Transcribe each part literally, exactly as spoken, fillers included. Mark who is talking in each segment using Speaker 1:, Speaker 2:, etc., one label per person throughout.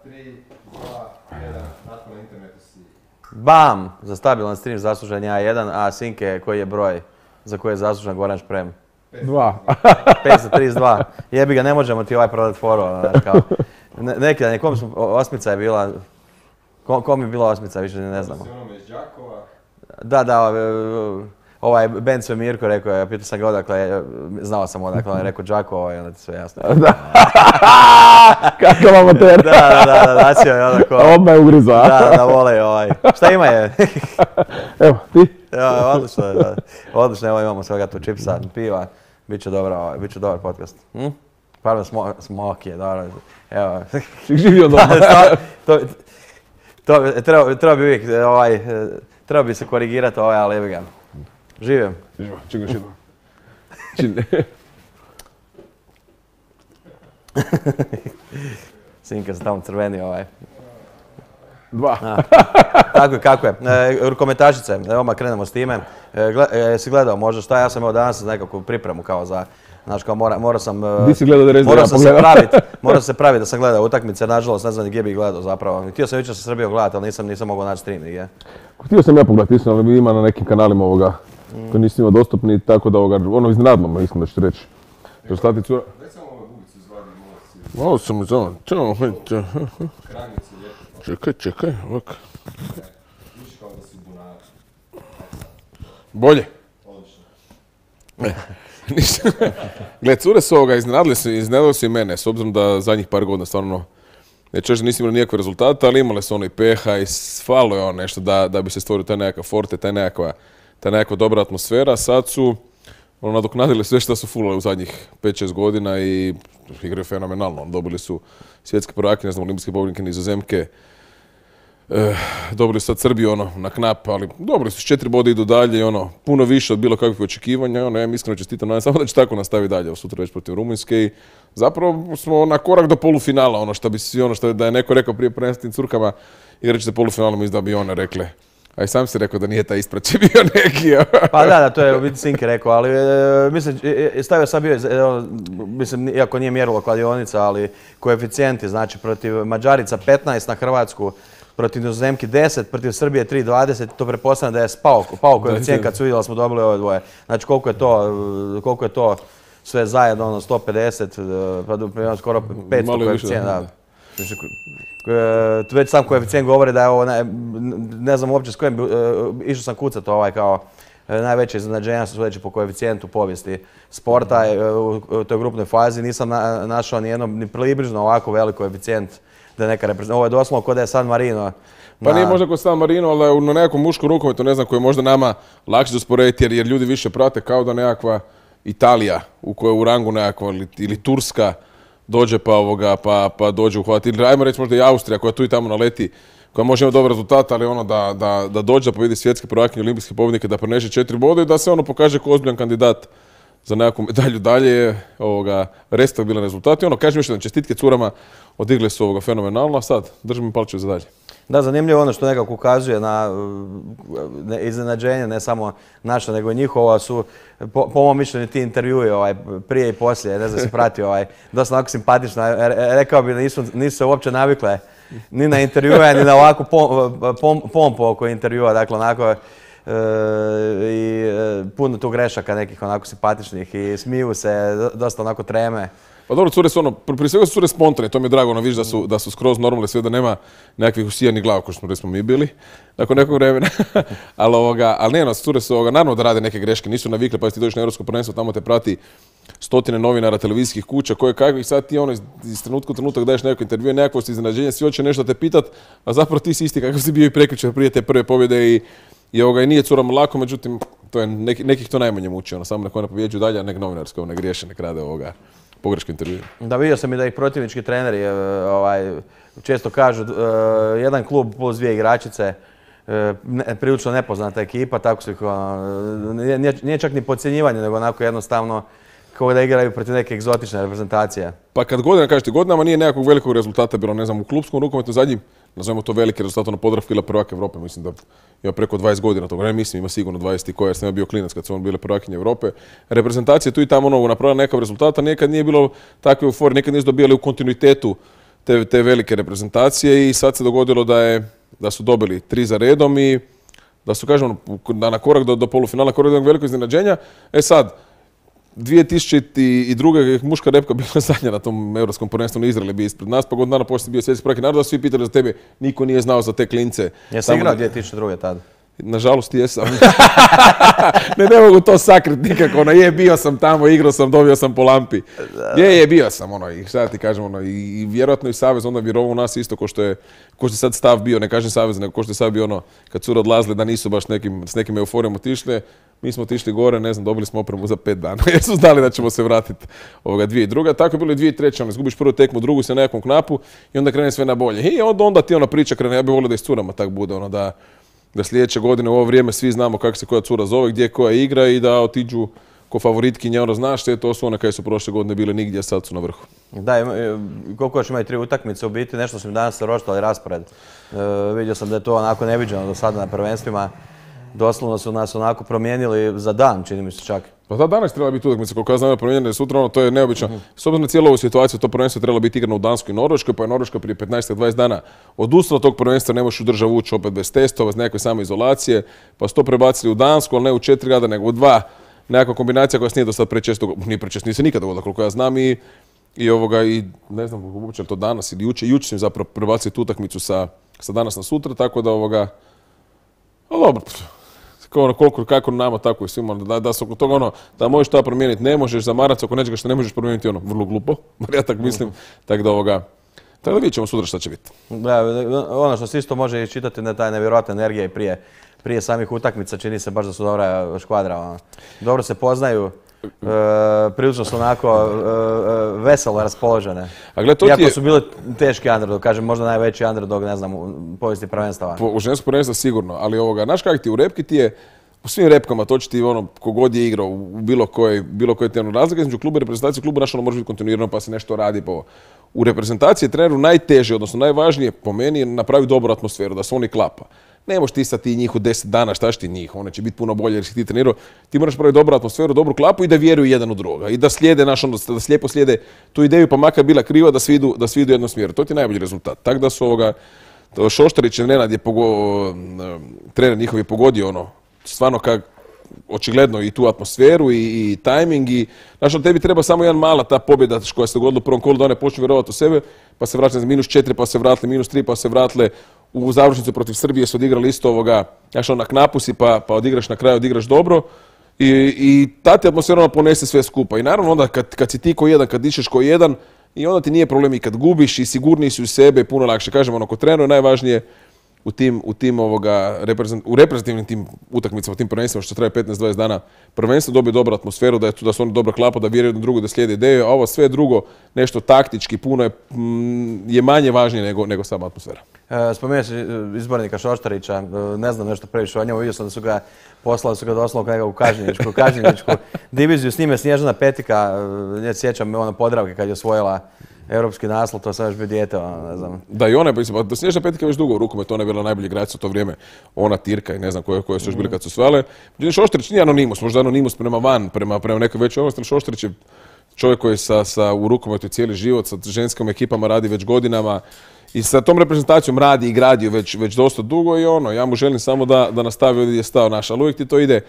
Speaker 1: tri, dva, jedan, nakon na internetu si...
Speaker 2: Bam! Za stabilan stream zaslužen ja jedan, a Sinke koji je broj za koji je zaslužen Goran Šprem?
Speaker 3: Dva.
Speaker 2: petsto trideset dva. Jebi ga, ne možemo ti ovaj prodat foru. Neki dan je, kom smo, osmica je bila, kom je bila osmica, više ne znamo.
Speaker 1: Si onome iz Đakova?
Speaker 2: Da, da, ovaj Ben sve Mirko rekao je, pitao sam ga odakle, znao sam odakle, on je rekao Đakovo i onda ti sve jasno.
Speaker 3: Kakav amater.
Speaker 2: Da, da, da, da, dacio je onako.
Speaker 3: Odmah je ugrizo, a?
Speaker 2: Da, da, vole ovaj. Šta ima je?
Speaker 3: Evo, ti?
Speaker 2: Ja, odlično je, da. Odlično, evo imamo svega tu čipsa, piva. Biće dobro, biće dobar podcast. Hm? Pardon, smo, smok je, dobro. Evo.
Speaker 3: Živio doma.
Speaker 2: to, to, treba, treba bi uvijek, ovaj, treba bi se korigirati ovaj, ali evo ga. Živim.
Speaker 3: Živo, čekaj još jednom. Čine.
Speaker 2: Sinka se tamo crveni ovaj.
Speaker 3: Dva.
Speaker 2: Tako je, kako je. E, rukometašice, evo krenemo s time. E, gled, e, si gledao možda šta, ja sam evo danas nekakvu pripremu kao za, znaš kao mora, morao sam...
Speaker 3: Di si gledao da reći da ja
Speaker 2: sam se praviti, morao se praviti da sam gledao utakmice, nažalost ne znam gdje bih gledao zapravo. Htio sam jučer sa Srbijom gledati, ali nisam, nisam mogao naći stream nigdje.
Speaker 3: Htio sam ja pogledati, istina, ali ima na nekim kanalima ovoga, mm. koji nisi imao dostupni, tako da ovoga, ono iznenadno me, mislim da ću reći. Rezultati cura...
Speaker 1: Daj samo ove bubicu izvadi, malo si...
Speaker 3: Malo sam izvan, čao, hajde.
Speaker 1: Kranice lijepo.
Speaker 3: Čekaj, čekaj, ovako.
Speaker 1: Viš kao da si bunar.
Speaker 3: Bolje.
Speaker 1: Odlično.
Speaker 3: Ništa. Gle, cure su ovoga, iznenadili su, iznenadili su i mene, s obzirom da zadnjih par godina stvarno, neću reći da nisam imali nikakve rezultate, ali imale su ono i peha i falo je ono nešto da, da bi se stvorio taj nekakav forte, taj nekakva, taj nekakva dobra atmosfera. Sad su ono, nadoknadili sve što su fulali u zadnjih pet šest godina i igraju fenomenalno. Dobili su svjetske prvake, ne znam, olimpijske pobjednike Nizozemke. E, dobili su sad Srbiju ono, na knap, ali dobili su četiri boda, idu dalje i ono, puno više od bilo kakvih očekivanja. Ono, ja im iskreno čestitam, nadam samo da će tako nastaviti dalje, sutra već protiv Rumunjske i zapravo smo na korak do polufinala, ono što bi svi, ono što da je neko rekao prije prvenstvenim curkama, igrat će se polufinalno, mislim da bi one rekle. A i sam si rekao da nije taj ispraće bio neki.
Speaker 2: Pa da, da, to je u biti Sinke rekao, ali e, mislim, stavio sam bio, e, mislim, iako nije mjerilo kladionica, ali koeficijenti, znači protiv Mađarica petnaest na Hrvatsku, protiv Nizozemke deset, protiv Srbije tri dvadeset, to pretpostavljam da je spao, pao koeficijent kad su vidjeli da smo dobili ove dvoje. Znači koliko je to, koliko je to sve zajedno, ono sto pedeset, pa skoro petsto koeficijent, da. Već sam koeficijent govori da je ovo, ne, ne znam uopće s kojim, išao sam kucat ovaj kao najveće iznenađenja su sledeće po koeficijentu povijesti sporta u toj grupnoj fazi. Nisam na, našao ni jedno, ni približno ovako velik koeficijent da je neka reprezentacija. Ovo je doslovno kod da je San Marino.
Speaker 3: Pa nije možda kod San Marino, ali na nekom muškom rukometu, ne znam, koji je možda nama lakše usporediti jer, jer ljudi više prate kao da nekakva Italija u kojoj je u rangu nekakva ili, ili Turska dođe pa, ovoga, pa, pa dođe uhvati. Ili ajmo reći možda i Austrija koja tu i tamo naleti, koja može imati dobar rezultat, ali ono da, da, da dođe da pobjedi svjetske prvakinje, olimpijske pobjednike, da preneše četiri boda i da se ono pokaže kao ozbiljan kandidat za nekakvu medalju dalje je ovoga, respektabilan rezultat. I ono, kažem još jedan, čestitke curama, odigle su ovoga fenomenalno, a sad držimo palčeve za dalje.
Speaker 2: Da, zanimljivo ono što nekako ukazuje na ne, iznenađenje, ne samo naša, nego i njihova su, po, po mom mišljenju, ti intervjui ovaj, prije i poslije, ne znam si pratio, ovaj, dosta onako simpatično. Rekao bi da nisu, nisu se uopće navikle ni na intervjue, ni na ovakvu pom, pom, pompu oko intervjua, dakle onako, E, i e, puno tu grešaka nekih onako simpatičnih i smiju se, dosta onako treme.
Speaker 3: Pa dobro, cure su ono, prije svega su cure spontane, to mi je drago, ono viš da su, da su skroz normalne, sve da nema nekakvih usijanih glava, kao što smo, smo mi bili, nakon nekog vremena. ali, ovoga, ali ne, no, cure su, ovoga, naravno da rade neke greške, nisu navikle, pa ti dođeš na Europsko prvenstvo, tamo te prati stotine novinara, televizijskih kuća, koje kakvih, sad ti ono iz, iz trenutka u trenutak daješ neko intervju, nekakvo si iznenađenje, svi hoće nešto te pitat, a zapravo ti si isti kakav si bio i prekjučer prije te prve pobjede i I ovoga i nije curama lako, međutim, to je neki, nekih to najmanje muči, ono, samo nek one pobjeđuju dalje, a nek novinarsko ne griješe, nek rade ovoga pogreške intervjue.
Speaker 2: Da, vidio sam i da ih protivnički treneri ovaj, često kažu, uh, jedan klub plus dvije igračice, uh, ne, prilično nepoznata ekipa, tako su ih, uh, nije, nije čak ni podcjenjivanje, nego onako jednostavno kao da igraju protiv neke egzotične reprezentacije.
Speaker 3: Pa kad godina, kažete, godinama nije nekakvog velikog rezultata bilo, ne znam, u klubskom rukometu zadnjim, nazovemo to veliki rezultat, ono Podravka ili prvak Evrope, mislim da ima preko dvadeset godina toga, ne mislim, ima sigurno dvadeset i koja, jer sam ja bio klinac kad su on bile prvakinje Evrope. Reprezentacije tu i tamo ono napravila nekav rezultata, nekad nije bilo takve euforije, nekad nisu dobijali u kontinuitetu te, te velike reprezentacije i sad se dogodilo da, je, da su dobili tri za redom i da su, kažem, da na korak do, do polufinala, korak do velikog iznenađenja. E sad, dvije tisuće druge. muška repka bila zadnja na tom europskom prvenstvu, Izrael je bio ispred nas, pa godinu dana poslije bio svjetski prvak naroda, svi pitali za tebe, niko nije znao za te klince.
Speaker 2: Jesi igrao dvije tisuće druge. tada?
Speaker 3: Nažalost jesam. ne, ne mogu to sakriti nikako, ono, je, bio sam tamo, igrao sam, dobio sam po lampi. Je, je, bio sam, ono, i šta ti kažem, ono, i, i vjerojatno i Savez onda vjerovao u nas isto, ko što je, ko što je sad stav bio, ne kažem Savez, nego ko što je sad bio, ono, kad su odlazili da nisu baš nekim, s nekim euforijom otišli, mi smo otišli gore, ne znam, dobili smo opremu za pet dana, jer su znali da ćemo se vratiti ovoga dvije i druga. Tako je bilo i dvije i treće, ono, izgubiš prvu tekmu, drugu se na nekom knapu i onda krene sve na bolje. I onda, onda ti ona priča krene, ja bih volio da i s curama tak bude, ono, da da sljedeće godine u ovo vrijeme svi znamo kako se koja cura zove, gdje koja igra i da otiđu ko favoritkinje, ono, znaš te, to su one koje su prošle godine bile nigdje, a sad su na vrhu.
Speaker 2: Da, koliko još imaju tri utakmice, u biti nešto su mi danas roštali raspored. E, vidio sam da je to onako neviđeno do sada na prvenstvima. Doslovno su nas onako promijenili za dan, čini mi se čak.
Speaker 3: Pa da, danas treba biti utakmica, koliko ja znam, promijenjene sutra, ono, to je neobično. Mm-hmm. S obzirom na cijelu ovu situaciju, to prvenstvo trebalo biti igrano u Danskoj i Norveškoj, pa je Norveška prije petnaest do dvadeset dana odustala od tog prvenstva, ne možeš u državu ući opet bez testova, bez nekakve samoizolacije, pa su to prebacili u Dansku, ali ne u četiri grada, nego u dva. Nekakva kombinacija koja se nije do sad prečesto, nije prečesto, nije se nikada dogodila, koliko ja znam, i, i ovoga, i ne znam uopće to danas ili juče, juče su im zapravo prebacili tu utakmicu sa, sa danas na sutra, tako da ovoga, ali dobro, ono, koliko, kako nama, tako i svima, da, da se oko toga, ono, da možeš to promijeniti, ne možeš zamarati oko nečega što ne možeš promijeniti, ono, vrlo glupo, bar ja tako mislim, tako da ovoga, tako da vidjet ćemo sutra šta će biti. Da,
Speaker 2: ono što se isto može iščitati na taj nevjerojatna energija i prije, prije samih utakmica, čini se baš da su dobra škvadra, ono. Dobro se poznaju, e, prilično su onako e, e, veselo raspoložene.
Speaker 3: A gled, to
Speaker 2: iako
Speaker 3: je...
Speaker 2: su bili teški underdog, kažem možda najveći underdog, ne znam, u povijesti prvenstava.
Speaker 3: Po, u ženskom prvenstvu sigurno, ali ovoga, znaš kak ti u repki ti je, u svim repkama, to će ti ono, kogod je igrao u bilo kojoj, bilo kojoj temu razlika između kluba i reprezentacije, klubu naš ono može biti kontinuirano pa se nešto radi po. U reprezentaciji je treneru najteže, odnosno najvažnije po meni je napraviti dobru atmosferu, da se oni klapa. Ne možeš ti sad ti njih u deset dana, šta ti njih, one će biti puno bolje jer si ti trenirao. Ti moraš praviti dobru atmosferu, dobru klapu i da vjeruju jedan u druga. I da slijede, naš, ono, da slijepo slijede tu ideju, pa makar bila kriva, da svi idu, da svi idu u jednom smjeru. To ti je najbolji rezultat. Tako da su ovoga, Šoštarić i Nenad je pogo, trener njihov je pogodio ono, stvarno kak, očigledno i tu atmosferu i, i tajming i znaš, ono, tebi treba samo jedan mala ta pobjeda koja se dogodila u prvom kolu da one počnu vjerovati u sebe, pa se vratili za minus četiri, pa se vratili minus tri, pa se vratili u završnicu protiv Srbije su odigrali isto ovoga, znaš, ono, na knapu si pa, pa odigraš na kraju, odigraš dobro i, i ta ti atmosfera ona ponese sve skupa i naravno onda kad, kad si ti ko jedan, kad dišeš ko jedan i onda ti nije problem i kad gubiš i sigurniji si u sebe, puno lakše. Kažem, ono, kod trenera je najvažnije u tim, u tim ovoga, reprezent, u reprezentativnim tim utakmicama, u tim prvenstvima što traje petnaest do dvadeset dana, prvenstveno dobije dobru atmosferu, da je tu, da su oni dobra klapa, da vjeruju jedno drugo, da slijede ideje, a ovo sve drugo, nešto taktički, puno je, mm, je manje važnije nego, nego sama atmosfera.
Speaker 2: E, spomenuo si izbornika Šoštarića, ne znam nešto previše o njemu, vidio sam da su ga poslali, su ga doslovno nekako u Kažinječku, Kažinječku diviziju, s njime Snježana Petika, ne sjećam me ono Podravke kad je osvojila europski naslov, to sam još bio dijete, ono, ne znam.
Speaker 3: Da, i ona je, pa Snježana Petika već dugo u rukometu, ona je bila najbolji igrač u to vrijeme, ona Tirka i ne znam koje, koje su još bili kad su osvajale. Međutim, Šoštarić nije anonimus, možda anonimus prema van, prema, prema nekoj većoj ovlasti, Šoštarić je čovjek koji sa, sa, u rukometu cijeli život, sa ženskim ekipama radi već godinama i sa tom reprezentacijom radi i gradio već, već dosta dugo i ono, ja mu želim samo da, da nastavi ovdje je stao naš, ali uvijek ti to ide,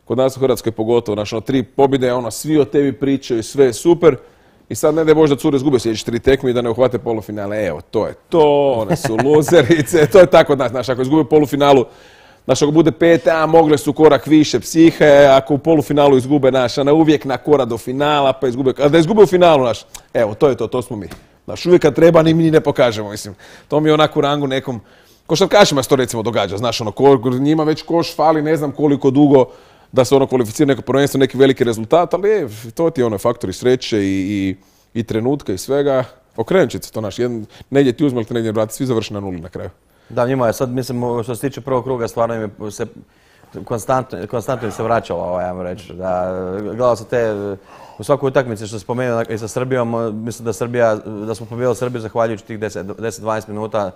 Speaker 3: kod nas u Hrvatskoj pogotovo, naš, ono, tri pobjede, ono, svi o tebi pričaju, sve je super. I sad ne da je možda cure izgube sljedeće tri tekme i da ne uhvate polufinale. Evo, to je to, one su luzerice, to je tako od nas. Znaš, ako izgube polufinalu, znaš, ako bude pet, a mogle su korak više psihe, ako u polufinalu izgube, naš, a ne uvijek na korak do finala, pa izgube, a da izgube u finalu, naš, evo, to je to, to smo mi. Znaš, uvijek kad treba, ni mi ne pokažemo, mislim. To mi je onako u rangu nekom, košarkašima se to recimo događa, znaš, ono, ko, njima već koš fali ne znam koliko dugo, da se ono kvalificira neko prvenstvo, neki veliki rezultat, ali je, to ti je ono faktori sreće i, i, i trenutka i svega. Okrenut će se to naš, jedan, negdje ti uzme, ali te negdje vrati, svi završi na nuli na kraju.
Speaker 2: Da, njima je sad, mislim, što se tiče prvog kruga, stvarno im je se konstantno, konstantno im se vraćalo, ovo, ja mu reći. Da, gledao sam te, u svakoj utakmici što se spomenuo i sa Srbijom, mislim da Srbija, da smo pobjedili Srbiju zahvaljujući tih deset do dvadeset minuta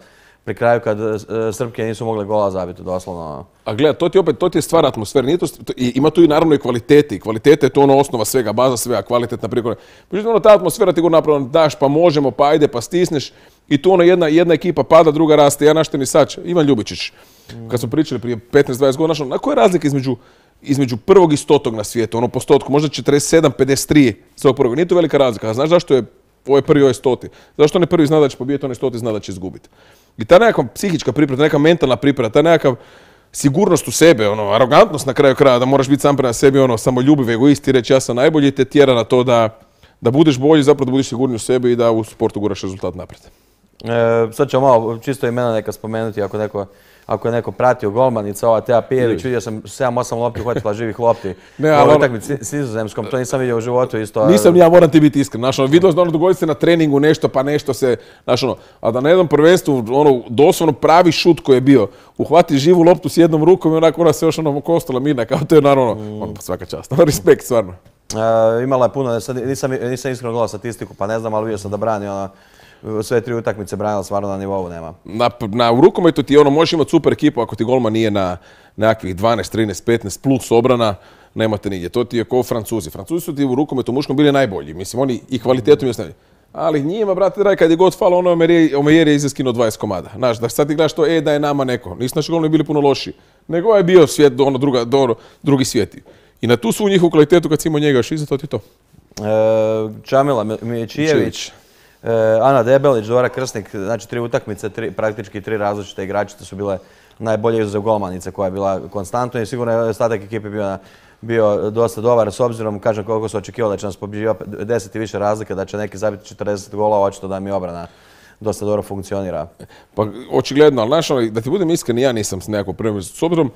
Speaker 2: pri kraju kad e, Srpke nisu mogle gola zabiti, doslovno.
Speaker 3: A gleda, to ti opet, to ti je stvar atmosfere, nije to, to, i, ima tu i naravno i kvalitete, i kvalitete je to ono osnova svega, baza svega, kvalitetna prikona. Međutim, ono, ta atmosfera ti go napravo daš, pa možemo, pa ajde, pa stisneš, i tu ono jedna, jedna ekipa pada, druga raste, ja našte ni sač, Ivan Ljubičić, mm. kad smo pričali prije petnaest dvadeset godina, znaš, na koja je razlika između, između prvog i stotog na svijetu, ono postotku, možda četrdeset sedam pedeset tri za ovog prvog, nije to velika razlika, a znaš zašto je ovo je prvi, ovo je stoti, zašto onaj prvi zna da će pobijeti, onaj stoti zna da će izgubiti. I ta nekakva psihička priprema, neka mentalna priprema, ta nekakav sigurnost u sebe, ono, arogantnost na kraju kraja, da moraš biti sam prema sebi, ono, samoljubiv, egoist i reći ja sam najbolji, te tjera na to da, da budeš bolji, zapravo da budeš sigurniji u sebi i da u sportu guraš rezultat naprijed.
Speaker 2: E, sad ćemo malo čisto imena neka spomenuti, ako neko, ako je neko pratio golmanica, ova Teja Pijević, vidio sam sedam osam lopti uhvatila živih lopti.
Speaker 3: Ne, ali ono,
Speaker 2: utakmici s Nizozemskom, to nisam vidio u životu isto.
Speaker 3: Nisam, ja moram ti biti iskren, znaš, ono, vidjelo se da ono dogodi se na treningu nešto, pa nešto se, znaš, ono, a da na jednom prvenstvu, ono, doslovno pravi šut koji je bio, uhvati živu loptu s jednom rukom i onako ona se još ono kostala mirna, kao to je naravno, mm. ono, svaka čast, respekt, stvarno.
Speaker 2: E, imala je puno, nisam, nisam iskreno gledao statistiku, pa ne znam, ali vidio sam da brani, ono, sve tri utakmice branila stvarno na nivou nema.
Speaker 3: Na, na, u rukometu ti ono, možeš imati super ekipu ako ti golman nije na nekakvih dvanaest, trinaest, petnaest plus obrana, nemate nigdje. To ti je kao Francuzi. Francuzi su ti u rukometu muškom bili najbolji. Mislim, oni i kvalitetom i osnovni. Ali njima, brate, dragi, kad je god falo, ono Omejer je izaskinuo dvadeset komada. Znaš, da sad ti gledaš to, e, da je nama neko. Nisu naši golmani bili puno loši. Nego je bio svijet, ono, druga, do, drugi svijeti. I na tu svu njihovu kvalitetu kad si imao njega još iza, to ti to.
Speaker 2: E, Čamila Miličijević. Ana Debelić, Dora Krsnik, znači tri utakmice, tri, praktički tri različite igračice su bile najbolje izuzev golmanice koja je bila konstantna i sigurno je ostatak ekipe bio, bio dosta dobar s obzirom, kažem koliko su očekivali da će nas pobjeđivati deset i više razlike, da će neki zabiti četrdeset golova, očito da mi obrana dosta dobro funkcionira.
Speaker 3: Pa očigledno, ali znaš, da ti budem iskren, ja nisam s nekakvom premijom, s obzirom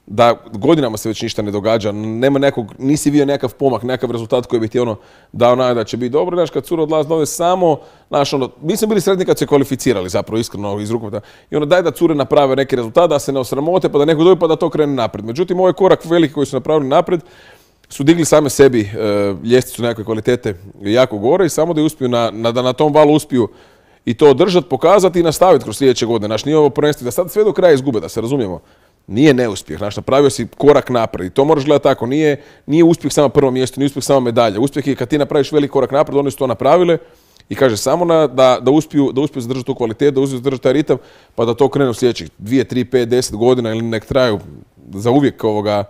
Speaker 3: da godinama se već ništa ne događa, nema nekog, nisi vidio nekakav pomak, nekakav rezultat koji bi ti ono dao nada da će biti dobro, znaš, kad cura odlazi ovdje samo, znaš, ono, mi smo bili sretni kad se kvalificirali zapravo, iskreno, iz rukometa, i ono, daj da cure naprave neki rezultat, da se ne osramote, pa da neko dobi, pa da to krene naprijed. Međutim, ovaj korak veliki koji su napravili naprijed, su digli same sebi e, ljestvicu nekakve kvalitete jako gore i samo da je uspiju na, na, da na tom valu uspiju i to održati, pokazati i nastaviti kroz sljedeće godine. Znaš, nije ovo prvenstvo da sad sve do kraja izgube, da se razumijemo. Nije neuspjeh, znaš, napravio si korak naprijed i to moraš gledati tako, nije, nije uspjeh samo prvo mjesto, nije uspjeh samo medalja. Uspjeh je kad ti napraviš veliki korak naprijed, oni su to napravile i kaže samo na, da, da, uspiju, da uspiju zadržati tu kvalitetu, da uspiju zadržati taj ritam, pa da to krenu u sljedećih dvije, tri, pet, deset godina ili nek traju za uvijek ovoga,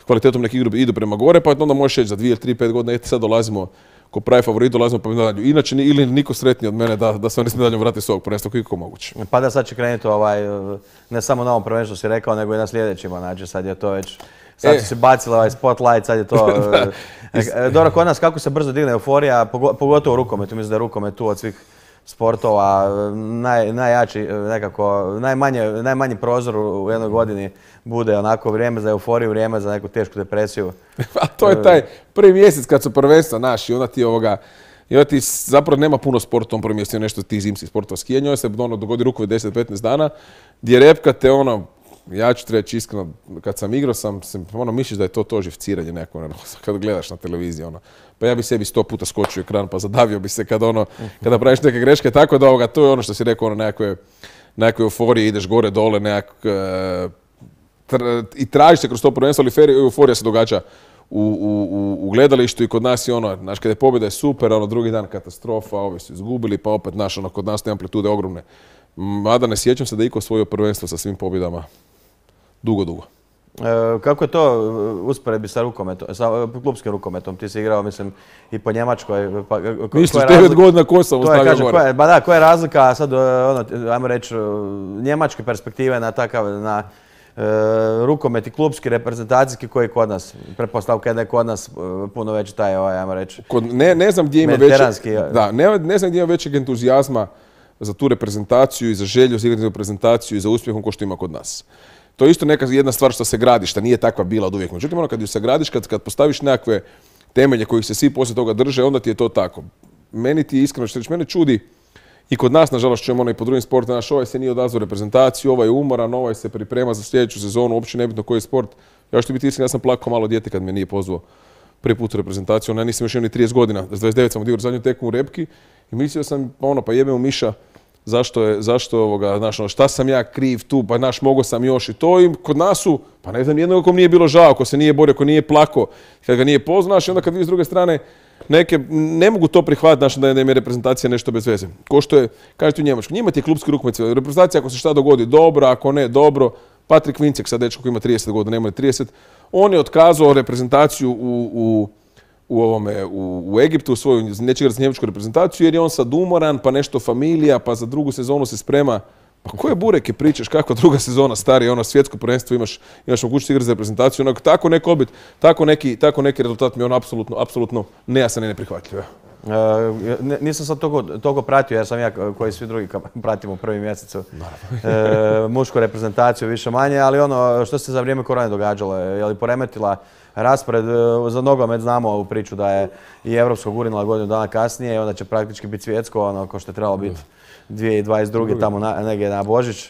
Speaker 3: kvalitetom nek idu, idu prema gore, pa onda možeš reći za dvije, tri, pet godina, eto sad dolazimo ko pravi favorit, dolazimo po medalju. Inače, ili niko sretniji od mene da, da se oni s medaljom vrati s ovog prvenstva koliko je moguće.
Speaker 2: Pa da sad će krenuti ovaj, ne samo na ovom prvenstvu si rekao, nego i na sljedećima, znači sad je to već, sad e. su se bacili ovaj spotlight, sad je to... Dobro, kod nas kako se brzo digne euforija, pogotovo u rukometu, mislim da je rukomet tu od svih sportova naj, najjači, nekako, najmanje, najmanji prozor u jednoj godini bude onako vrijeme za euforiju, vrijeme za neku tešku depresiju.
Speaker 3: A to je taj prvi mjesec kad su prvenstva naši, onda ti ovoga, i onda ti zapravo nema puno sporta u tom prvom mjesecu, nešto ti zimskih sportova skijanja, onda se ono, dogodi rukomet deset do petnaest dana, gdje repka te ono, ja ću ti reći iskreno, kad sam igrao sam, sam ono, misliš da je to to živciranje neko, ono, kad gledaš na televiziji, ono, pa ja bi sebi sto puta skočio ekran, pa zadavio bi se kad ono, kada praviš neke greške, tako da ovoga, to je ono što si rekao, ono, nekakve, nekakve euforije, ideš gore, dole, nekak, e, tr, i tražiš se kroz to prvenstvo, ali euforija se događa u, u, u gledalištu i kod nas je ono, znaš, kada je pobjeda je super, ono, drugi dan katastrofa, ovi su izgubili, pa opet, znaš, ono, kod nas te amplitude ogromne. Mada ne sjećam se da je iko osvojio prvenstvo sa svim pobjedama dugo, dugo.
Speaker 2: E, kako je to usporedbi sa rukometom, sa klupskim rukometom? Ti si igrao, mislim, i po Njemačkoj. Pa, ko,
Speaker 3: Misliš, devet godina ko sam ostavio gore?
Speaker 2: Koja, ba da, koja je razlika sad, ono, ajmo reći, njemačke perspektive na takav, na e, rukomet i klupski, reprezentacijski koji je kod nas? Pretpostavka je da je kod nas puno veći taj, ovaj, ajmo reći,
Speaker 3: kod, ne, ne znam gdje ima većeg, da, ne, ne znam gdje ima većeg entuzijazma za tu reprezentaciju i za želju za igrati reprezentaciju i za uspjehom ko što ima kod nas. To je isto neka jedna stvar što se gradi, što nije takva bila od uvijek. Međutim, ono kad ju se gradiš, kad, kad postaviš nekakve temelje kojih se svi poslije toga drže, onda ti je to tako. Meni ti iskreno što reći, mene čudi i kod nas, nažalost, čujemo ono i po drugim sportima, naš ovaj se nije odazvao reprezentaciju, ovaj je umoran, ovaj se priprema za sljedeću sezonu, uopće nebitno koji je sport. Ja što biti iskren, ja sam plakao malo dijete kad me nije pozvao prvi put u reprezentaciju, ona nisam još imao ni trideset godina, s dvadeset devet sam odigrao zadnju tekmu u Repki i mislio sam, ono, pa jebe u Miša, zašto je, zašto ovoga, znaš, ono, šta sam ja kriv tu, pa naš, mogo sam još i to i kod nas su, pa ne znam, jednog kom nije bilo žao, ko se nije borio, ko nije plako, kad ga nije poznaš i onda kad vi s druge strane neke, ne mogu to prihvatiti, znaš, da je, da im je reprezentacija nešto bez veze. Ko što je, kažete u Njemačkoj, njima ti je klubski rukomet, reprezentacija ako se šta dogodi dobro, ako ne dobro, Patrik Vincek, sad dečko koji ima trideset godina, nema trideset, on je otkazao reprezentaciju u, u u ovome, u, u Egiptu, u svoju, neće igrati za njemačku reprezentaciju, jer je on sad umoran, pa nešto familija, pa za drugu sezonu se sprema. Pa koje bureke pričaš, kakva druga sezona, stari, ono svjetsko prvenstvo, imaš, imaš mogućnost igrati za reprezentaciju, onako, tako neko obit, tako neki, tako neki rezultat mi je on apsolutno, apsolutno nejasan i neprihvatljiv.
Speaker 2: Uh, nisam sad toliko, toliko pratio, jer sam ja koji svi drugi pratimo u prvi mjesecu uh, mušku reprezentaciju više manje, ali ono što se za vrijeme korone događalo, je li poremetila raspored za nogomet, znamo u priču da je i europsko gurinula godinu dana kasnije i onda će praktički biti svjetsko, ono ko što je trebalo biti dvije tisuće dvadeset druge tamo na, negdje na Božić.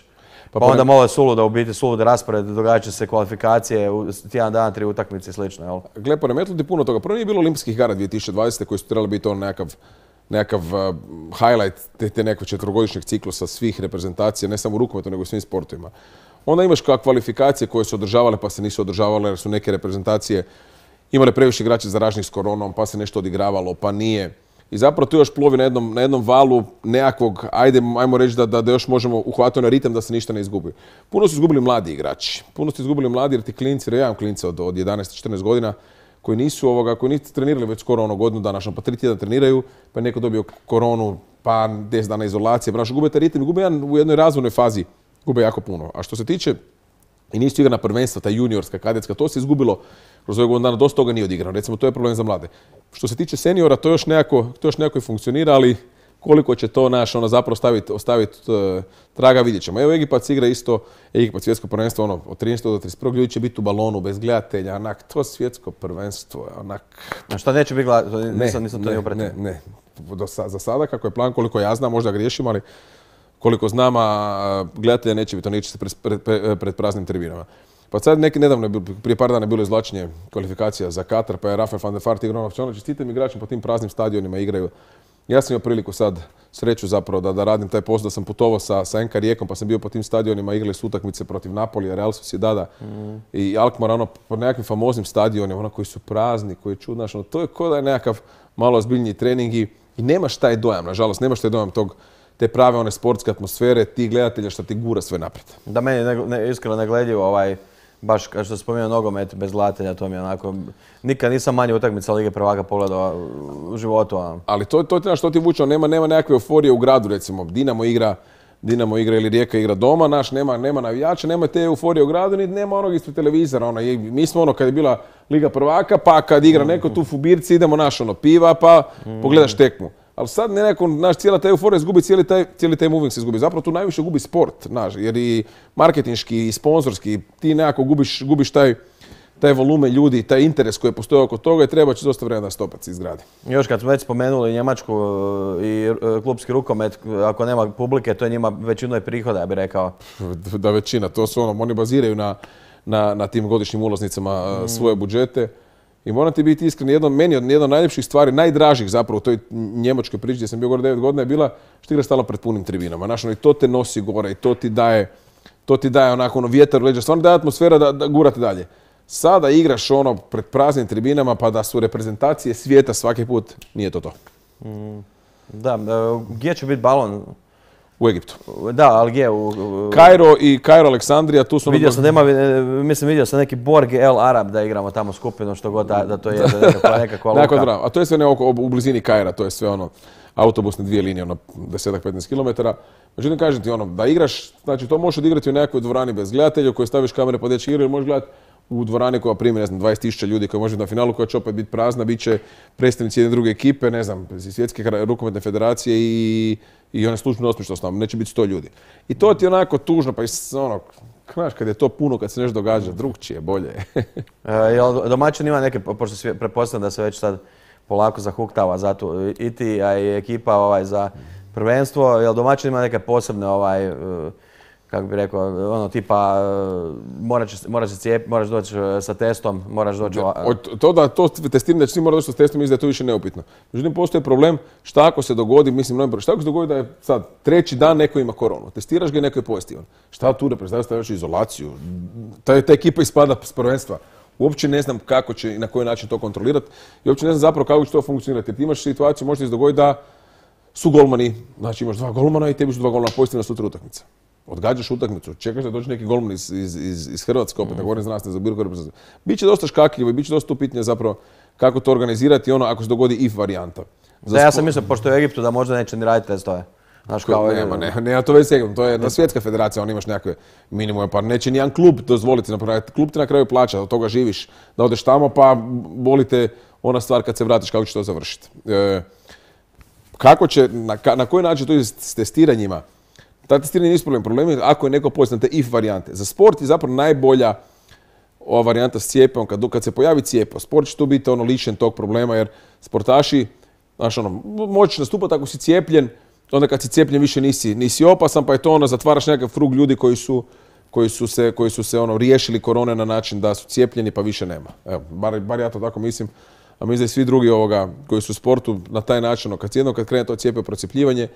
Speaker 2: Pa, pa onda malo je suluda, u biti suluda raspored, događat će se kvalifikacije, u tjedan dana, tri utakmice i slično, jel?
Speaker 3: Gle, poremetilo ti puno toga. Prvo nije bilo olimpijskih igara dvije tisuće dvadesete koji su trebali biti on nekakav, nekakav uh, highlight te, te nekog četvrogodišnjeg ciklusa svih reprezentacija, ne samo u rukometu, nego u svim sportovima. Onda imaš kao kvalifikacije koje su održavale pa se nisu održavale jer su neke reprezentacije imale previše igrača zaraženih s koronom, pa se nešto odigravalo, pa nije. I zapravo tu još plovi na jednom, na jednom valu nekakvog, ajde, ajmo reći da, da, da još možemo uhvatiti na ritam da se ništa ne izgubi. Puno su izgubili mladi igrači. Puno su izgubili mladi jer ti klinci, jer ja imam klinca od, od jedanaest do četrnaest godina, koji nisu, ovoga, koji nisu trenirali već skoro ono godinu dana, pa tri tjedna treniraju, pa je neko dobio koronu, pa deset dana izolacije, pa gube taj ritam i gube jedan u jednoj razvojnoj fazi, gube jako puno. A što se tiče i nisu igrana prvenstva, ta juniorska, kadetska, to se izgubilo kroz ove godinu dana, dosta toga nije odigrano. Recimo, to je problem za mlade. Što se tiče seniora, to još nekako, to još nekako i funkcionira, ali koliko će to naš ono zapravo ostaviti ostaviti uh, traga, vidjet ćemo. Evo Egipac igra isto, Egipac svjetsko prvenstvo, ono, od trinaestog do trideset prvog ljudi će biti u balonu, bez gledatelja, onak, to svjetsko prvenstvo, onak...
Speaker 2: A šta neće biti gledatelja? Nisam, nisam to
Speaker 3: ne,
Speaker 2: nije upratio.
Speaker 3: Ne, ne, Do, za sada, kako je plan, koliko ja znam, možda griješim, ali koliko znam, a gledatelja neće biti, to neće se pred, pred, pred, pred praznim tribinama. Pa sad neki nedavno, prije par dana je bilo izvlačenje kvalifikacija za Katar, pa je Rafael van der Vaart igrao na opcionalno. Čestitam igračima po tim praznim stadionima igraju. Ja sam imao priliku sad, sreću zapravo, da, da radim taj posao, da sam putovao sa, sa en ka Rijekom, pa sam bio po tim stadionima, igrali su utakmice protiv Napolija, Real Sociedada mm. i Alkmaara, ono, po nekakvim famoznim stadionima, ono koji su prazni, koji je čudno, ono, to je kao da je nekakav malo ozbiljniji trening i, i nemaš taj dojam, nažalost, nemaš taj dojam tog, te prave one sportske atmosfere, ti gledatelja što ti gura sve naprijed.
Speaker 2: Da, meni ne, ne, iskreno negledljivo, ovaj, baš kao što spomenuo nogomet bez gledatelja, to mi je onako, nikad nisam manje utakmica Lige prvaka pogledao u životu. Ono.
Speaker 3: Ali to, to je što ti vuče, nema, nema nekakve euforije u gradu, recimo, Dinamo igra, Dinamo igra ili Rijeka igra doma, naš, nema, nema navijača, nema te euforije u gradu, ni nema onog ispred televizora, ono, mi smo ono kad je bila Liga prvaka, pa kad igra neko tu Fubirci, idemo naš ono piva, pa mm. pogledaš tekmu. Ali sad nekako, naš, cijela ta euforija izgubi, cijeli taj, cijeli taj moving se izgubi. Zapravo tu najviše gubi sport, naš, jer i marketinški i sponzorski, ti nekako gubiš, gubiš taj, taj volumen ljudi, taj interes koji postoji oko toga i treba će dosta vremena da stopac se izgradi.
Speaker 2: Još kad smo već spomenuli Njemačku i klubski rukomet, ako nema publike, to je njima većinu je prihoda, ja bih rekao.
Speaker 3: Da, većina, to su ono, oni baziraju na, na, na tim godišnjim ulaznicama mm. svoje budžete. I moram ti biti iskren, jedno, meni od jedna od najljepših stvari, najdražih zapravo u toj njemačkoj priči gdje sam bio gore devet godina je bila što igra stala pred punim tribinama. Znaš, ono, i to te nosi gore i to ti daje, to ti daje onako ono vjetar u leđa, stvarno daje atmosfera da, da gurate dalje. Sada igraš ono pred praznim tribinama pa da su reprezentacije svijeta svaki put, nije to to.
Speaker 2: Mm, da, gdje će biti balon?
Speaker 3: U Egiptu.
Speaker 2: Da, ali gdje? U,
Speaker 3: u... Kairo i Kairo Aleksandrija, tu su...
Speaker 2: Vidio sam da ima, mislim vidio sam neki Borg El Arab da igramo tamo skupinu, što god da, da to je nekakva, nekakva luka.
Speaker 3: A to je sve ne oko, u blizini Kaira, to je sve ono autobusne dvije linije, ono deset do petnaest kilometara. Međutim, kažem ti ono, da igraš, znači to možeš odigrati u nekoj dvorani bez gledatelja, u kojoj staviš kamere pa dečki igraju, možeš gledati u dvorani koja primi, ne znam, dvadeset tisuća ljudi koji može na finalu, koja će opet biti prazna, bit će predstavnici jedne druge ekipe, ne znam, svjetske rukometne federacije i, i one službene osmišljenosti, neće biti sto ljudi. I to ti je onako tužno, pa i ono, znaš, kad je to puno, kad se nešto događa, drugčije, bolje.
Speaker 2: e, jel domaćin ima neke, pošto pretpostavljam da se već sad polako zahuktava za tu, i ti, a i ekipa ovaj, za prvenstvo, jel domaćin ima neke posebne ovaj, kako bi rekao, ono tipa, moraš se cijepiti, moraš doći sa testom, moraš doći...
Speaker 3: Od to da to testiranje da će svi morati doći sa testom, mislim da je to više neupitno. Međutim, postoji problem šta ako se dogodi, mislim, šta ako se dogodi da je sad treći dan neko ima koronu, testiraš ga i neko je pozitivan. Šta tu da predstavljaš, stavljaš izolaciju? Ta, ta ekipa ispada s prvenstva. Uopće ne znam kako će i na koji način to kontrolirati i uopće ne znam zapravo kako će to funkcionirati. Jer ti imaš situaciju, može se dogoditi da su golmani, znači imaš dva golmana i tebi su dva golmana pozitivna sutra utakmica. Odgađaš utakmicu, čekaš da dođe neki golman iz, iz, iz, iz Hrvatske, opet, ne govorim za nas, ne za bilo koju reprezentaciju. Biće dosta škakljivo i biće dosta upitnije zapravo kako to organizirati ono ako se dogodi if varijanta.
Speaker 2: Da, ja sam mislio, pošto je u Egiptu, da možda neće ni raditi testove. Znaš, kao
Speaker 3: nema, ne, nema to već Egiptu, to je na svjetska federacija, on imaš nekakve minimume, pa neće nijedan klub dozvoliti, napraviti. Klub ti na kraju plaća, od toga živiš, da odeš tamo, pa bolite ona stvar kad se vratiš kako će to završiti. E, kako će, na, na koji način to je s testiranjima? Ta testiranje nisu problem. Problem je ako je neko pozitivan, te if varijante. Za sport je zapravo najbolja ova varijanta s cijepom. Kad, kad se pojavi cijepo, sport će tu biti ono lišen tog problema jer sportaši, znaš ono, možeš nastupati ako si cijepljen, onda kad si cijepljen više nisi, nisi opasan, pa je to ono, zatvaraš nekakav krug ljudi koji su, koji su se, koji su se ono, riješili korone na način da su cijepljeni pa više nema. Evo, bar, bar ja to tako mislim. A mislim da i svi drugi ovoga koji su u sportu na taj način, ono, kad jednom kad krene to cijepe procjepljivanje,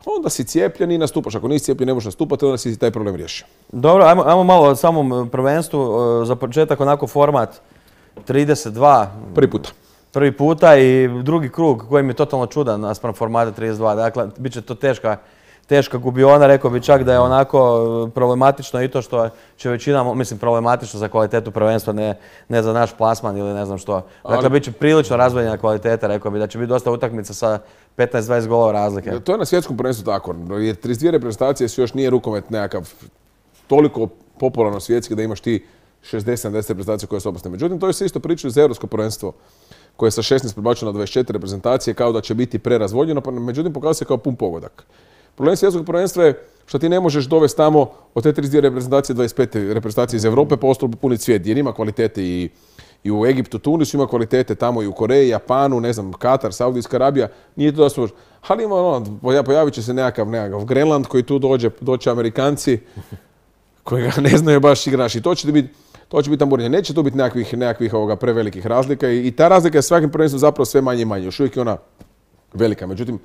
Speaker 3: onda si cijepljen i nastupaš. Ako nisi cijepljen ne možeš nastupati, onda si taj problem riješio.
Speaker 2: Dobro, ajmo, ajmo malo o samom prvenstvu. Za početak onako format trideset dva.
Speaker 3: Prvi puta.
Speaker 2: Prvi puta i drugi krug koji mi je totalno čudan naspram formata trideset dva. Dakle, bit će to teška, teška gubiona. Rekao bi čak da je onako problematično i to što će većina, mislim problematično za kvalitetu prvenstva, ne, ne za naš plasman ili ne znam što. Dakle, ali bit će prilično razvaljena kvaliteta. Rekao bi da će biti dosta utakmica sa petnaest dvadeset golova razlike.
Speaker 3: To je na svjetskom prvenstvu tako. Jer trideset dvije reprezentacije su još nije rukomet nekakav toliko popularno svjetski da imaš ti šezdeset sedamdeset reprezentacija koje su opasne. Međutim, to je se isto priča za europsko prvenstvo koje je sa šesnaest prebačeno na dvadeset četiri reprezentacije kao da će biti prerazvodnjeno, pa međutim pokazuje se kao pun pogodak. Problem svjetskog prvenstva je što ti ne možeš dovesti tamo od te trideset dvije reprezentacije dvadeset pet reprezentacije iz Europe pa ostalo puniti svijet jer ima kvalitete i I u Egiptu, Tunisu ima kvalitete, tamo i u Koreji, Japanu, ne znam, Katar, Saudijska Arabija, nije to da su... Ali ima ono, pojavit će se nekakav, nekakav Grenland koji tu dođe, doće Amerikanci koji ga ne znaju baš igrači. I to će biti, to će biti tamburenje. Neće tu biti nekakvih, nekakvih ovoga prevelikih razlika i, i ta razlika je svakim prvenstvom zapravo sve manje i manje. Još uvijek je ona velika, međutim,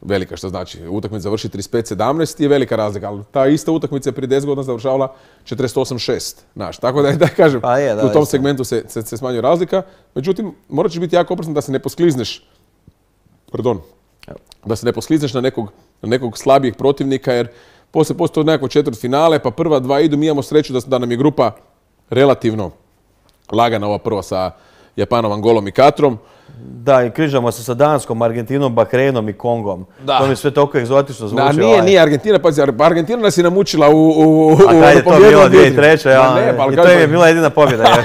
Speaker 3: velika što znači, utakmica završi trideset pet sedamnaest je velika razlika, ali ta ista utakmica prije deset godina završavala četrdeset osam šest. Znaš, tako da, da kažem, pa je, da, u tom isto. segmentu se, se, se smanjuje razlika. Međutim, morat će biti jako oprezan da se ne posklizneš, pardon, da se ne posklizneš na nekog, na nekog slabijeg protivnika, jer poslije postoje nekako četvrt finale, pa prva dva idu, mi imamo sreću da, da nam je grupa relativno lagana, ova prva sa Japanom, Angolom i Katrom.
Speaker 2: Da, i križamo se sa Danskom, Argentinom, Bahreinom i Kongom. Da. To mi sve toliko egzotično zvuči.
Speaker 3: Da, nije, ovaj. nije Argentina, pazi, Argentina nas je namučila u... u, u
Speaker 2: A kad je to bilo dvije tisuće treće. Ja, ne, pa, i to im je bila jedina pobjeda.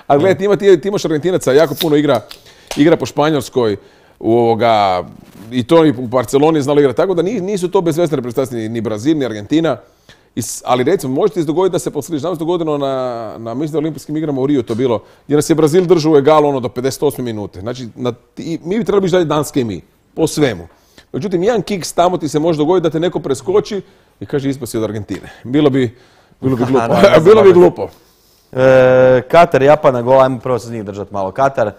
Speaker 3: A gledaj, ti, ima, ti, ti imaš Argentinaca, jako puno igra, igra po Španjolskoj, u ovoga, i to i u Barceloni znalo igrati, tako da nisu to bezvezne reprezentacije, ni, ni Brazil, ni Argentina. Is, ali recimo, možete se dogoditi da se posliš. Nam se dogodilo na, na mislim da olimpijskim igrama u Rio to bilo, gdje nas je Brazil držao u egalu ono do pedeset osme minute. Znači, na, i, mi bi trebali biti dalje Danske i mi, po svemu. Međutim, jedan kiks tamo ti se može dogoditi da te neko preskoči i kaže ispao si od Argentine. Bilo bi, bilo bi glupo. bilo bi glupo.
Speaker 2: E, Katar, Japan na gol, ajmo prvo se s njih držati malo. Katar,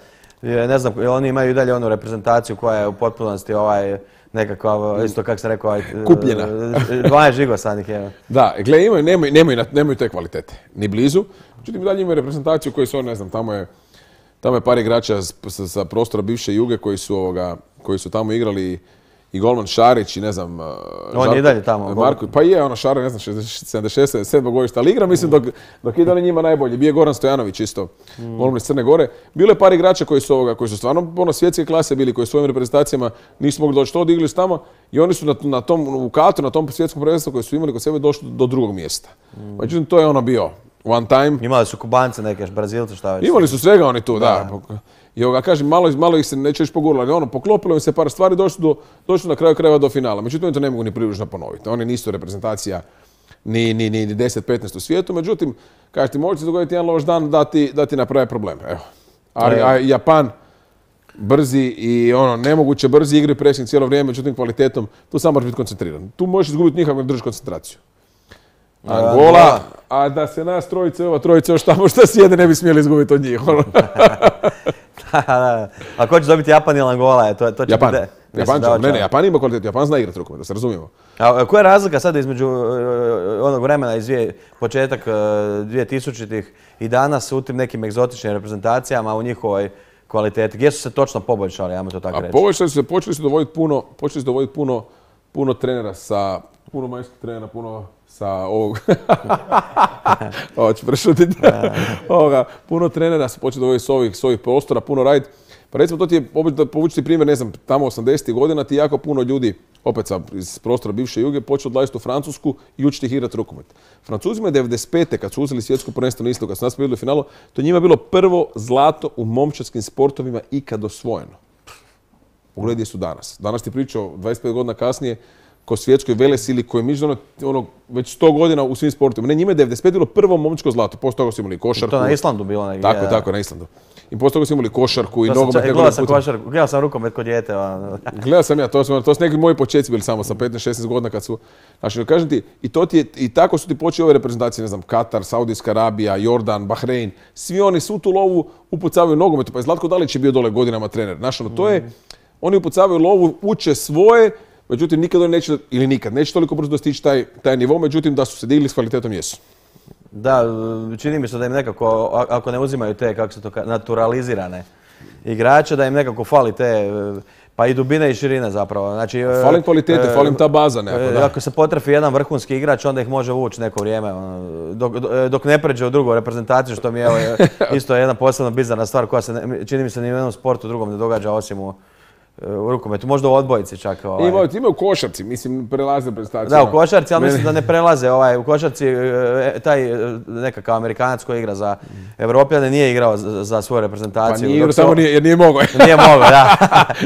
Speaker 2: ne znam, oni imaju i dalje onu reprezentaciju koja je u potpunosti ovaj... nekakva, isto kako sam rekao,
Speaker 3: kupljena.
Speaker 2: dvanaest žigosanih je.
Speaker 3: Da, gledaj, imaju, nemaju, nemaju, nemaju te kvalitete, ni blizu. Međutim, dalje imaju reprezentaciju koji su, ne znam, tamo je, tamo je par igrača sa, sa prostora bivše Juge koji su, ovoga, koji su tamo igrali i golman Šarić i ne znam...
Speaker 2: On je i dalje tamo.
Speaker 3: Marko, pa je, ono Šarić, ne znam, sedamdeset šest sedamdeset sedam godišta, ali igra, mislim, dok, dok ide njima najbolje. Bio je Goran Stojanović isto, mm. golman iz Crne Gore. Bilo je par igrača koji su, ovoga, koji su stvarno ono, svjetske klase bili, koji su svojim reprezentacijama nisu mogli doći to, odigli su tamo i oni su na, na tom, u Katru, na tom svjetskom prvenstvu koji su imali kod sebe došli do drugog mjesta. Mm. Međutim, to je ono bio one time.
Speaker 2: Imali su Kubance neke, Brazilce, šta već.
Speaker 3: Imali su svega oni tu, da. da. I ovoga, kažem, malo, malo ih se neće još poguralo, ali ono, poklopilo im se par stvari, došli, do, došli na kraju krajeva do finala. Međutim, oni to ne mogu ni približno ponoviti. Oni nisu reprezentacija ni, ni, ni deset petnaest u svijetu, međutim, kažeš ti, može se dogoditi jedan loš dan da ti, da ti naprave probleme. Evo. A, a Japan, brzi i ono, nemoguće brzi igri pressing cijelo vrijeme, međutim, kvalitetom, tu samo možeš biti koncentriran. Tu možeš izgubiti nikako ne držiš koncentraciju. Angola, a da se nas trojice, ova trojice još tamo što sjede ne bi smjeli izgubiti od njih.
Speaker 2: A ko će dobiti Japan ili Angola? To, to će
Speaker 3: Japan.
Speaker 2: Biti,
Speaker 3: Japan će, ne, ne, Japan ima kvalitetu, Japan zna igrati rukomet, da se razumijemo.
Speaker 2: A koja je razlika sada između uh, onog vremena iz dvije, početak uh, dvije tisućitih i danas u tim nekim egzotičnim reprezentacijama u njihovoj kvaliteti? Gdje su se točno poboljšali, ajmo to tako reći?
Speaker 3: A poboljšali su se, počeli su dovoditi puno, počeli su dovoditi puno, puno trenera sa, puno majskih trenera, puno sa ovog, ovo ću prešutiti, ovoga, puno trenera su počeli dovoditi s ovih, s ovih prostora, puno raditi. Pa recimo, to ti je, da povučiti primjer, ne znam, tamo osamdesetih godina ti jako puno ljudi, opet sa, iz prostora bivše Juge, počeo odlaziti u Francusku i učiti ih igrati rukomet. Francuzima je devedeset pete kad su uzeli svjetsko prvenstvo na istoku, kad su nas pobjedili u finalu, to njima je bilo prvo zlato u momčadskim sportovima ikad osvojeno. Pogledaj gdje su danas. Danas ti pričao dvadeset pet godina kasnije ko svjetskoj velesili koji je mišljeno ono, već sto godina u svim sportovima. Ne, njima je devedeset pete bilo prvo momčko zlato, poslije toga su imali košarku.
Speaker 2: To na Islandu bilo. Ne,
Speaker 3: tako, je, tako, na Islandu. I poslije toga su imali košarku i
Speaker 2: to
Speaker 3: nogomet.
Speaker 2: Gledao sam košarku, gledao sam rukomet kod dijete.
Speaker 3: Gledao sam ja, to su, to su neki moji početci bili samo sa petnaest šesnaest godina kad su... Znači, kažem ti, i, to ti je, i tako su ti počeli ove reprezentacije, ne znam, Katar, Saudijska Arabija, Jordan, Bahrein, svi oni svu tu lovu upucavaju nogometu, pa je Zlatko Dalić je bio dole godinama trener. Znači, ono, to je, oni upucavaju lovu, uče svoje, međutim, nikad oni neće, ili nikad, neće toliko brzo dostići taj, taj nivo, međutim, da su se digli s kvalitetom jesu.
Speaker 2: Da, čini mi se da im nekako, ako ne uzimaju te, kako se to kaže, naturalizirane igrače, da im nekako fali te, pa i dubine i širine zapravo. Znači,
Speaker 3: fali kvalitete, fali im ta baza nekako, da.
Speaker 2: Ako se potrefi jedan vrhunski igrač, onda ih može vući neko vrijeme, dok, dok ne pređe u drugu reprezentaciju, što mi je evo, isto jedna posebno bizarna stvar koja se, čini mi se, ni u jednom sportu drugom ne događa osim u u rukometu, možda u odbojici čak. Ovaj.
Speaker 3: Ima, ima u košarci, mislim, prelaze prestacije.
Speaker 2: Da, u košarci, ali mislim da ne prelaze. Ovaj, u košarci taj nekakav Amerikanac koji igra za Evropljane nije igrao za, za svoju reprezentaciju.
Speaker 3: Pa nije igrao, samo nije, jer nije mogao.
Speaker 2: Nije mogao, da.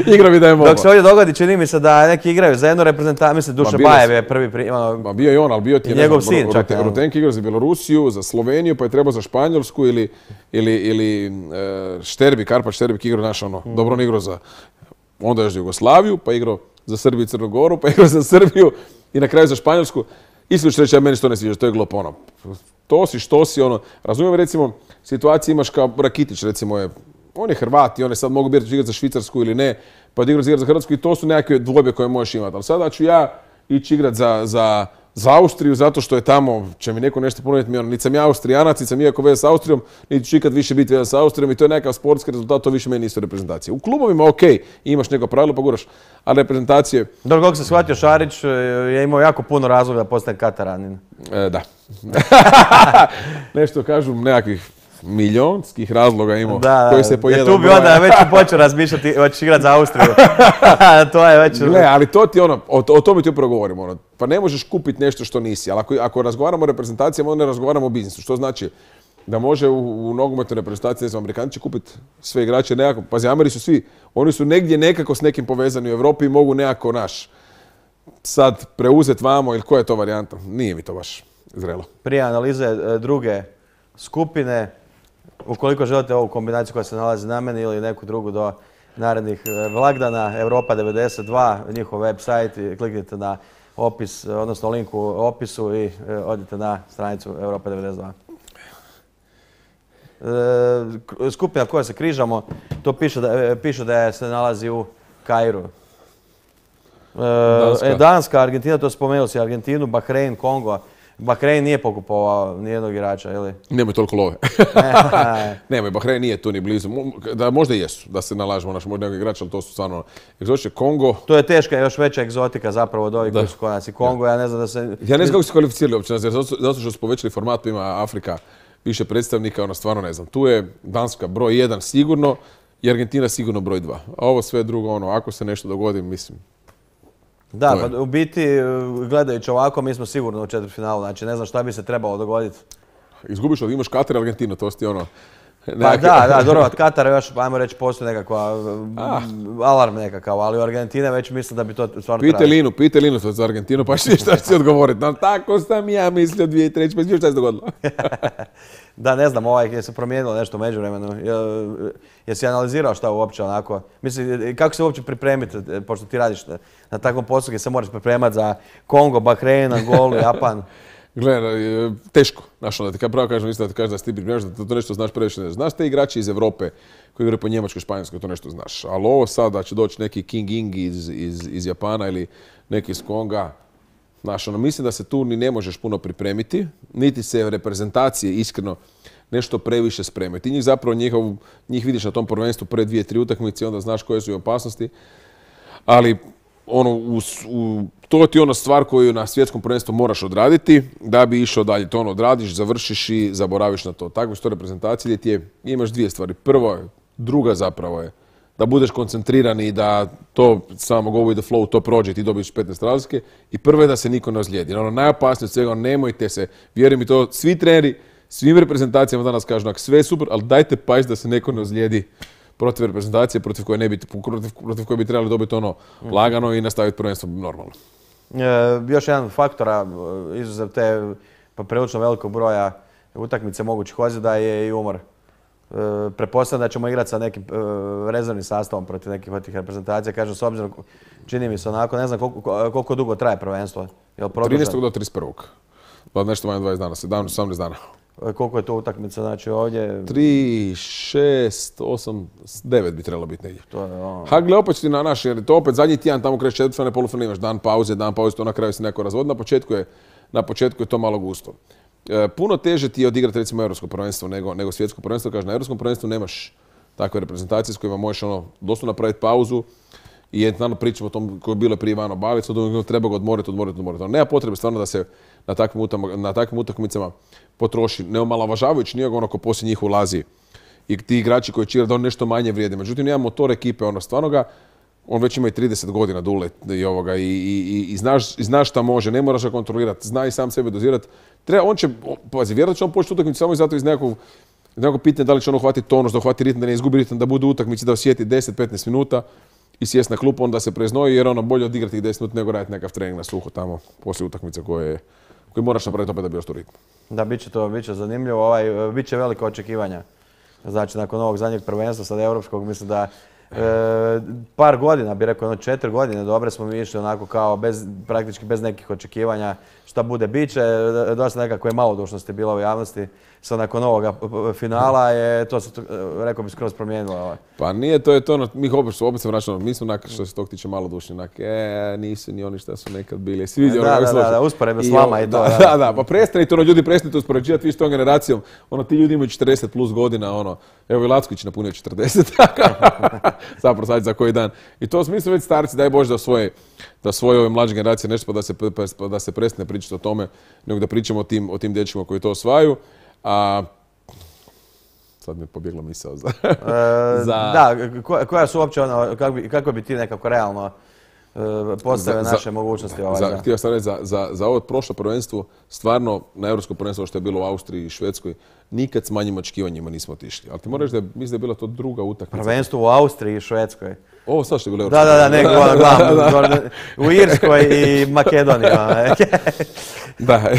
Speaker 3: Igrao bi da je mogao.
Speaker 2: Dok se ovdje dogodi, čini mi se da neki igraju za jednu reprezentaciju, mislim, Duša Bajev je prvi pri... Ono,
Speaker 3: ma bio je on, ali bio ti je,
Speaker 2: njegov ne znam, sin čak.
Speaker 3: Rutenki igrao za Bjelorusiju, za Sloveniju, pa je trebao za Španjolsku ili, ili, ili uh, Šterbi, Karpa Šterbik igrao naš, ono, mm. dobro on igrao za... Onda još za Jugoslaviju, pa igrao za Srbiju i Crnu Goru, pa igrao za Srbiju i na kraju za Španjolsku. Isto ću reći, ja meni što ne sviđa, to je glupo, ono. To si, što si, ono. Razumijem, recimo, situacije imaš kao Rakitić, recimo je, on je Hrvat i on je sad mogu biti igrati za Švicarsku ili ne, pa da igrati za Hrvatsku i to su nekakve dvojbe koje možeš imati. Ali sada ću ja ići igrati za, za, za Austriju zato što je tamo, će mi neko nešto ponuditi, mi ono, niti sam ja Austrijanac, niti sam ikako veze s Austrijom, niti ću ikad više biti veze s Austrijom i to je nekakav sportski rezultat, to više meni nisu reprezentacije. U klubovima ok, imaš neko pravilo pa guraš, ali reprezentacije...
Speaker 2: Dobro, kako se shvatio, Šarić je imao jako puno razloga da postane Kataranin.
Speaker 3: E, da. Nešto kažu nekakvih milionskih razloga imao
Speaker 2: da,
Speaker 3: koji se pojedu.
Speaker 2: Tu bi onda već počeo razmišljati, hoćeš igrati za Austriju. To je već...
Speaker 3: Ne, ali to ti ono, o, o tome ti upravo govorimo. Ono. Pa ne možeš kupiti nešto što nisi, ali ako, ako razgovaramo o reprezentacijama, onda ne razgovaramo o biznisu. Što znači da može u, u nogometnoj reprezentaciji, ne znam, Amerikanci će kupiti sve igrače nekako. Pazi, Ameri su svi, oni su negdje nekako s nekim povezani u Europi i mogu nekako naš sad preuzeti vamo ili koja je to varijanta. Nije mi to baš zrelo.
Speaker 2: Prije analize druge skupine, ukoliko želite ovu kombinaciju koja se nalazi na meni ili neku drugu do narednih blagdana, Europa devedeset dva, njihov website, kliknite na opis, odnosno link u opisu i odite na stranicu Europa devedeset dva. Skupina koja se križamo, to piše da, piše da se nalazi u Kairu. Danska. Danska, Argentina, to spomenuo si Argentinu, Bahrein, Kongo. Bahrein nije pokupovao nijednog igrača, ili?
Speaker 3: Nemoj toliko love. Nemoj, Bahrein nije tu ni blizu. Da, možda i jesu, da se nalažemo naš možda nekog igrača, ali to su stvarno egzotične. Kongo...
Speaker 2: To je teška, još veća egzotika zapravo od ovih koji su kod nas. I Kongo, ja ne znam da se...
Speaker 3: Ja ne znam kako se kvalificirali uopće, zato što su povećali format, ima Afrika više predstavnika, ono stvarno ne znam. Tu je Danska broj jedan sigurno i Argentina sigurno broj dva. A ovo sve drugo, ono, ako se nešto dogodi, mislim...
Speaker 2: Da, pa u biti, gledajući ovako, mi smo sigurno u četvrtfinalu, znači ne znam šta bi se trebalo dogoditi.
Speaker 3: Izgubiš od imaš Katar i Argentinu, to ti ono...
Speaker 2: Pa da, da, dobro, od Katara još, ajmo reći, postoji nekakva ah. alarm nekakav, ali u Argentine već mislim da bi to stvarno
Speaker 3: trebalo. Pite Linu, pite Linu za Argentinu, pa šta će ti odgovoriti. No, tako sam ja mislio dvije i treći, pa šta se dogodilo?
Speaker 2: Da, ne znam, ovaj, je se promijenilo nešto u međuvremenu. Jesi analizirao šta uopće onako? Mislim, kako se uopće pripremiti, pošto ti radiš na takvom poslu gdje se moraš pripremati za Kongo, Bahrein, Angolu, Japan?
Speaker 3: Gledaj, teško. Znaš, onda ti kao pravo kažem, isto da ti kažeš da si ti pripremaš, da to nešto znaš previše ne znaš. Te igrači iz Europe koji igraju po Njemačkoj, Španjolskoj, to nešto znaš. Ali ovo sad da će doći neki King Ing iz, iz, iz Japana ili neki iz Konga, znaš, ono, mislim da se tu ni ne možeš puno pripremiti, niti se reprezentacije iskreno nešto previše spremaju. Ti njih zapravo njihov, njih vidiš na tom prvenstvu pre dvije, tri utakmice i onda znaš koje su i opasnosti. Ali ono, u, u, to ti je ona stvar koju na svjetskom prvenstvu moraš odraditi da bi išao dalje. To ono odradiš, završiš i zaboraviš na to. Takve su to reprezentacije gdje ti je, imaš dvije stvari. Prvo je, druga zapravo je da budeš koncentriran i da to samo go with the flow, to prođe i ti dobiješ petnaest razlike. I prvo je da se niko ne ozlijedi. Ono, najopasnije od svega, nemojte se, vjeruj mi to, svi treneri, svim reprezentacijama danas kažu, sve je super, ali dajte pazite da se neko ne ozlijedi protiv reprezentacije, protiv koje, ne bi, protiv, protiv koje bi trebali dobiti ono lagano i nastaviti prvenstvo normalno.
Speaker 2: E, još jedan faktora, izuzev te pa prilično velikog broja utakmice mogućih ozljeda je i umor. E, pretpostavljam da ćemo igrati sa nekim e, rezervnim sastavom protiv nekih od tih reprezentacija. Kažem, s obzirom, čini mi se onako, ne znam koliko, koliko dugo traje prvenstvo.
Speaker 3: trinaestog do trideset prvog Pa nešto manje dvadeset dana, sedamnaest osamnaest dana.
Speaker 2: Koliko je to utakmica, znači ovdje?
Speaker 3: tri, šest, osam, devet bi trebalo biti negdje.
Speaker 2: To je ono...
Speaker 3: Ha, gle, opet ti na naš, jer to opet zadnji tjedan tamo kreće četvrtfinale, polufinaale, imaš dan pauze, dan pauze, to na kraju se neko razvodi. Na početku je, na početku je to malo gusto. E, puno teže ti je odigrati recimo europsko prvenstvo nego, nego svjetsko prvenstvo. Kaže, na europskom prvenstvu nemaš takve reprezentacije s kojima možeš ono, doslovno napraviti pauzu i jednostavno pričamo o tom koji je bilo prije Ivano Balić, od treba ga odmoriti, odmoriti, odmoriti. Nema potrebe stvarno da se na takvim, na takvim utakmicama potroši, ne omalovažavajući nijegoga ono ko poslije njih ulazi i ti igrači koji će da on nešto manje vrijede. Međutim, nema motor ekipe, ono stvarno ga, on već ima i trideset godina dule i, ovoga, i, i, i, znaš, i znaš šta može, ne moraš ga kontrolirati, zna i sam sebe dozirati. Treba, on će, pazi, vjerojatno će on početi utakmicu samo i zato iz nekog, nekog pitanja da li će on uhvatiti tonus, da uhvati ritam, da ne izgubi ritam, da bude u utakmici, da osjeti deset do petnaest minuta i sjest na klupu, onda se preznoji jer ono bolje odigrati ih deset minuta nego raditi nekakav trening na suho tamo poslije utakmice koje, koje moraš napraviti opet da bi ostao ritam.
Speaker 2: Da, bit će to, bit će zanimljivo, ovaj, bit će velika očekivanja. Znači, nakon ovog zadnjeg prvenstva, sad europskog, mislim da e, par godina, bi rekao, jedno četiri godine dobre smo mi išli onako kao bez, praktički bez nekih očekivanja šta bude bit će. Dosta nekakve malodušnosti bilo u javnosti. Sad nakon ovoga finala je to se, rekao bi, skroz promijenilo.
Speaker 3: Pa nije, to je to, mi opet, opet se vraćamo, mi smo onak što se tog tiče malodušni, onak, e, nisu ni oni šta su nekad bili. Svi
Speaker 2: da, da, da, da, usporedno s vama i to.
Speaker 3: Da, da, da, pa prestanite, ono, ljudi prestanite uspoređivati vi s tom generacijom, ono, ti ljudi imaju četrdeset plus godina, ono, evo i Lacković napunio četrdeset, zapravo sad za koji dan. I to mi smo već starci, daj Bože da svoje, da svoje ove mlađe generacije nešto pa da se, pa da se prestane pričati o tome, nego da pričamo o tim, o tim dečkima koji to osvajaju. A sad mi je pobjegla misao za...
Speaker 2: e, za... Da, koja su uopće ono, kako bi, kako bi ti nekako realno e, postavili naše za, mogućnosti? Ovaj,
Speaker 3: za, htio sam reći, za, za, za ovo prošlo prvenstvo, stvarno na europsko prvenstvo što je bilo u Austriji i Švedskoj, nikad s manjim očekivanjima nismo otišli. Ali ti moraš da mislim da je bila to druga utakmica.
Speaker 2: Prvenstvo u Austriji i Švedskoj.
Speaker 3: Ovo sad što je bilo
Speaker 2: da, da, da, nego glavno. U Irskoj i Makedoniji.
Speaker 3: Da,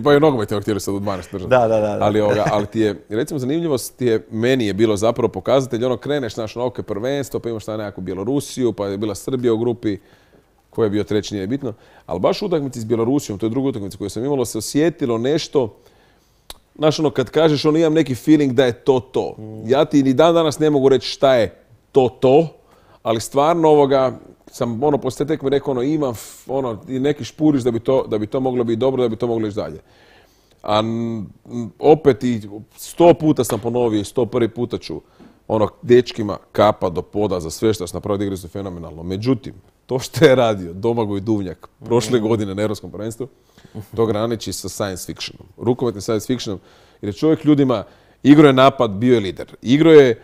Speaker 3: pa i nogomet je htjeli sad u dvanaest držati.
Speaker 2: Da, da, da.
Speaker 3: Ali, ovoga, ali ti je, recimo, zanimljivost ti je, meni je bilo zapravo pokazatelj, ono kreneš naš na ok prvenstvo, pa imaš tamo nekakvu Bjelorusiju, pa je bila Srbija u grupi, ko je bio treći, nije bitno. Ali baš u utakmici s Bjelorusijom, to je druga utakmica koju sam imalo, se osjetilo nešto, znaš ono, kad kažeš, ono, imam neki feeling da je to to. Ja ti ni dan danas ne mogu reći šta je to to, ali stvarno ovoga, sam ono poslije tekme rekao ono imam ono i neki špuriš da bi to da bi to moglo biti dobro, da bi to moglo ići dalje. A n, opet i sto puta sam ponovio i sto prvi puta ću ono dečkima kapa do poda za sve što su napravili, igre su fenomenalno. Međutim, to što je radio Domagoj Duvnjak prošle godine na Europskom prvenstvu, to graniči sa science fictionom. Rukometnim science fictionom, jer je čovjek ljudima igrao je napad, bio je lider. Igrao je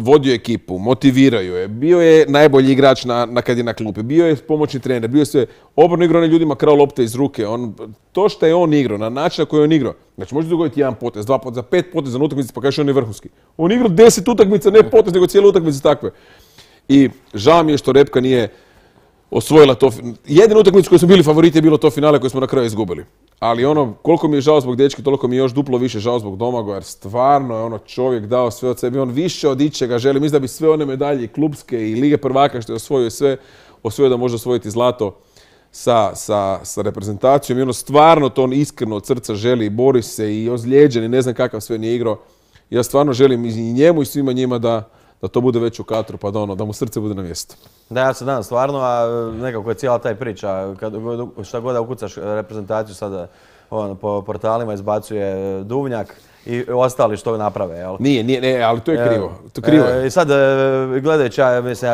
Speaker 3: vodio ekipu, motiviraju je, bio je najbolji igrač na, na kad je na klupi, bio je pomoćni trener, bio je sve obrno igrao na ljudima krao lopte iz ruke. On, to što je on igrao, na način na koji je on igrao, znači može dogoditi jedan potez, dva poteza, pet poteza na utakmici, pa kažeš on je vrhunski. On igrao deset utakmica, ne potez, nego cijelu utakmice takve. I žao mi je što Repka nije osvojila to. Jedina utakmica koju smo bili favoriti je bilo to finale koje smo na kraju izgubili. Ali ono, koliko mi je žao zbog dečki, toliko mi je još duplo više žao zbog Domagoja, jer stvarno je ono čovjek dao sve od sebe. On više od ičega želi. Mislim da bi sve one medalje i klubske i Lige prvaka što je osvojio sve, osvojio da može osvojiti zlato. sa, sa, sa reprezentacijom i ono stvarno to on iskreno od srca želi i bori se i ozlijeđen i ne znam kakav sve nije igrao. Ja stvarno želim i njemu i svima njima da, da to bude već u katru, pa da, ono, da mu srce bude na mjestu.
Speaker 2: Da, ja se nadam stvarno, a nekako je cijela taj priča, kad, šta god da ukucaš reprezentaciju sada on, po portalima izbacuje Duvnjak i ostali što naprave, jel?
Speaker 3: Nije, nije, ne, ali to je krivo. To krivo je.
Speaker 2: I sad, gledajući, ja mislim,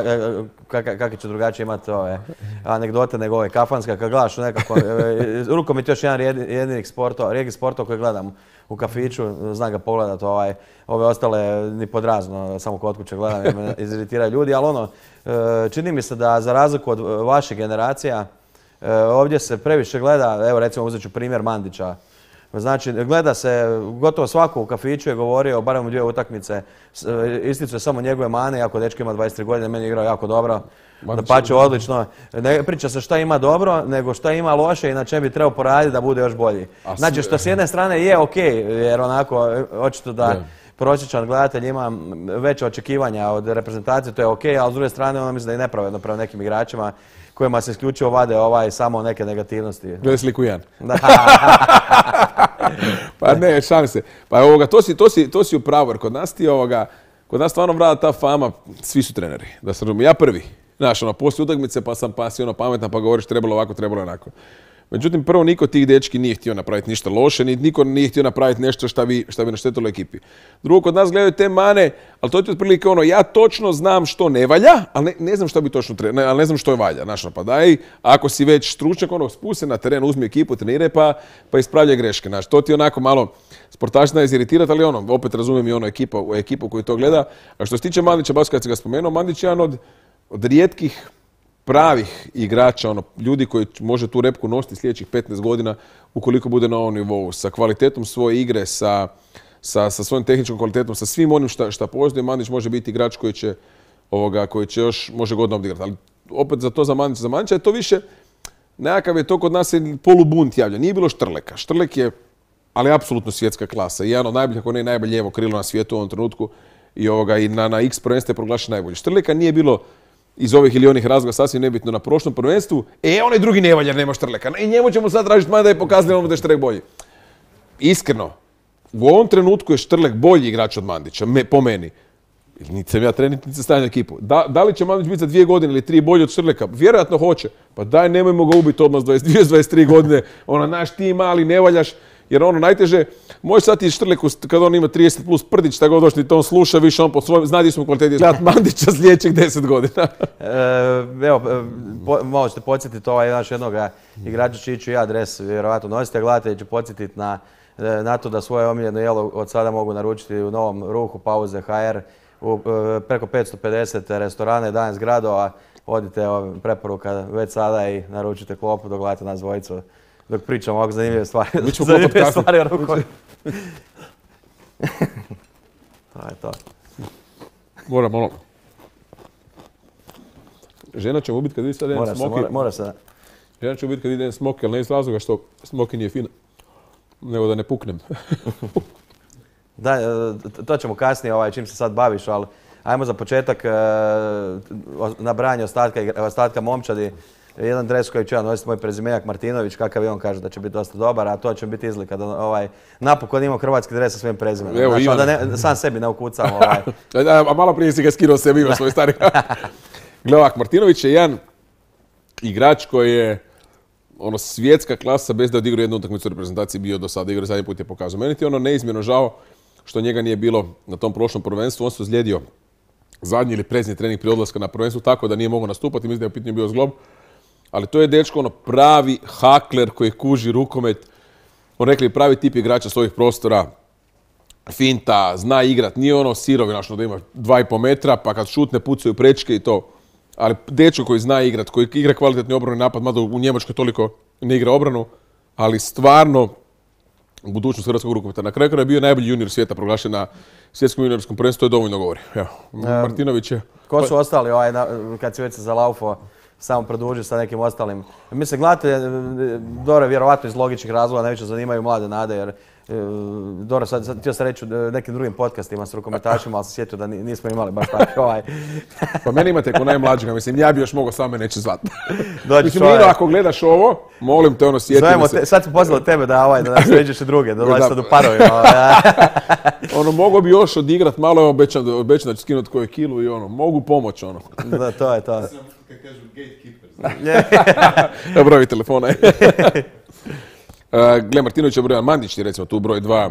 Speaker 2: kakve će drugačije imati ove anegdote nego ove kafanske, kad gledaš nekako, rukomet još jedan jedinih sportova, rijetkih sportova koje gledam u kafiću, znam ga pogledat, ovaj, ove ostale ni pod razno, samo kod kuće gledam jer me iziritiraju ljudi, ali ono, čini mi se da za razliku od vaših generacija, ovdje se previše gleda, evo recimo uzet ću primjer Mandića. Znači, gleda se, gotovo svako u kafiću je govorio, barem u dvije utakmice, isticuje samo njegove mane, jako dečko ima dvadeset tri godine, meni je igrao jako dobro, dapače odlično. Ne priča se šta ima dobro, nego šta ima loše i na čem bi trebao poraditi da bude još bolji. Znači, što s jedne strane je ok, jer onako, očito da prosječan gledatelj ima veće očekivanja od reprezentacije, to je ok, ali s druge strane ono mislim da je nepravedno prema nekim igračima kojima se isključivo vade ovaj samo neke negativnosti.
Speaker 3: Gledaj sliku Jan. Pa ne, šalim se. Pa ovoga, to si, to si, to si u pravu, jer kod nas ti ovoga, kod nas stvarno vlada ta fama, svi su treneri. Da se razumije, ja prvi. Znaš, ono, poslije utakmice pa sam pa si ono pametan pa govoriš trebalo ovako, trebalo onako. Međutim, prvo niko tih dečki nije htio napraviti ništa loše, ni niko nije htio napraviti nešto šta bi, šta bi naštetilo ekipi. Drugo, kod nas gledaju te mane, ali to je otprilike ono, ja točno znam što ne valja, ali ne, ne znam što bi točno trebalo, ne, ali ne znam što je valja. Znaš, pa daj, ako si već stručnjak, ono, spusti se na teren, uzmi ekipu, treniraj pa, pa ispravljaj greške. Znaš, to ti onako malo sportaš zna iziritirati, ali ono, opet razumijem i ono ekipa, ekipu koji to gleda. A što se tiče Mandića, baš kad si ga spomenuo, Mandić je jedan od, od rijetkih pravih igrača, ono, ljudi koji može tu repku nositi sljedećih petnaest godina ukoliko bude na ovom nivou, sa kvalitetom svoje igre, sa, sa, sa svojom tehničkom kvalitetom, sa svim onim šta, šta postoji. Mandić može biti igrač koji će, ovoga, koji će još može godinama odigrati. Ali opet za to za Mandića, za Mandića je to više, nekakav je to kod nas je polubunt javlja. Nije bilo Štrleka. Štrlek je, ali apsolutno svjetska klasa. I jedan od najboljih, ako ne najbolje lijevo krilo na svijetu u ovom trenutku i, ovoga, i na, na X prvenstvu je proglašen najbolji. Štrleka nije bilo iz ovih ili onih razloga sasvim nebitno na prošlom prvenstvu, e, onaj drugi ne valja, nema Štrleka. I njemu ćemo sad tražiti manje da je pokazali da je Štrlek bolji. Iskreno, u ovom trenutku je Štrlek bolji igrač od Mandića, me, po meni. Niti sam ja trener, niti sam stavljam ekipu. Da, da li će Mandić biti za dvije godine ili tri bolji od Štrleka? Vjerojatno hoće. Pa daj, nemojmo ga ubiti odmah s dvadeset dvije dvadeset tri godine. Ona, naš ti mali, ne valjaš. Jer ono najteže, može sad i Štrleku, kad on ima trideset plus prdić, tako došli, to on sluša više, on po svojom, zna di smo kvaliteti gledat Mandića sljedećih deset godina.
Speaker 2: e, evo, po, malo ćete podsjetiti ovaj naš jednog igrača čiji ću ja dres, vjerovatno nosite, gledatelji ću podsjetiti na, na to da svoje omiljeno jelo od sada mogu naručiti u novom ruhu Pauze H R, u preko petsto pedeset restorana i danas gradova. Odite, preporuka već sada i naručite klopu dok gledate nas dvojicu. Dok pričamo ovako zanimljive stvari.
Speaker 3: Mi ćemo zanimljive
Speaker 2: stvari o rukometu. To je to.
Speaker 3: Moram ono. Žena će mu biti kad vidi sad jedan smoki.
Speaker 2: Mora, mora se.
Speaker 3: Žena će mu biti kad vidi jedan smoki, ali ne iz razloga što smoki nije fina. Nego da ne puknem.
Speaker 2: Da, to ćemo kasnije, ovaj, čim se sad baviš, ali ajmo za početak nabrajanje ostatka, ostatka momčadi. Jedan dres koji ću ja nositi, moj prezimenjak Martinović, kakav je on kaže da će biti dosta dobar, a to će biti izlika da ovaj, napokon imam hrvatski dres sa svojim prezimenom. Evo, znači, onda ne, sam sebi ne ukucam. Ovaj.
Speaker 3: A, a malo prije si ga skinuo sebi, ima svoj stari. Gle ovak, Martinović je jedan igrač koji je ono, svjetska klasa bez da odigrao jednu utakmicu u reprezentaciji bio do sada. Igrao zadnji put je pokazao. Meni ti je ono neizmjerno žao što njega nije bilo na tom prošlom prvenstvu. On se ozlijedio zadnji ili predzadnji trening prije odlaska na prvenstvu tako da nije mogao nastupati. Mislim da je u pitanju bio zglob. Ali to je dečko ono pravi hakler koji kuži rukomet. On rekli pravi tip igrača svojih prostora. Finta, zna igrat, nije ono sirovinačno da ima dva i pol metra, pa kad šutne pucaju prečke i to. Ali dečko koji zna igrat, koji igra kvalitetni obrani napad, mada u Njemačkoj toliko ne igra obranu, ali stvarno budućnost hrvatskog rukometa. Na kraju je bio najbolji junior svijeta proglašen na svjetskom juniorskom prvenstvu, to je dovoljno govori. Evo, Martinović je...
Speaker 2: Ko su ostali ovaj, kad si već se zalaufo? Samo produži sa nekim ostalim. Mislim, gledate, dobro, vjerovatno iz logičnih razloga najviše zanimaju mlade nade, jer dobro, sad, sad htio sam reći u nekim drugim podcastima s rukometašima, ali sam sjetio da nismo imali baš tako ovaj.
Speaker 3: Pa meni imate ko najmlađega, mislim, ja bi još mogao sam me neće zvati. Mislim,
Speaker 2: ovaj...
Speaker 3: Lino, ako gledaš ovo, molim te, ono, sjeti me se.
Speaker 2: Te, sad sam pozvao tebe da, ovaj, da nas ređeš i druge, da dolazi sad u parovima.
Speaker 3: Ono, mogu bi još odigrat malo, evo, obećam, obećam da ću skinuti koju kilu i ono, mogu pomoć, ono.
Speaker 2: Da, to je to.
Speaker 1: Kad kažu gatekeepers.
Speaker 3: Evo broj telefona. Uh, Gle, Martinović je broj jedan, Mandić je recimo tu broj dva.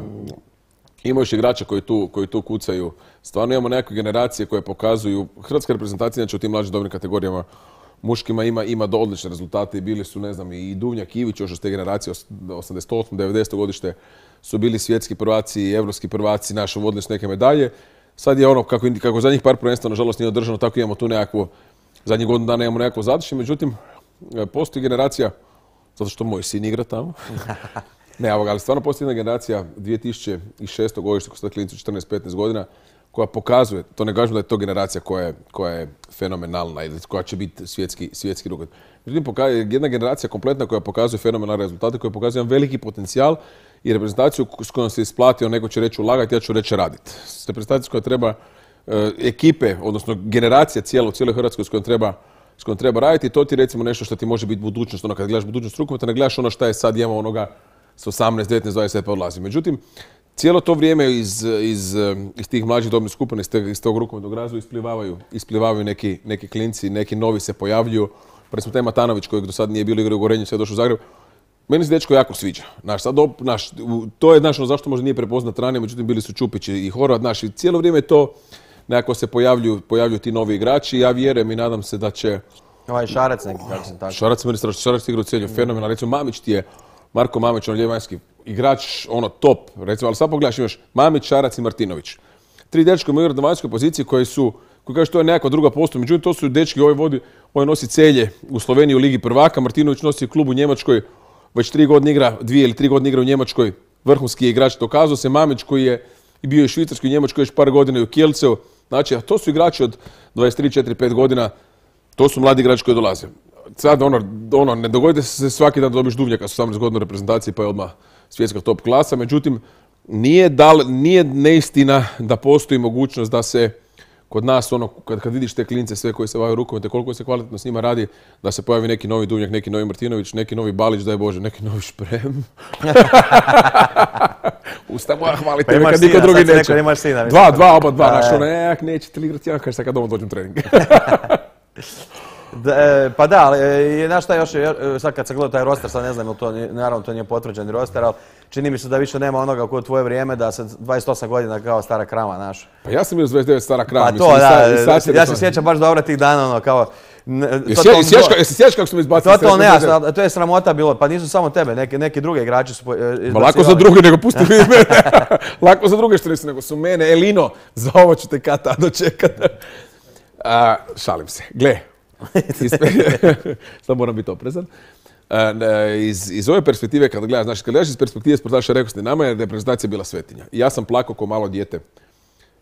Speaker 3: Ima još igrača koji tu, koji tu kucaju. Stvarno imamo nekakve generacije koje pokazuju, hrvatska reprezentacija inače u tim mlađim dobrim kategorijama muškima ima, ima do odlične rezultate i bili su, ne znam, i Duvnjak i Ivić još iz te generacije, osamdeset osmo devedeseto godište su bili svjetski prvaci i evropski prvaci, naši vodili su neke medalje. Sad je ono, kako, kako zadnjih par prvenstva nažalost nije održano, tako imamo tu nekakvu, zadnjih godinu dana imamo nekakvo zadišće, međutim, postoji generacija, zato što moj sin igra tamo. Ne, ali stvarno postoji jedna generacija dvije tisuće šesto godište, ko su klinci četrnaest petnaest godina, koja pokazuje, to ne kažem da je to generacija koja je, koja je fenomenalna ili koja će biti svjetski, svjetski rukomet. Međutim, pokazuje, jedna generacija kompletna koja pokazuje fenomenalne rezultate, koja pokazuje jedan veliki potencijal i reprezentaciju s kojom se isplatio, neko će reći ulagati, ja ću reći raditi. Reprezentacija koja treba, e, ekipe, odnosno generacija cijela u cijeloj Hrvatskoj s kojom treba s kojom treba raditi, to ti recimo nešto što ti može biti budućnost, ono kad gledaš budućnost rukometa, ne gledaš ono šta je sad, imamo onoga s osamnaest, devetnaest, dvadeset pa odlazi. Međutim, cijelo to vrijeme iz, iz, iz tih mlađih dobnih skupina, iz, iz tog rukometnog razvoja isplivavaju, isplivavaju neki, neki klinci, neki novi se pojavljuju. Recimo taj Matanović kojeg do sad nije bilo igra u Gorenju, sad je došao u Zagreb. Meni se dečko jako sviđa. Naš, sad, naš, to je znaš, ono, zašto možda nije prepoznat ranije, međutim bili su Čupić i Horvat. Naš, i cijelo vrijeme to nekako se pojavljuju, pojavljuju ti novi igrači. Ja vjerujem i nadam se da će...
Speaker 2: Ovaj Šarac neki, kako sam tako.
Speaker 3: Šarac meni strašno, Šarac igra u cijelju fenomenalno. Recimo Mamić ti je, Marko Mamić, on ljevanjski igrač, ono top, recimo, ali sad pogledaš imaš Mamić, Šarac i Martinović. Tri dečka imaju igrati na vanjskoj poziciji koji su, koji kažu to je nekakva druga postoja, međutim to su dečki, ovaj vodi, ovaj nosi Celje u Sloveniji u Ligi prvaka, Martinović nosi klub u Njemačkoj, već tri godine igra, dvije ili tri godine igra u Njemačkoj, vrhunski je igrač, dokazao se Mamić koji je i bio i švicarski u Njemačkoj još par godina i u Kielceu, znači, a to su igrači od dvadeset tri, četiri, pet godina, to su mladi igrači koji dolaze. Sad ono, ono, ne dogodi se svaki dan da dobiš Duvnjaka s osamnaest godina u reprezentaciji pa je odmah svjetska top klasa, međutim nije, dal, nije neistina da postoji mogućnost da se kod nas, ono, kad, kad vidiš te klince sve koji se bave rukomete, koliko se kvalitetno s njima radi, da se pojavi neki novi Duvnjak, neki novi Martinović, neki novi Balić, daj Bože, neki novi Šprem. Usta moja hvalite me kad niko drugi neće.
Speaker 2: Imaš sina,
Speaker 3: dva, dva, oba dva, znaš ono, ek, nećete li igrati, ja kažeš sad kad doma dođem trening.
Speaker 2: Da, e, pa da, ali je, znaš šta još, sad kad sam gledao taj roster, sad ne znam, to, naravno to nije potvrđeni roster, ali čini mi se da više nema onoga koje u tvoje vrijeme, da se dvadeset osam godina kao stara krava, znaš.
Speaker 3: Pa ja sam bio dvadeset devet stara krava.
Speaker 2: Pa mislim, to, da, i sad, i ja se sjećam baš dobro tih dana, ono, kao...
Speaker 3: Jesi sjećaš kako su me izbacili?
Speaker 2: To, to, ne, ja, to je sramota bilo, pa nisu samo tebe, neki, neki drugi igrači su izbacivali.
Speaker 3: Ma lako za druge nego pusti mi mene. Lako za druge što nisu, nego su mene. Elino, za ovo ću te kata dočekati. Šalim se. Gle. Sad moram biti oprezan. Iz, iz ove perspektive, kad gledaš, znači, kad gledaš iz perspektive sportaša, rekao ste, nama je reprezentacija bila svetinja. I ja sam plakao ko malo dijete.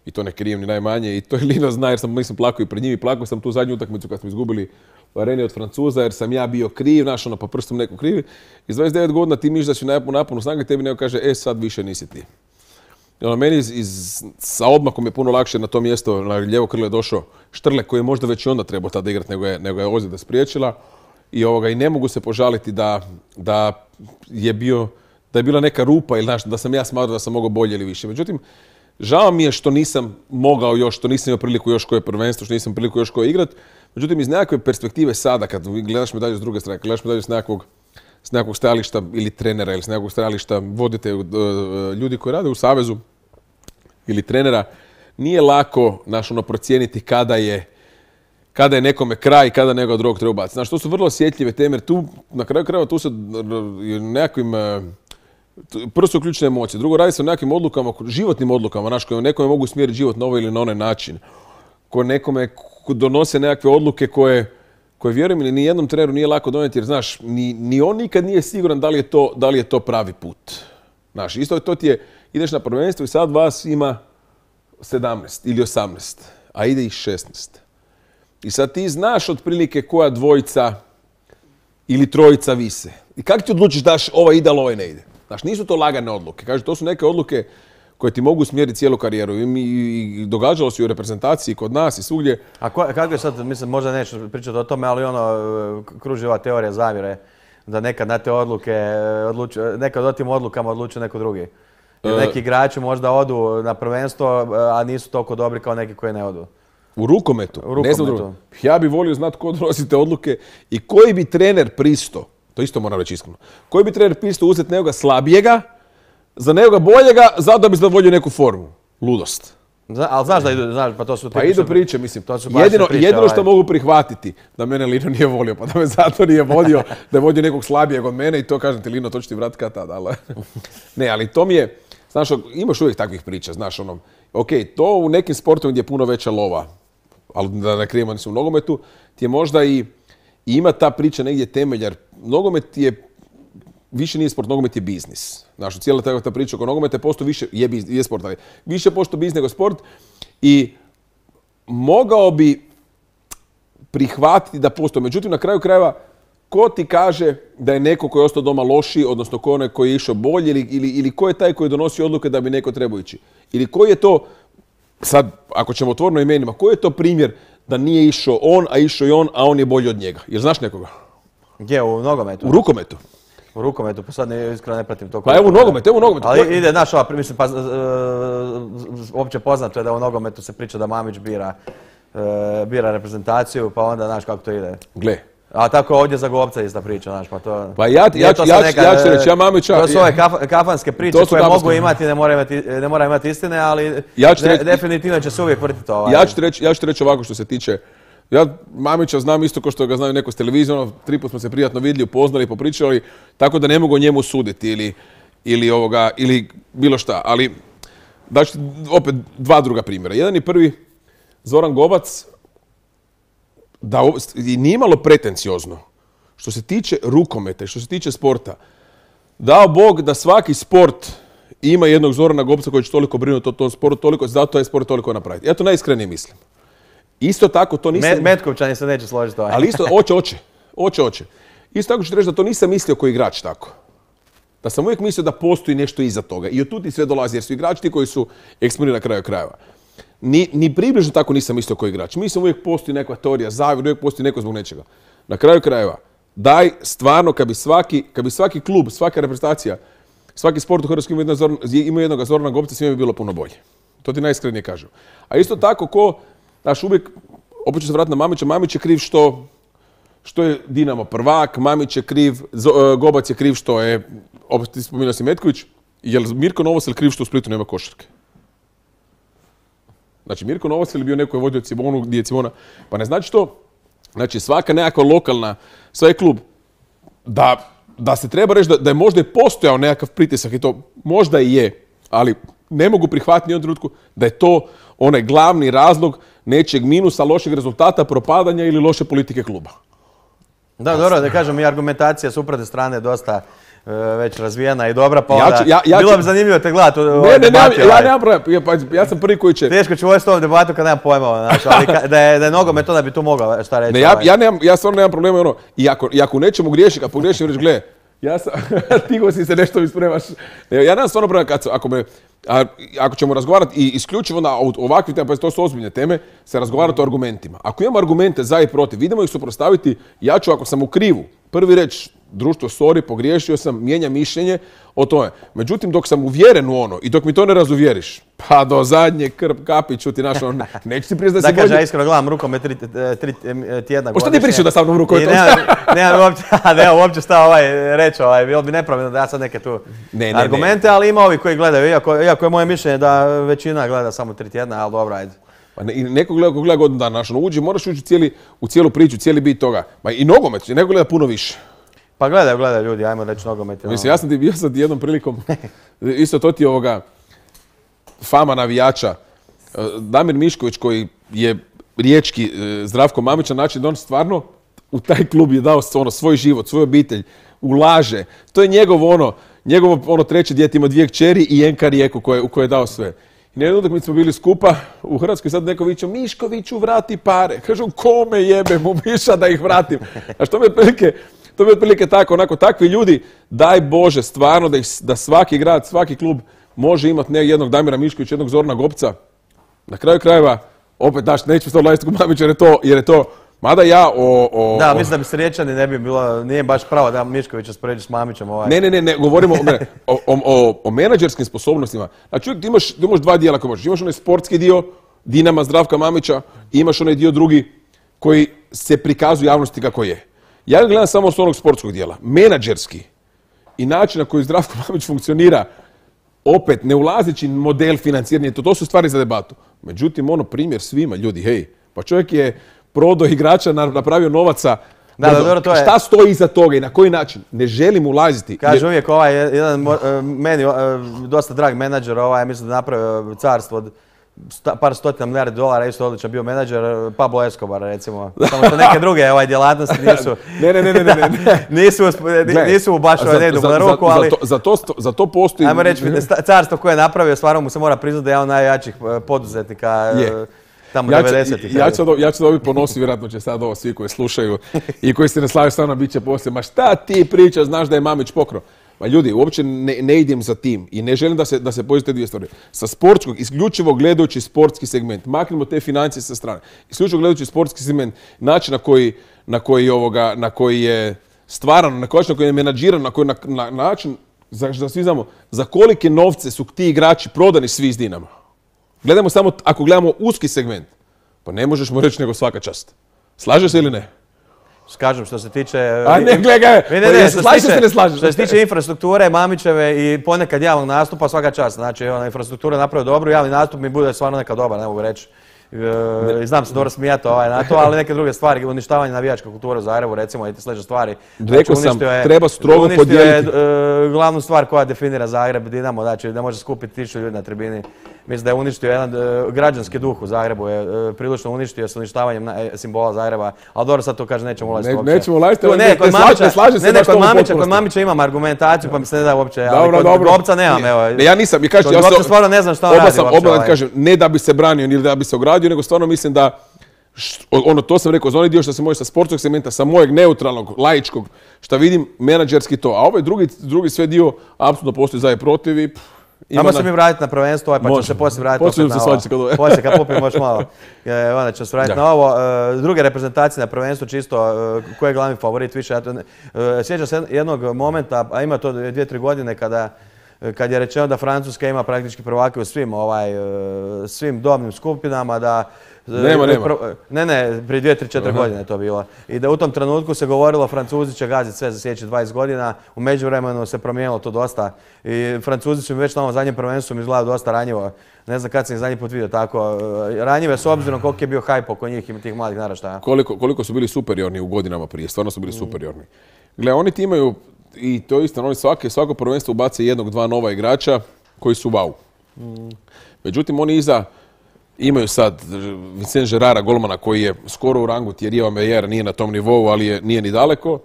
Speaker 3: I to ne krijem ni najmanje. I to je Lino zna, jer sam, nisam plakao i pred njim. I plakao sam tu zadnju utakmicu kad smo izgubili u areni od Francuza, jer sam ja bio kriv, znaš, ono, pa prstom neko krivi. Iz dvadeset devet godina ti misliš da si u naponu snage, tebi neko kaže, e, sad više nisi ti. I ono, meni iz, iz, sa odmakom je puno lakše na to mjesto, na lijevo krilo je došao Štrle, koji je možda već i onda trebao tada igrati, nego je, nego je ozljeda spriječila. I, ovoga, I ne mogu se požaliti da, da, je bio, da je bila neka rupa ili znaš, da sam ja smatrao da sam mogao bolje ili više. Međutim, žao mi je što nisam mogao još, što nisam imao priliku još koje prvenstvo, što nisam priliku još koje igrati. Međutim, iz nekakve perspektive sada, kad gledaš medalju s druge strane, kad gledaš medalju s nekakvog, s nekakvog stajališta ili trenera ili s nekakvog stajališta vodite ljudi koji rade u savezu ili trenera, nije lako naš, ono, procijeniti kada je, kada je nekome kraj i kada nekoga drugog treba ubaciti. Znaš, to su vrlo osjetljive teme, jer tu, na kraju krajeva, tu se nekakvim... Prvo su ključne emocije, drugo radi se o nekakvim odlukama, životnim odlukama, znaš, koje nekome mogu smjeriti život na ovaj ili na onaj način, koje nekome donose nekakve odluke koje, koje vjerujem ili ni jednom treneru nije lako donijeti, jer znaš, ni, ni on nikad nije siguran da li je to, da li je to pravi put. Znaš, isto to ti je, ideš na prvenstvo i sad vas ima sedamnaest ili osamnaest, a ide ih šesnaest. I sad ti znaš otprilike koja dvojica ili trojica vise. I kako ti odlučiš daš ovaj ide, ali ovaj ne ide? Znaš, nisu to lagane odluke. Kaže, to su neke odluke koje ti mogu smjeriti cijelu karijeru. I, mi, i događalo se i u reprezentaciji kod nas i svugdje.
Speaker 2: A ko, kako je sad, mislim, možda nećeš pričati o tome, ali ono, kruži ova teorija zavjere, da nekad na te odluke, odluči, nekad o tim odlukama odlučuje neko drugi. Jer neki igrači možda odu na prvenstvo, a nisu toliko dobri kao neki koji ne odu.
Speaker 3: U rukometu?
Speaker 2: U rukometu.
Speaker 3: Ne znam drugo. Ja bih volio znati ko donosi te odluke i koji bi trener pristo, to isto moram reći iskreno, koji bi trener pristo uzeti nekoga slabijega, za nekoga boljega, zato da bi zadovoljio neku formu. Ludost.
Speaker 2: Zna, ali znaš da idu, znaš, pa to su...
Speaker 3: Pa idu priče, mislim.
Speaker 2: To su
Speaker 3: jedino
Speaker 2: priče,
Speaker 3: jedino što
Speaker 2: ovaj.
Speaker 3: mogu prihvatiti, da mene Lino nije volio, pa da me zato nije vodio, da je vodio nekog slabijeg od mene i to kažem ti, Lino, to ću ti vratiti kad tad, ali... Ne, ali to mi je, znaš, imaš uvijek takvih priča, znaš, ono, ok, to u nekim sportovima gdje je puno veća lova, ali da ne krijemo u nogometu, ti je možda i, i ima ta priča negdje temelj, jer nogomet je, više nije sport, nogomet je biznis. Znaš, cijela ta, ta priča oko nogometa je posto više, je, biz, je sport, ali više posto biznis nego sport i mogao bi prihvatiti da postoji. Međutim, na kraju krajeva, ko ti kaže da je neko koji je ostao doma lošiji, odnosno ko onaj koji je išao bolje, ili, ili, ili ko je taj koji donosi odluke da bi neko trebao ići? Ili koji je to, sad, ako ćemo otvoreno imenima, koji je to primjer da nije išao on, a išao i on, a on je bolji od njega? Jer znaš nekoga?
Speaker 2: Gdje, u nogometu?
Speaker 3: U rukometu.
Speaker 2: U rukometu, pa sad ne, iskreno ne pratim to.
Speaker 3: Pa evo u nogometu, evo u nogometu.
Speaker 2: Ali ide, znaš, ova, mislim, pa, uh, opće poznato je da u nogometu se priča da Mamić bira, uh, bira reprezentaciju, pa onda, znaš kako to ide.
Speaker 3: Gle.
Speaker 2: A tako ovdje za Gobca ista priča, znaš, pa to...
Speaker 3: Pa ja, ja,
Speaker 2: to
Speaker 3: ja,
Speaker 2: neka,
Speaker 3: ja ću reći, ja Mamića...
Speaker 2: To su ove kaf, kafanske priče koje
Speaker 3: kafanske.
Speaker 2: mogu imati, ne mora imati, ne mora imati istine, ali
Speaker 3: Ja ću
Speaker 2: de,
Speaker 3: reći,
Speaker 2: definitivno će se uvijek vrtiti ovaj.
Speaker 3: Ja ću ti reći, ja ću ti reći ovako što se tiče... Ja Mamića znam isto kao što ga znaju neko s televizijom, ono, tri put smo se prijatno vidjeli, upoznali, popričali, tako da ne mogu o njemu suditi ili, ili, ovoga, ili bilo šta. Ali, znači, opet dva druga primjera. Jedan i prvi, Zoran Gobac, da, i nije malo pretenciozno, što se tiče rukometa i što se tiče sporta, dao Bog da svaki sport ima jednog Zorana Gobca koji će toliko brinuti o tom sportu, toliko, zato je sport toliko napraviti. Ja to najiskrenije mislim. Isto tako, to nisam...
Speaker 2: Met, Metkovčani se neće složiti ovaj.
Speaker 3: Ali isto, oće, oće. Oće, oće. Isto tako ću reći da to nisam mislio kao igrač tako. Da sam uvijek mislio da postoji nešto iza toga. I od tu ti sve dolazi, jer su igrači ti koji su eksponirani na kraju krajeva. Ni, ni približno tako nisam mislio kao igrač. Mislim uvijek postoji neka teorija zavjera, uvijek postoji neko zbog nečega. Na kraju krajeva, daj stvarno, kad bi svaki, kad bi svaki klub, svaka reprezentacija, svaki sport u Hrvatskoj ima, jedno, ima jednog Zorana Gobca, svima bi bilo puno bolje. To ti najiskrenije kažem. A isto tako, ko, znaš, uvijek, opet ću se vratiti na Mamića, Mamić je kriv što, što je Dinamo prvak, Mamić je kriv, Gobac je kriv što je, opet ti spominjao si Metković, je li Mirko Novosel kriv što u Splitu nema košarke? Znači, Mirko Novosel je bio neko je vodio Cibonu, gdje je Cibona, pa ne znači to, znači svaka nekakva lokalna, svaki klub, da, da se treba reći da, da je možda i postojao nekakav pritisak i to možda i je, ali ne mogu prihvatiti ni u jednom trenutku da je to onaj glavni razlog nečeg minusa, lošeg rezultata, propadanja ili loše politike kluba.
Speaker 2: Da, dobro, da kažem i argumentacija suprotne strane je dosta uh, već razvijena i dobra, pa onda
Speaker 3: ja ću, ja, ja
Speaker 2: bilo
Speaker 3: ću...
Speaker 2: bi zanimljivo te gledati u
Speaker 3: Ne,
Speaker 2: ovoj
Speaker 3: ne,
Speaker 2: debati.
Speaker 3: ne, ja nemam problem, ja, pa, ja sam prvi koji će...
Speaker 2: Teško ću uvesti ovom debatu kad nemam pojma, znači, ali ka, da je, da je nogomet, onda bi tu mogao šta reći.
Speaker 3: Ne, ja,
Speaker 2: ovaj.
Speaker 3: ja, nemam, ja stvarno nemam problema, ono, i ako, i ako u nečemu griješim, kad pogriješim, reći, gle, ja sam, tigo si se nešto mi spremaš. Ja nemam stvarno problema kad, ako me, a, ako ćemo razgovarati i isključivo na ovakve teme, pa to su ozbiljne teme, se razgovarati o argumentima. Ako imamo argumente za i protiv, idemo ih suprotstaviti, ja ću ako sam u krivu, prvi reći, društvo, sorry, pogriješio sam, mijenjam mišljenje o tome. Međutim, dok sam uvjeren u ono i dok mi to ne razuvjeriš, pa do zadnje krp kapiću ti našo, neću ti priznati da si
Speaker 2: Da kaže,
Speaker 3: bolji.
Speaker 2: ja iskreno gledam rukomet tri, tri tjedna
Speaker 3: Pa što
Speaker 2: godišnje.
Speaker 3: ti pričao da sa mnom rukomet?
Speaker 2: Nemam uopće, nemam uopće šta ovaj reći, ovaj, bilo bi nepravilno da ja sad neke tu
Speaker 3: Ne, ne,
Speaker 2: argumente, ali ima ovi koji gledaju, iako, iako je moje mišljenje da većina gleda samo tri tjedna, ali dobro, ajde.
Speaker 3: Pa ne, i neko gleda, ko gleda godinu dana, znaš, ono, uđi, moraš ući cijeli, u cijelu priču, cijeli bit toga. Ma i nogomet, neko gleda puno više.
Speaker 2: Pa gledaju, gledaju ljudi, ajmo reći nogomet.
Speaker 3: Mislim, ja sam ti bio sad jednom prilikom, isto to ti je ovoga fama navijača. Damir Mišković koji je riječki Zdravko Mamić na način da on stvarno u taj klub je dao ono, svoj život, svoju obitelj, ulaže. To je njegov ono, njegovo ono treće dijete, ima dvije kćeri i Enka Rijeku koje, u koje je dao sve. I na jednu utakmicu smo bili skupa u Hrvatskoj, sad neko viče, Miškoviću vrati pare. Kažu, kome jebe mu Miša da ih vratim? A što me prilike, To bi otprilike tako, onako, takvi ljudi, daj Bože, stvarno da, ih, da svaki grad, svaki klub može imati ne jednog Damira Miškovića, jednog Zorana Gopca. Na kraju krajeva, opet, daš, neću to odlaziti kod Mamića jer je to, jer je to, mada ja o... o
Speaker 2: da,
Speaker 3: o...
Speaker 2: mislim da bi se Riječani ne bi bilo, nije baš pravo da Miškovića spoređi s Mamićem. Ovaj.
Speaker 3: Ne, ne, ne, ne, govorimo o, o, o, o menadžerskim sposobnostima. Znači, uvijek ti imaš, ti imaš dva dijela koje možeš. Imaš onaj sportski dio, Dinama, Zdravka Mamića, i imaš onaj dio drugi koji se prikazuje javnosti kako je. Ja gledam samo s onog sportskog dijela. Menadžerski i način na koji Zdravko Mamić funkcionira, opet ne ulazeći model financiranja, to, to su stvari za debatu. Međutim, ono primjer svima, ljudi, hej, pa čovjek je prodao igrača, napravio novaca,
Speaker 2: da, da, dobro, to je...
Speaker 3: šta stoji iza toga i na koji način? Ne želim ulaziti.
Speaker 2: Kaže jer... uvijek ovaj, jedan meni dosta drag menadžer, ovaj, mislim da napravio carstvo od sta, par stotina milijardi dolara, isto odličan bio menadžer, Pablo Escobar recimo. Samo što neke druge ovaj, djelatnosti nisu...
Speaker 3: ne, ne, ne, ne, ne.
Speaker 2: nisu, nisu baš ovaj, ne idu na ruku, ali...
Speaker 3: Za to, za, to, za to postoji...
Speaker 2: Ajmo reći, carstvo koje je napravio, stvarno mu se mora priznati da je on najjačih poduzetnika... Je. Tamo
Speaker 3: ja
Speaker 2: devedesetih.
Speaker 3: Ja ću ja ću dobiti ponosi, vjerojatno će sad ovo svi koji slušaju i koji se ne slažu sa mnom bit će poslije. Ma šta ti pričaš, znaš da je Mamić pokrao? Ma ljudi, uopće ne, ne idem za tim i ne želim da se, da se pođe te dvije stvari. Sa sportskog, isključivo gledajući sportski segment, maknimo te financije sa strane, isključivo gledajući sportski segment, način na koji, na koji, ovoga, na koji je stvaran, na koji, na koji je menadžiran, na koji na, na način, za, da svi znamo, za kolike novce su ti igrači prodani svi iz Dinama. Gledamo samo, ako gledamo uski segment, pa ne možeš mu reći nego svaka čast. Slažeš se ili ne?
Speaker 2: Kažem, što se tiče...
Speaker 3: A ne, gledaj,
Speaker 2: ne, ne, ne, što,
Speaker 3: slažeš
Speaker 2: se
Speaker 3: se ne slažeš.
Speaker 2: Što se tiče infrastrukture, Mamićeve i ponekad javnog nastupa, svaka čast. Znači, ona infrastruktura napravi dobro, javni nastup mi bude stvarno neka dobar, ne mogu reći. E, znam se dobro smijati ovaj, na to, ali neke druge stvari, uništavanje navijačke kulture u Zagrebu, recimo, i te slične stvari.
Speaker 3: Rekao
Speaker 2: znači,
Speaker 3: sam,
Speaker 2: je,
Speaker 3: treba strogo podijeliti.
Speaker 2: Uništio je e, glavnu stvar koja definira Zagreb, Dinamo, znači ne može skupiti tisuću ljudi na tribini. Mislim da je uništio jedan e, građanski duh u Zagrebu, je e, prilično uništio s uništavanjem na, e, simbola Zagreba, ali dobro sad to kaže nećemo ulaziti
Speaker 3: ne,
Speaker 2: uopće.
Speaker 3: Nećemo ulaziti, ne,
Speaker 2: ne, kod Mamića,
Speaker 3: ne slaže se
Speaker 2: ne, ne,
Speaker 3: baš
Speaker 2: kod
Speaker 3: tomu
Speaker 2: Mamića, kod Mamića imam argumentaciju pa mi se ne da uopće, ali
Speaker 3: dobro,
Speaker 2: kod
Speaker 3: dobro.
Speaker 2: Gopca nemam, evo.
Speaker 3: Ne, ja nisam, kažem,
Speaker 2: kod
Speaker 3: ja
Speaker 2: Gopca stvarno ne znam šta on radi uopće.
Speaker 3: Oba kažem, ne da bi se branio ili da bi se ogradio, nego stvarno mislim da ono, to sam rekao, za onaj dio što se može sa sportskog segmenta, sa mojeg neutralnog, laičkog, što vidim, menadžerski to. A ovaj drugi, drugi sve dio, apsolutno postoji za i protiv i...
Speaker 2: Ajmo se mi vratiti na prvenstvo, pa ćemo se poslije vratiti opet na ovo. Poslije kad popijemo još malo, e, onda ćemo se vratiti na ovo. E, druge reprezentacije na prvenstvu, čisto, e, ko je glavni favorit više? Ja to ne, e, sjećam se jednog momenta, a ima to dvije, tri godine, kada kad je rečeno da Francuska ima praktički prvake u svim, ovaj, svim dobnim skupinama, da...
Speaker 3: Nema, nema.
Speaker 2: Ne, ne, prije dvije, tri, četiri godine je to bilo. I da u tom trenutku se govorilo Francuzi će gaziti sve za sljedećih dvadeset godina. U međuvremenu se promijenilo to dosta. I Francuzi su mi već na ovom zadnjem prvenstvu mi izgledaju dosta ranjivo. Ne znam kad sam ih zadnji put vidio tako. Ranjive s obzirom koliko je bio hajp oko njih i tih mladih naraštaja.
Speaker 3: Koliko, koliko su bili superiorni u godinama prije, stvarno su bili mm. superiorni. Gle, oni ti imaju, i to je istina, oni svake, svako prvenstvo ubace jednog, dva nova igrača koji su wow. Mm. Međutim, oni iza imaju sad Vincent Gerara, golmana, koji je skoro u rangu Thierryja Omeyera, nije na tom nivou, ali je, nije ni daleko.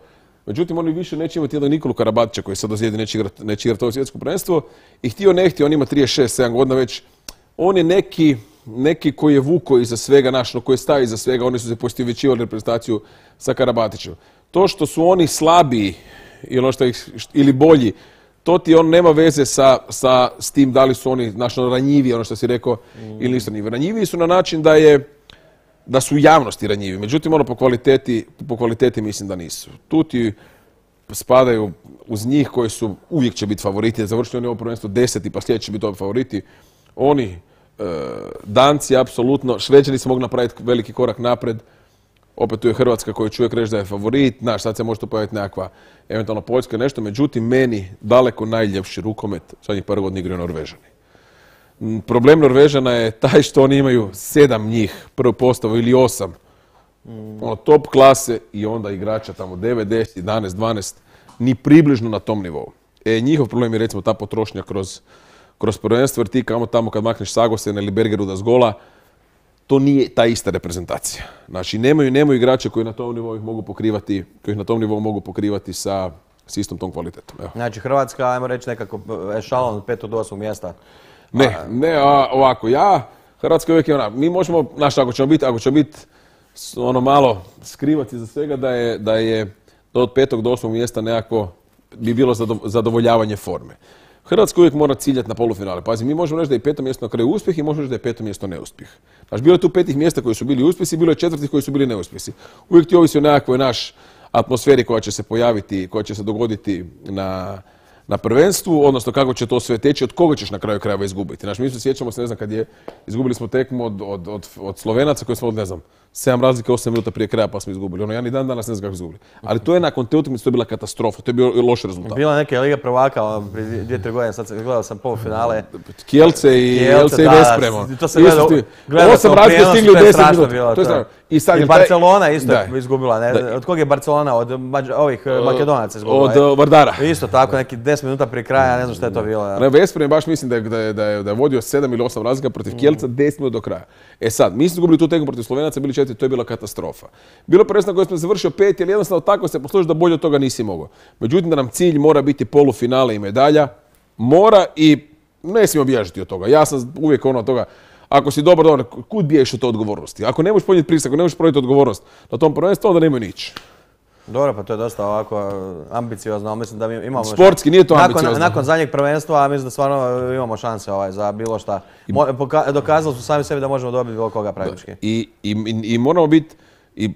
Speaker 3: Međutim, oni više neće imati jednog Nikolu Karabatića koji sad dozijedi neće igrati neće igrat ovo svjetsko prvenstvo. I htio ne htio, on ima trideset šest sedam godina već. On je neki, neki koji je vuko iza svega našno, koji je stavio iza svega. Oni su se postivjećivali reprezentaciju sa Karabatićem. To što su oni slabiji ili, što ih, ili bolji, to ti on nema veze sa, sa s tim da li su oni našno ranjivi, ono što si rekao, mm. ili nisu ranjivi. Ranjivi su na način da je da su u javnosti ranjivi. Međutim, ono po kvaliteti, po kvaliteti mislim da nisu. Tu ti spadaju uz njih koji su uvijek će biti favoriti. Završili oni ovo prvenstvo deseti, pa sljedeći će biti ovi favoriti. Oni, e, Danci, apsolutno. Šveđani se mogu napraviti veliki korak napred. Opet tu je Hrvatska koju čuje reći da je favorit. Znaš, sad se može to pojaviti nekakva eventualno Poljska nešto. Međutim, meni daleko najljepši rukomet zadnjih par godina igraju Norvežani. Problem Norvežana je taj što oni imaju sedam njih, prvu postavu ili osam. Mm. Ono, top klase i onda igrača tamo devet, deset, jedanaest, dvanaest, ni približno na tom nivou. E, njihov problem je recimo ta potrošnja kroz, kroz prvenstvo, jer ti kamo tamo kad makneš Sagosena ili Bergeruda s gola, to nije ta ista reprezentacija. Znači, nemaju, nemaju igrače koji na tom nivou ih mogu pokrivati, koji ih na tom nivou mogu pokrivati sa, s istom tom kvalitetom. Evo.
Speaker 2: Znači, Hrvatska, ajmo reći nekako ešalon od petog do osmog mjesta.
Speaker 3: Ne, a, ne, a, ovako, ja, Hrvatska uvijek je ona, mi možemo, znaš, ako ćemo biti, ako ćemo biti ono malo skrivati za svega da je, da je da od petog do osmog mjesta nekako bi bilo zadovoljavanje forme. Hrvatska uvijek mora ciljati na polufinale. Pazi, mi možemo reći da je peto mjesto na kraju uspjeh i možemo reći da je peto mjesto neuspjeh. Znači, bilo je tu petih mjesta koji su bili uspjesi, bilo je četvrtih koji su bili neuspjesi. Uvijek ti ovisi o nekakvoj naš atmosferi koja će se pojaviti, koja će se dogoditi na, na prvenstvu, odnosno kako će to sve teći, od koga ćeš na kraju krajeva izgubiti. Znači, mi se sjećamo se, ne znam, kad je, izgubili smo tekmu od, od, od, od Slovenaca koji smo od, ne znam, sedam razlike, osam minuta prije kraja pa smo izgubili. Ono, ja ni dan danas ne znam kako izgubili. Ali to je nakon te utakmice, to je bila katastrofa, to je bio loš rezultat.
Speaker 2: Bila neka Liga prvaka, ono, prije dvije, tri godine, sad sam, gledao sam polufinale.
Speaker 3: Kielce i Kielce i Vespremo.
Speaker 2: To se gledao, gledao sam
Speaker 3: razlike stigli u deset minuta.
Speaker 2: Bilo,
Speaker 3: to je
Speaker 2: to.
Speaker 3: I, sad
Speaker 2: I
Speaker 3: je
Speaker 2: Barcelona isto je
Speaker 3: da.
Speaker 2: izgubila. Ne?
Speaker 3: Da.
Speaker 2: Od kog je Barcelona? Od Mađ ovih uh, Makedonaca izgubila.
Speaker 3: Od uh, Vardara.
Speaker 2: Isto tako, neki deset minuta prije kraja, ne znam šta je to bilo. Ja.
Speaker 3: Ne, Vesprem baš mislim da je, da, je, da, je, da je vodio sedam ili osam razlika protiv mm. Kielca deset minuta do kraja. E sad, mi smo izgubili tu tekmu protiv Slovenaca, bili četiri, to je bila katastrofa. Bilo prvenstveno koje smo završio pet, jer jednostavno tako se posluži da bolje od toga nisi mogao. Međutim, da nam cilj mora biti polufinale i medalja, mora i ne smijemo bježati od toga. Ja sam uvijek ono od toga, ako si dobar, dobar, kud biješ od te odgovornosti? Ako ne možeš podnijeti pritisak, ako ne možeš prodati odgovornost na tom prvenstvu, onda nemoj nići.
Speaker 2: Dobro, pa to je dosta ovako ambiciozno, ali mislim da mi imamo...
Speaker 3: Sportski, nije to ambiciozno.
Speaker 2: Nakon, nakon zadnjeg prvenstva, mislim da stvarno imamo šanse ovaj, za bilo šta. Mo, poka, dokazali smo sami sebi da možemo dobiti bilo koga praktički.
Speaker 3: I, i, i, i moramo biti... I,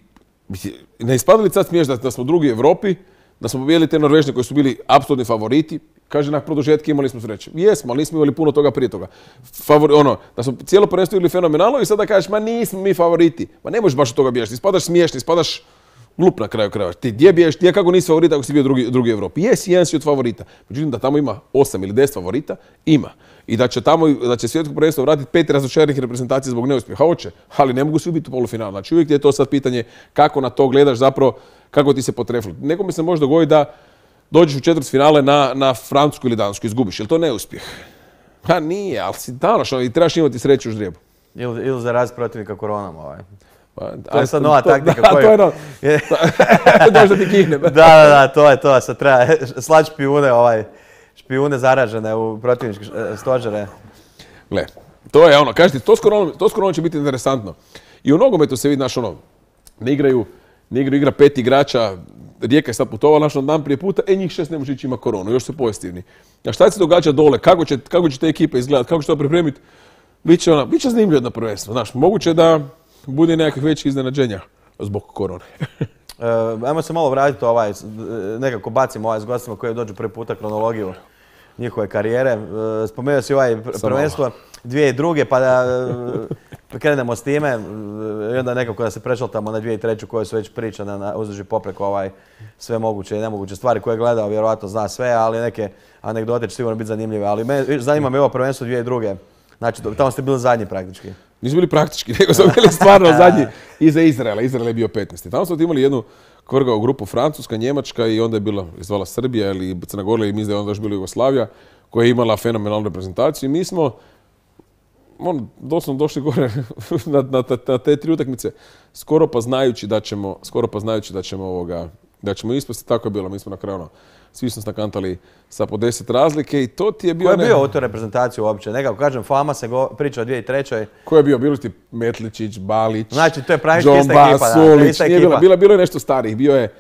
Speaker 3: ne ispada li sad smiješ da, da smo drugi u Europi, da smo pobijeli te Norvežne koji su bili apsolutni favoriti, kaže na produžetke imali smo sreće. Jesmo, ali nismo imali puno toga prije toga. Favori, ono, da smo cijelo prvenstvo bili fenomenalno i sada kažeš, ma nismo mi favoriti. Ma ne možeš baš od toga bježati, ispadaš smiješni, ispadaš glup na kraju krajeva. Ti gdje biješ, ti kako nisi favorita ako si bio drugi, drugi u Europi? Jesi, jedan si od favorita. Međutim, da tamo ima osam ili deset favorita, ima. I da će tamo, da će svjetsko prvenstvo vratiti pet razočaranih reprezentacija zbog neuspjeha, hoće, ali ne mogu svi biti u polufinalu. Znači uvijek je to sad pitanje kako na to gledaš, zapravo kako ti se potrefilo. Nekome se može dogoditi da dođeš u četvrtfinale na, na Francusku ili Dansku, izgubiš. Je li to neuspjeh? Ha nije, ali si danas i trebaš imati sreću u ždrijebu.
Speaker 2: Ili, ili zaraziti protivnika koronom ovaj.
Speaker 3: Pa,
Speaker 2: to je sad nova
Speaker 3: to,
Speaker 2: taktika
Speaker 3: da,
Speaker 2: koju...
Speaker 3: To je no... Dođe da ti kihne.
Speaker 2: Da, da, da, to je to. Sad treba slati špijune, ovaj, špijune zaražene u protivničke stožere.
Speaker 3: Gle, to je ono, kažete, to s koronom, to s koronom će biti interesantno. I u nogometu se vidi, znaš, ono, ne igraju, ne igraju igra pet igrača, Rijeka je sad putovala naš dan prije puta, e njih šest ne može ići ima koronu, još su pozitivni. A šta se događa dole, kako će, kako će te ekipe izgledati, kako će to pripremiti, biće ona, biće zanimljivo jedno prvenstvo, znaš, moguće da bude nekakvih većih iznenađenja zbog korone.
Speaker 2: e, ajmo se malo vratiti ovaj, nekako bacimo ovaj s gostima koji dođu prvi puta kronologiju njihove karijere. E, spomenuo si ovaj prvenstvo dvije i druge, pa da e, krenemo s time i onda nekako da se prešaltamo na dvije i treću koje su već pričane na uzduži popreko ovaj, sve moguće i nemoguće stvari koje je gledao, vjerojatno zna sve, ali neke anegdote će sigurno biti zanimljive. Ali me, zanima me ovo prvenstvo dvije i druge. Znači, tamo ste bili zadnji praktički.
Speaker 3: Nismo bili praktički, nego smo bili stvarno zadnji iza Izraela. Izrael je bio petnaesti. Tamo smo imali jednu kvrgao grupu Francuska, Njemačka i onda je bila izvala Srbija ili Crna Gora i mislim da je onda još bila Jugoslavija koja je imala fenomenalnu reprezentaciju. I mi smo on, doslovno došli gore na, na, na te tri utakmice skoro pa znajući da ćemo, skoro pa znajući da ćemo ovoga, da ćemo ispasti. Tako je bilo. Mi smo na kraju ono, svi smo stakantali sa po deset razlike i to ti je bio...
Speaker 2: Ko je ne... bio u toj reprezentaciji uopće? Nekako kažem, fama se go, priča o dvije i trećoj.
Speaker 3: Ko je bio? Bili ti Metličić, Balić,
Speaker 2: znači, to je praktički ista ekipa.
Speaker 3: Sulić, da, nije bila, bila, bilo je nešto starih. Bio je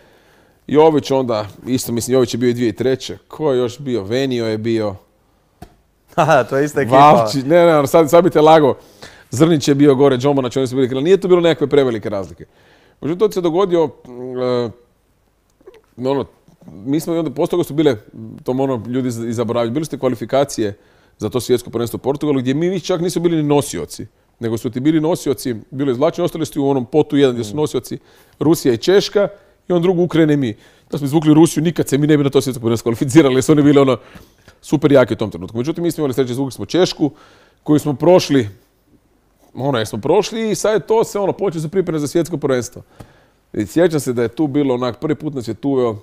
Speaker 3: Jović onda, isto mislim, Jović je bio i dvije i treće. Ko je još bio? Venio je bio.
Speaker 2: Haha, to je ista ekipa.
Speaker 3: Valčić, ne, ne, sad, sad bi te lago. Zrnić je bio gore, Džomanač, oni su bili krila. Nije to bilo nekakve prevelike razlike. Međutim, to se dogodio, uh, ono, mi smo i onda, posto toga su bile, to ono ljudi i zaboravili, bili ste kvalifikacije za to svjetsko prvenstvo u Portugalu, gdje mi čak nisu bili ni nosioci, nego su ti bili nosioci, bilo izvlačeni, ostali su u onom potu jedan gdje su nosioci Rusija i Češka i on drugu Ukrajina i mi. Da smo izvukli Rusiju, nikad se mi ne bi na to svjetsko prvenstvo kvalificirali, jer su oni bili ono super jaki u tom trenutku. Međutim, mi smo imali sreće, izvukli smo Češku, koju smo prošli, ono, jer smo prošli i sad je to se ono, počeo se pripreme za svjetsko prvenstvo. I sjećam se da je tu bilo onak, prvi put nas je tu uveo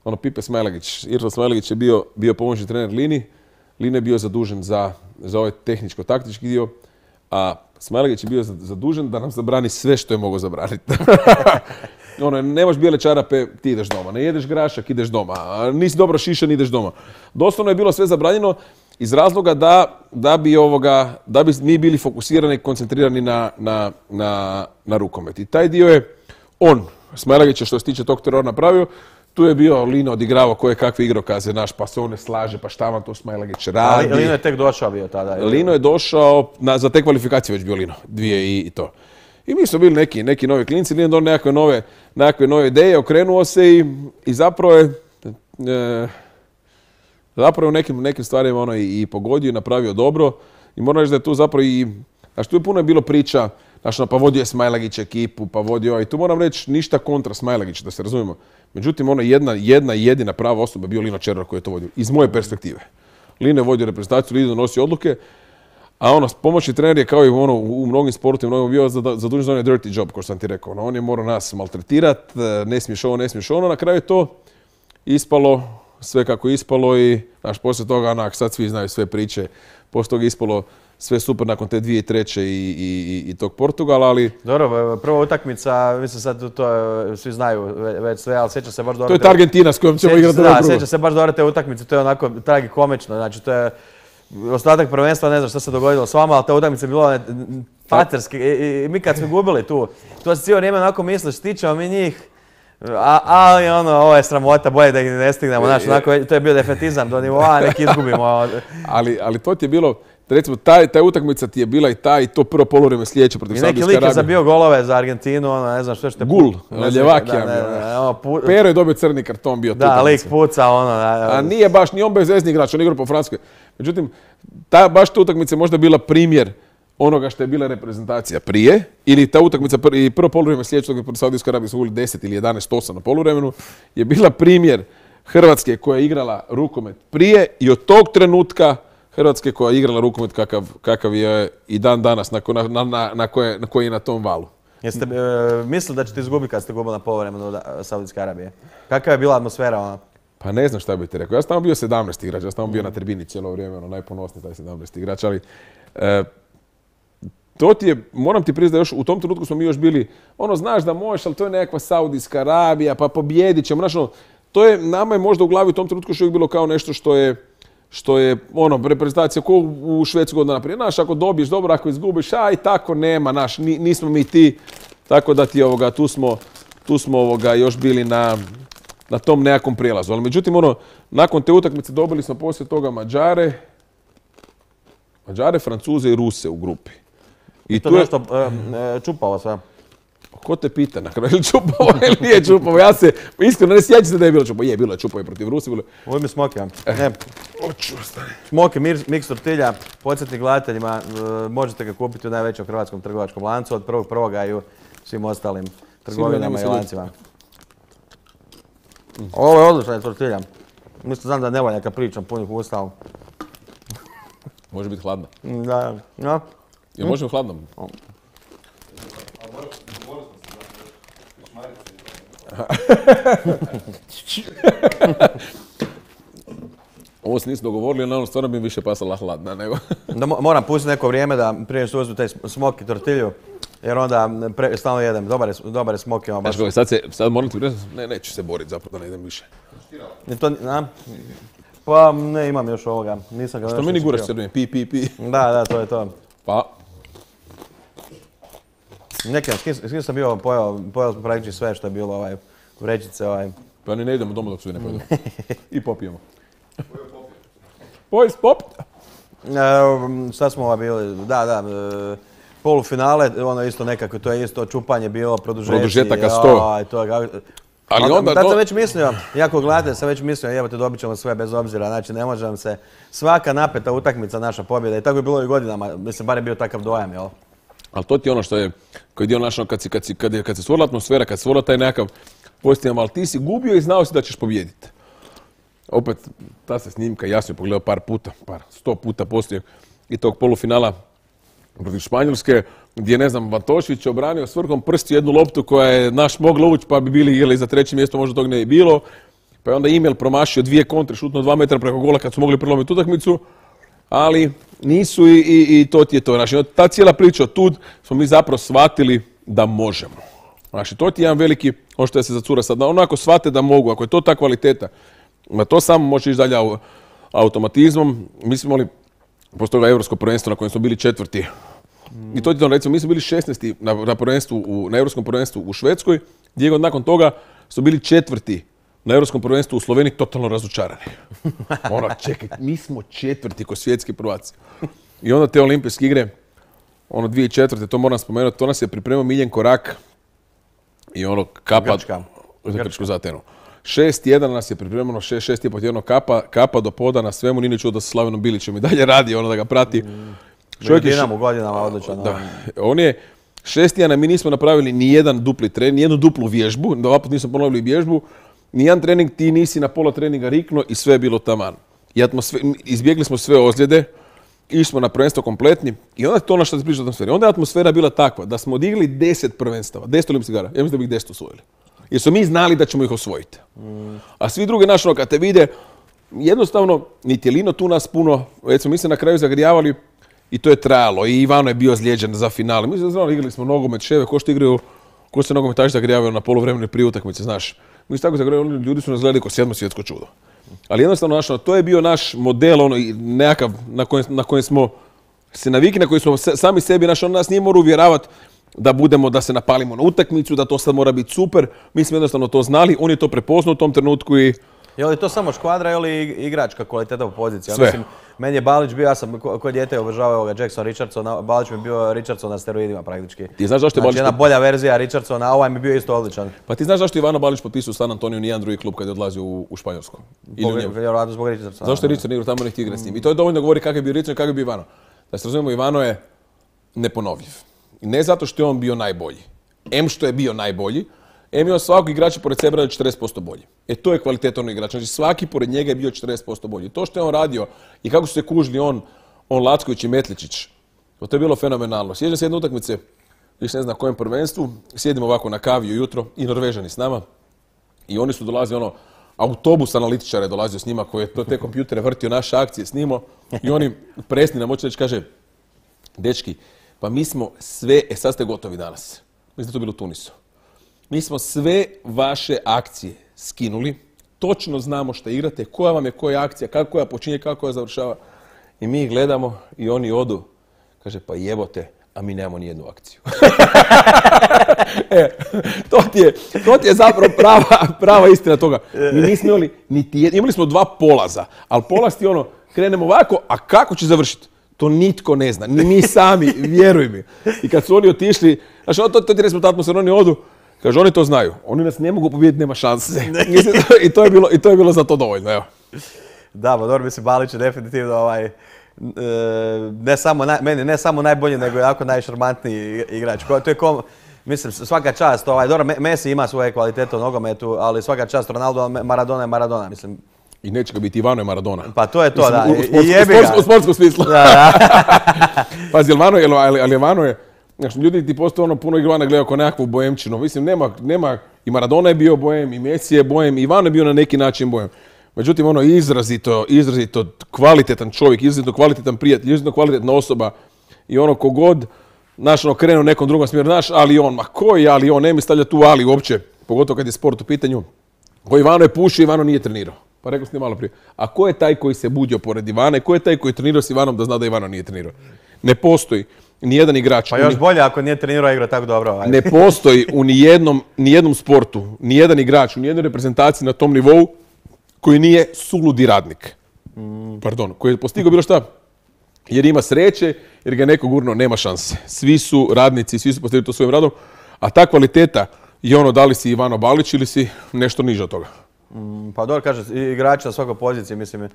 Speaker 3: ono Pipe Smajlagić. Irfan Smajlagić je bio, bio pomoćni trener Lini. Lina je bio zadužen za, za ovaj tehničko-taktički dio, a Smajlagić je bio zadužen da nam zabrani sve što je mogao zabraniti. Ono, nemaš bijele čarape, ti ideš doma. Ne jedeš grašak, ideš doma. A nisi dobro šišan, ideš doma. Doslovno je bilo sve zabranjeno iz razloga da, da, bi, ovoga, da bi mi bili fokusirani i koncentrirani na, na, na, na rukomet. I taj dio je on, Smajlagić, što se tiče tog terora napravio. tu je bio Lino odigravao koje kakve igrokaze, naš, pa se on ne slaže, pa šta vam to Smailagić radi.
Speaker 2: Ali Lino je tek došao bio tada.
Speaker 3: Lino je došao, na, za te kvalifikacije već bio Lino, dvije i, i to. I mi smo bili neki, neki novi klinci, Lino donio nekakve nove, nekakve nove ideje, okrenuo se i, i zapravo je, e, zapravo u nekim, nekim stvarima ono i, i pogodio i napravio dobro. I moram reći da je tu zapravo i, znaš, tu je puno je bilo priča, znaš, pa vodio je Smailagić ekipu, pa vodio, i tu moram reći ništa kontra Smailagića, da se razumijemo. Međutim, ono jedna, jedna jedina prava osoba je bio Lino Červar koji je to vodio, iz moje perspektive. Lino je vodio reprezentaciju, Lino donosio odluke, a ono, pomoćni trener je kao i ono, u mnogim sportima, mnogo bio zadužen za onaj dirty job, kao što sam ti rekao. Ono, on je morao nas maltretirati, ne smiješ ovo, ne smiješ ono, na kraju je to ispalo sve kako je ispalo i, znaš, poslije toga, onak, sad svi znaju sve priče, poslije toga je ispalo sve super nakon te dvije treće i, i, i tog Portugala, ali...
Speaker 2: Dobro, prva utakmica, mislim sad to je, svi znaju već sve, ali sjeća se baš dobro...
Speaker 3: To je ta Argentina s kojom ćemo igrati.
Speaker 2: Da, sjeća se baš dobro te utakmice, to je onako tragikomično, znači to je... Ostatak prvenstva, ne znam što se dogodilo s vama, ali ta utakmica je bila paterski i, i mi kad smo gubili tu, to se cijelo vrijeme onako misliš, stičemo mi njih, a, ali ono, ovo je sramota, bolje da ih ne stignemo, znači onako, to je bio defetizam do nivoa, neki izgubimo.
Speaker 3: ali, ali to ti je bilo, recimo, taj, taj utakmica ti je bila i taj, i to prvo poluvrijeme sljedeće protiv Saudijske Arabije.
Speaker 2: I neki lik je zabio golove za Argentinu, ono, ne znam što što je...
Speaker 3: Gul, Ljevakija bio. Pero je dobio crni karton bio tu.
Speaker 2: Da, lik puca, ono...
Speaker 3: A nije baš, ni on bezvezni igrač, on igra po Francuskoj. Međutim, ta, baš ta utakmica je možda bila primjer onoga što je bila reprezentacija prije, ili ta utakmica pr i prvo poluvrijeme sljedećeg protiv Saudijske Arabije su uvijek deset ili jedanaest osam na poluvremenu, je bila primjer Hrvatske koja je igrala rukomet prije i od tog trenutka Hrvatske koja je igrala rukomet kakav, kakav je i dan danas, na, na, na, na, koje, na koji je na tom valu.
Speaker 2: Jeste e, mislili da ćete izgubiti kad ste gubili na poluvremenu od Saudijske Arabije? Kakva je bila atmosfera ona?
Speaker 3: Pa ne znam šta bih ti rekao. Ja sam tamo bio sedamnaesti igrač, ja sam tamo bio na tribini cijelo vrijeme, ono, najponosniji taj sedamnaesti igrač, ali e, to ti je, moram ti priznati da još u tom trenutku smo mi još bili, ono, znaš da možeš, ali to je nekakva Saudijska Arabija, pa pobjedit ćemo, znaš, ono, to je, nama je možda u glavi u tom trenutku što je bilo kao nešto što je što je, ono, reprezentacija ko u Švedsku godina naprijed. Znaš, ako dobiješ dobro, ako izgubiš, aj, tako nema, naš, nismo mi ti. Tako da ti, ovoga, tu smo, tu smo ovoga, još bili na, na tom nekakvom prijelazu. Ali međutim, ono, nakon te utakmice dobili smo poslije toga Mađare, Mađare, Francuze i Ruse u grupi.
Speaker 2: I to je nešto e, čupalo sve.
Speaker 3: Ko te pita na kraju, ili čupavo ili nije čupavo? Ja se, iskreno, ne sjećam se da je bilo čupavo. Je, bilo je čupavo i protiv Rusi. Bilo...
Speaker 2: Ovo mi Smoki.
Speaker 3: Eh. Oću, stani.
Speaker 2: Smoki, miks tortilja, podsjetnik gledateljima, možete ga kupiti u najvećem hrvatskom trgovačkom lancu od prvog prvoga i u svim ostalim trgovinama i lancima. Ovo je odlična tortilja. Mislim, znam da ne volja kad pričam punih usta, ali...
Speaker 3: Može biti hladna.
Speaker 2: Da, da.
Speaker 3: Jel može biti hladna? Ovo se nisu dogovorili, ali ono stvarno bi više pasala hladna nego...
Speaker 2: Da moram pustiti neko vrijeme da prije što uzmu taj smoki tortilju, jer onda pre, stalno jedem. Dobar je, dobar je smoki. Baš...
Speaker 3: Znaš, sad, se, sad moram ti reći, ne, neću se boriti zapravo da ne idem više.
Speaker 2: To, na? Pa ne imam još ovoga. Nisam ga
Speaker 3: što meni guraš srednje? Pi, pi, pi.
Speaker 2: Da, da, to je to.
Speaker 3: Pa.
Speaker 2: Neki, s kim, s kim sam bio, pojao, pojao smo praktički sve što je bilo ovaj, vrećice. Ovaj.
Speaker 3: Pa ni ne idemo doma dok svi ne pojedu. I popijemo. Boys, pop!
Speaker 2: E, šta smo ovaj bili? Da, da. E, polufinale, ono isto nekako, to je isto čupanje bilo, produžeci.
Speaker 3: Produžetaka sto.
Speaker 2: Aj, to,
Speaker 3: ali
Speaker 2: onda,
Speaker 3: onda...
Speaker 2: Tad
Speaker 3: To...
Speaker 2: sam već mislio, jako gledate, sam već mislio, evo te dobit ćemo sve bez obzira, znači ne možem se, svaka napeta utakmica naša pobjeda i tako je bilo i godinama, mislim, bar je bio takav dojam, jel?
Speaker 3: Ali to ti je ono što je, koji je dio našo, kad, si, kad, si, kad, je, kad se stvorila atmosfera, kad se stvorila taj nekakav pozitivan, ali ti si gubio i znao si da ćeš pobijediti. Opet, ta se snimka, ja sam je pogledao par puta, par, sto puta poslije i tog polufinala protiv Španjolske, gdje, ne znam, Vatošević je obranio s vrhom prsti jednu loptu koja je naš mogla ući, pa bi bili igrali za treće mjesto, možda tog ne je bilo. Pa je onda Imel promašio dvije kontre, šutno dva metra preko gola kad su mogli prelomiti utakmicu, ali nisu i, i, i to ti je to. Znači, ta cijela priča od tud smo mi zapravo shvatili da možemo. Znači, to ti je jedan veliki, ono što je se zacura sad, onako shvate da mogu, ako je to ta kvaliteta, na to samo može ići dalje automatizmom. Mi smo imali poslije toga Europsko prvenstvo na kojem smo bili četvrti. Mm. I to ti to, recimo, mi smo bili šesnaesti na, na, prvenstvu u, na Europskom prvenstvu u Švedskoj, gdje nakon toga su bili četvrti na Europskom prvenstvu u Sloveniji totalno razočarani. Ono, čekaj, mi smo četvrti ko svjetski prvaci. I onda te olimpijske igre, ono dvije tisuće četvrte, to moram spomenuti, to nas je pripremio Miljenko Rak i ono kapa...
Speaker 2: Grčka.
Speaker 3: Za Grčku za Atenu. Šest jedan nas je pripremljeno, šest, šest i po tjedno kapa, kapa do poda na svemu, nije ni čuo da sa Slavenom Bilićem i dalje radi, ono da ga prati.
Speaker 2: Čovjek je u godinama odličan.
Speaker 3: Da, on je šest tjedana, mi nismo napravili ni jedan dupli trening, ni jednu duplu vježbu, da ovaput nismo ponovili vježbu, ni jedan trening, ti nisi na pola treninga rikno i sve je bilo taman. I atmosfer, izbjegli smo sve ozljede, išli smo na prvenstvo kompletni i onda je to ono što se priča o atmosferi. Onda je atmosfera bila takva da smo odigli deset prvenstava, deset olimpijskih igara, ja mislim da bi ih deset osvojili. Jer smo mi znali da ćemo ih osvojiti. Mm. A svi drugi naši, kad te vide, jednostavno, niti je Lino tu nas puno, recimo mi se na kraju zagrijavali i to je trajalo. I Ivano je bio ozlijeđen za finale. Mi se znali, igrali smo nogomet, ševe, ko što igraju, ko se nogometaši zagrijavaju na poluvremenu prije utakmice, znaš. Mi se tako zagrijavali, ljudi su nas gledali kao sedmo svjetsko čudo. Ali jednostavno, naš, to je bio naš model, ono, nekakav na kojem, na kojem smo se navikli, na kojem smo sami sebi, naš, on nas nije morao uvjeravati da budemo, da se napalimo na utakmicu, da to sad mora biti super. Mi smo jednostavno to znali, on je to prepoznao u tom trenutku i...
Speaker 2: Je li to samo škvadra ili igračka kvaliteta u poziciji?
Speaker 3: Sve.
Speaker 2: Mislim, meni je Balić bio, ja sam ko dijete obožavao ovoga Jackson Richardsona, Balić mi je bio Richardson na steroidima praktički.
Speaker 3: Ti znaš zašto je Balić...
Speaker 2: Znači jedna bolja verzija Richardsona, a ovaj mi je bio isto odličan.
Speaker 3: Pa ti znaš zašto je Ivano Balić potpisao u San Antoniju nijedan drugi klub kad je odlazio u, u Španjolsku?
Speaker 2: Vjerojatno zbog Richardsona.
Speaker 3: Zašto je Richardson igrao tamo, ne htio igrati s njim? I to je dovoljno govori kakav je bio Richardson i kakav je bio Ivano. Da se razumijemo, Ivano je neponovljiv. I ne zato što je on bio najbolji. Em što je bio najbolji, em je on svakog igrača pored sebe radio četrdeset posto bolji. E to je kvaliteta onog igrača. Znači svaki pored njega je bio četrdeset posto bolji. To što je on radio i kako su se kužili on, on Lacković i Metličić, to je bilo fenomenalno. Sjećam se jedne utakmice, više ne znam kojem prvenstvu, sjedimo ovako na kavi ujutro i Norvežani s nama i oni su dolazili ono, autobus analitičara je dolazio s njima koji je to, te kompjutere vrtio naše akcije snimao i oni presni nam hoće reći, kaže, dečki, pa mi smo sve, e sad ste gotovi danas. Mislim da to bilo u Tunisu. Mi smo sve vaše akcije skinuli, točno znamo što igrate, koja vam je koja akcija, kako koja počinje, kako koja završava. I mi ih gledamo i oni odu. Kaže, pa jebote, a mi nemamo nijednu akciju. e, to, ti je, to ti je zapravo prava, prava istina toga. Mi nismo imali niti jedan, imali smo dva polaza, ali polaz ti ono, krenemo ovako, a kako će završiti? To nitko ne zna, ni mi sami, vjeruj mi. I kad su oni otišli, znači to, to ti rezultat atmosfera, oni odu, kaže, oni to znaju, oni nas ne mogu pobijediti, nema šanse. I, to je bilo, I to je bilo za to dovoljno, evo.
Speaker 2: Da, pa dobro, mislim, Balić je definitivno ovaj, ne samo, naj, meni ne samo najbolji, nego jako najšarmantniji igrač. To je kom, mislim, svaka čast, ovaj, dobro, Messi ima svoje kvalitete u nogometu, ali svaka čast Ronaldo, Maradona je Maradona, mislim.
Speaker 3: I neće ga biti Ivano je Maradona.
Speaker 2: Pa to je to, mislim, da.
Speaker 3: U, u, sports, I jebi ga. U sportskom smislu. Da, da. Pazi, Ivano je, ali, ali Ivano je, znači, ljudi ti postoje ono puno Ivana gledaju kao nekakvu bohemčinu. Mislim, nema, nema, i Maradona je bio bohem, i Messi je bohem, i Ivano je bio na neki način bohem. Međutim, ono izrazito, izrazito kvalitetan čovjek, izrazito kvalitetan prijatelj, izrazito kvalitetna osoba. I ono kogod, znaš, ono krenu u nekom drugom smjeru, znaš, ali on, ma koji ali on, ne mi stavlja tu ali uopće, pogotovo kad je sport u pitanju. Ko Ivano je pušio, Ivano nije trenirao. Pa rekao sam ti malo prije. A ko je taj koji se budio pored Ivana i ko je taj koji je trenirao s Ivanom da zna da Ivano nije trenirao? Ne postoji nijedan igrač.
Speaker 2: Pa još ni... bolje ako nije trenirao igra tako dobro. Ajde.
Speaker 3: Ne postoji u nijednom, nijednom sportu, nijedan igrač, u nijednoj reprezentaciji na tom nivou koji nije suludi radnik. Mm. Pardon, koji je postigao bilo šta. Jer ima sreće, jer ga neko gurno, nema šanse. Svi su radnici, svi su postigli to svojim radom, a ta kvaliteta je ono da li si Ivano Balić ili si nešto niže od toga.
Speaker 2: Mm, pa dobro, kaže, igrači na svakoj poziciji, mislim,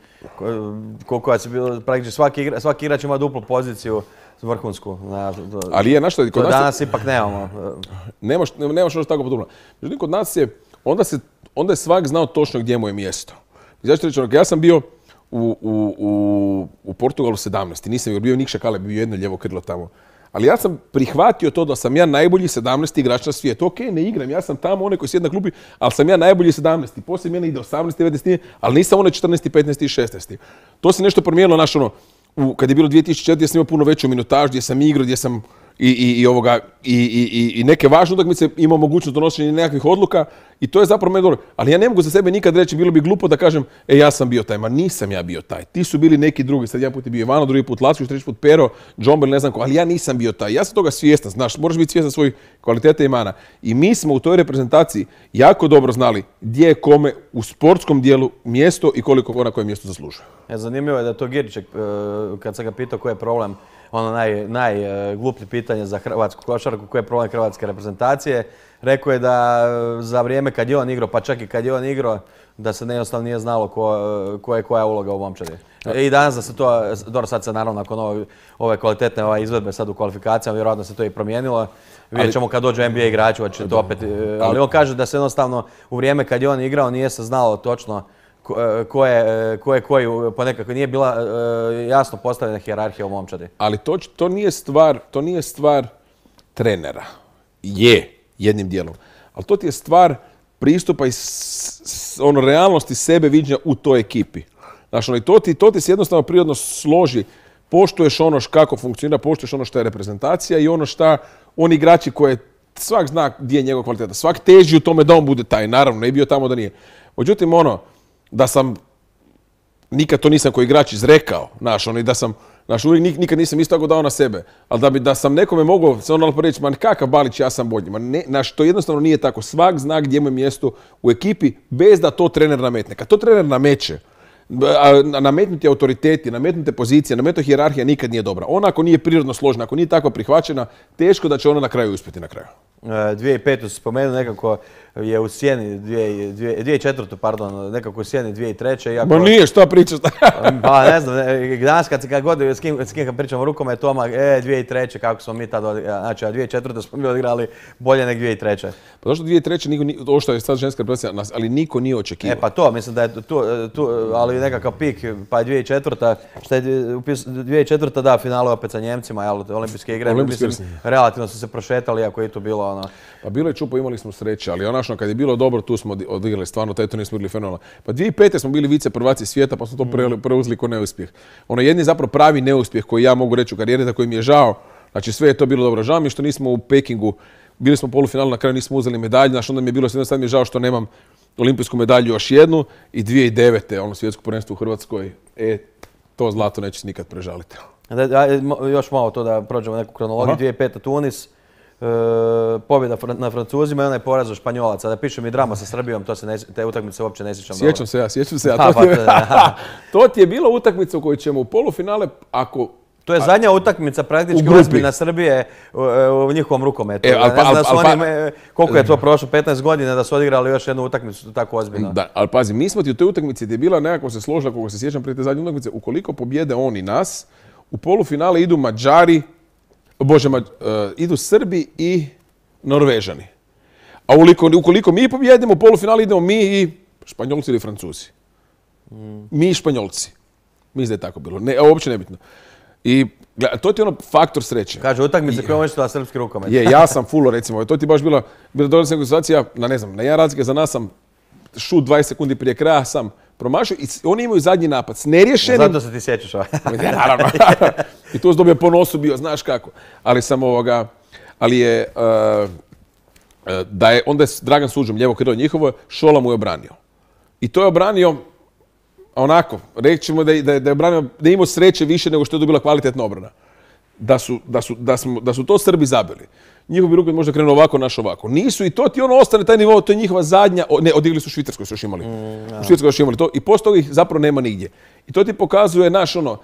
Speaker 2: koliko je bilo, praktički svaki, igra, svaki igrač ima duplu poziciju vrhunsku. Na, to,
Speaker 3: ali je, znaš što, kod nas
Speaker 2: danas je, ipak nemamo.
Speaker 3: Nemaš, nemaš ono tako podobno. Međutim, kod nas je, onda, se, onda je svak znao točno gdje mu je mjesto. Znači, reći, ja sam bio u, u, u, u Portugalu sedamnaesti, nisam bio Nikša Kale, bio jedno lijevo krilo tamo. Ali ja sam prihvatio to da sam ja najbolji sedamnaesti igrač na svijetu. Ok, ne igram, ja sam tamo onaj koji sjedi na klupi, ali sam ja najbolji sedamnaesti. Poslije mene ide osamnaesti, devetnaesti, ali nisam onaj četrnaesti, petnaesti i šesnaesti. To se nešto promijenilo, naš ono, u, kad je bilo dvije tisuće četvrte. Ja sam imao puno veću minutažu, gdje sam igrao, gdje sam i, i, i, ovoga, i, i, i neke važne utakmice ima mogućnost donošenja nekakvih odluka i to je zapravo meni dobro. Ali ja ne mogu za sebe nikad reći, bilo bi glupo da kažem, e ja sam bio taj, ma nisam ja bio taj. Ti su bili neki drugi, sad jedan put je bio Ivano, drugi put Lacković, treći put Pero, Džombel, ne znam ko, ali ja nisam bio taj. Ja sam toga svjestan, znaš, moraš biti svjestan svojih kvaliteta i mana. I mi smo u toj reprezentaciji jako dobro znali gdje je kome u sportskom dijelu mjesto i koliko ko na kojem mjestu zaslužuje.
Speaker 2: E, zanimljivo je da to Girček, kad sam ga pitao koji je problem, ono najgluplje naj, pitanje za hrvatsku košarku, koji je problem hrvatske reprezentacije, rekao je da za vrijeme kad je on igrao, pa čak i kad je on igrao, da se jednostavno nije znalo ko, ko je koja uloga u momčadi. I danas da se to, dobro sad se naravno nakon ove, ove kvalitetne ove izvedbe sad u kvalifikacijama, vjerojatno se to i promijenilo. Vidjet ćemo kad dođu N B A igrači, će to opet, ali on kaže da se jednostavno u vrijeme kad je on igrao nije se znalo točno ko je ko je koji, pa nekako nije bila jasno postavljena hijerarhija u momčadi.
Speaker 3: Ali to, to, nije stvar, to nije stvar trenera. Je, jednim dijelom. Ali to ti je stvar pristupa i ono, realnosti sebe viđenja u toj ekipi. Znaš, ono, i to ti, to ti se jednostavno prirodno složi. Poštuješ ono kako funkcionira, poštuješ ono što je reprezentacija i ono šta oni igrači koje svak zna gdje je njegov kvaliteta. Svak teži u tome da on bude taj, naravno, ne bi bio tamo da nije. Međutim, ono, da sam, nikad to nisam koji igrač izrekao, znaš, ono, i da sam, znaš, uvijek nikad nisam isto tako dao na sebe, ali da bi da sam nekome mogao se ono reći, ma kakav Balić, ja sam bolji, ma ne, znaš, to jednostavno nije tako. Svak zna gdje mu je mjesto u ekipi bez da to trener nametne. Kad to trener nameće, nametnuti autoriteti, nametnute pozicije, nametnuta hijerarhija nikad nije dobra. Ona ako nije prirodno složena, ako nije tako prihvaćena, teško da će ona na kraju uspjeti na kraju.
Speaker 2: dvije tisuće pete se spomenuo, nekako je u sjeni, dvije tisuće četvrte pardon, nekako u sjeni dvije tisuće treće. Iako,
Speaker 3: ma nije, šta pričaš?
Speaker 2: Pa ne znam, danas kad se kad god s kim, s kim kad pričamo rukome, Toma, e, dvije tisuće treće kako smo mi tad, znači, a dvije tisuće četvrte smo mi odigrali bolje nego dvije tisuće treće.
Speaker 3: Pa zašto dvije tisuće treće niko, ovo što je sad ženska reprezentacija, ali niko nije očekivao.
Speaker 2: E pa to, mislim da je tu, tu ali nekakav pik, pa je dvije tisuće četvrte, šta je dvije tisuće četvrte, da, finale opet sa Njemcima, jel, olimpijske igre,
Speaker 3: Olimpijske
Speaker 2: mislim, relativno su se prošetali, ako je to bilo ono.
Speaker 3: Pa bilo je čupo, imali smo sreće, ali onačno kad je bilo dobro, tu smo odigrali stvarno, taj turnir smo igrali fenomenalno. Pa dvije tisuće pete smo bili vice prvaci svijeta, pa smo to preuzeli kao neuspjeh. Ono jedni zapravo pravi neuspjeh koji ja mogu reći u karijeri, za koji mi je žao, znači sve je to bilo dobro. Žao mi je što nismo u Pekingu, bili smo u polufinalu, na kraju nismo uzeli medalju, znači onda mi je bilo sad mi je žao što nemam olimpijsku medalju još jednu i dvije tisuće devete ono svjetsko prvenstvo u Hrvatskoj, e, to zlato neće se nikad prežaliti.
Speaker 2: Da, još malo to da prođemo neku kronologiju, dvije tisuće pete Tunis, e, pobjeda na Francuzima i onaj poraz od Španjolaca. Da piše mi drama sa Srbijom, to se ne, te utakmice uopće ne sjećam.
Speaker 3: Sjećam se ja, sjećam se ja. To, ti je, to ti je bila utakmica u kojoj ćemo u polufinale, ako...
Speaker 2: To je zadnja utakmica praktički ozbiljna Srbije u, u njihovom rukometu. E, al, ne znam da su oni, koliko je to prošlo, petnaest godina da su odigrali još jednu utakmicu tako ozbiljno.
Speaker 3: Da, ali pazi, mi smo ti u toj utakmici gdje je bila nekako se složila, koliko se sjećam prije te zadnje utakmice, ukoliko pobjede oni nas, u polufinale idu Mađari, bože, Mađ, uh, idu Srbi i Norvežani. A ukoliko, ukoliko mi pobjedimo u polufinale idemo mi i Španjolci ili Francuzi. Mm. Mi i Španjolci. Mislim da je tako bilo. Ne, uopće nebitno. I to ti je ono faktor sreće.
Speaker 2: Kaže, utakmice koje možeš da srpski rukomet.
Speaker 3: Je, ja sam full, recimo, to ti baš bila, bila dobra situacija, na ne znam, na jedan razlike za nas sam šut dvadeset sekundi prije kraja sam promašio i oni imaju zadnji napad s neriješenim...
Speaker 2: Zato se ti sjećaš ovo.
Speaker 3: Naravno. I tu sam dobio po nosu bio, znaš kako. Ali sam ovoga, ali je, uh, da je, onda je Dragan Suđom, lijevo krilo njihovo, Šola mu je obranio. I to je obranio onako, rećemo da je, da je, da je obranio, da je imao sreće više nego što je to bila kvalitetna obrana. Da su, da su, da smo, da su to Srbi zabili. Njihov bi rukomet možda krenuo ovako, naš ovako. Nisu i to ti ono ostane taj nivo, to je njihova zadnja, ne, odigli su u Švicarskoj su još imali. Mm, u Švicarskoj još imali to i poslije toga ih zapravo nema nigdje. I to ti pokazuje naš ono,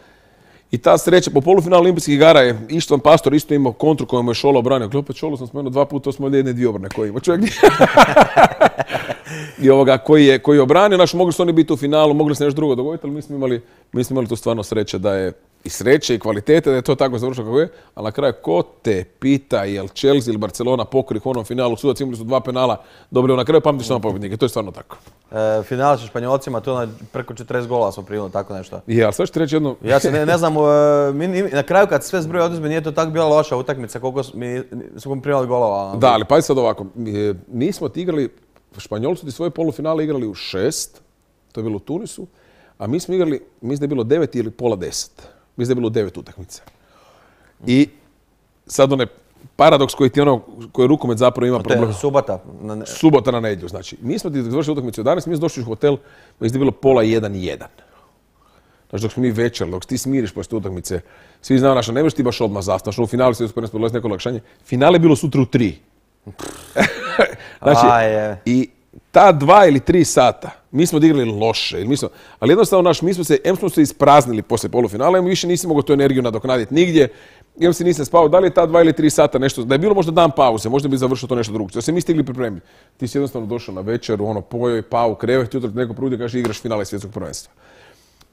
Speaker 3: i ta sreća po polufinalu olimpijskih igara je Ištvan Pastor isto imao kontru koju mu je Šola obranio. Opet Šolu sam spomenuo dva puta, to smo jedne dvije obrane koje ima čovjek. I ovoga koji je, koji je obranio, naš mogli su oni biti u finalu, mogli se nešto drugo dogoditi, ali mi smo imali, mi smo imali tu stvarno sreće da je i sreće i kvalitete, da je to tako završilo kako je, ali na kraju ko te pita je li Chelsea ili Barcelona pokori u onom finalu, sudac imali su dva penala, dobro, na kraju pamtiš samo pobjednike, to je stvarno tako.
Speaker 2: E, final sa Španjolcima, to na preko četrdeset gola smo primili, tako nešto.
Speaker 3: Je, ali sve što ti reći jedno...
Speaker 2: Ja se ne, ne znam, mi, na kraju kad sve zbroje oduzme, nije to tako bila loša utakmica, koliko mi smo primali golova.
Speaker 3: Da, ali pazi sad ovako, mi, mi smo ti igrali, Španjolci ti svoje polufinale igrali u šest, to je bilo u Tunisu, a mi smo igrali, mislim da je bilo devet ili pola deset. Mislim da je bilo devet utakmica. I sad one paradoks koji ti ono, koji rukomet zapravo ima
Speaker 2: To je
Speaker 3: problem.
Speaker 2: subota. na-
Speaker 3: Subota na nedjelju, znači. Mi smo ti završili utakmicu u jedanaest, mi smo došli u hotel, mislim da je bilo pola jedan jedan. Znači dok smo mi večer, dok ti smiriš poslije utakmice, svi znaju naša, ne možeš ti baš odmah zastav. Znači u finalu se uspio nas neko olakšanje. Finale je bilo sutra u tri. Znači,
Speaker 2: A, je.
Speaker 3: i ta dva ili tri sata, mi smo odigrali loše, mi smo, ali jednostavno naš, mi smo se, em smo se ispraznili poslije polufinala, em više nisi mogao tu energiju nadoknaditi nigdje, em si nisam spao, da li je ta dva ili tri sata nešto, da je bilo možda dan pauze, možda bi završio to nešto drugo, da se mi stigli pripremiti. Ti si jednostavno došao na večeru, ono, pojeo i pao u krevet, jutro ti neko prudi i kaže igraš finale svjetskog prvenstva.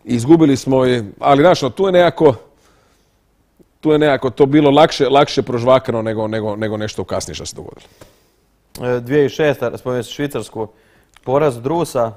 Speaker 3: Izgubili smo je, ali znaš, no, tu je nekako, tu je nekako to bilo lakše, lakše prožvakano nego, nego, nego nešto kasnije što se dogodilo.
Speaker 2: E, dvije tisuće šeste. spomenuo si Švicarsku. Poraz Drusa.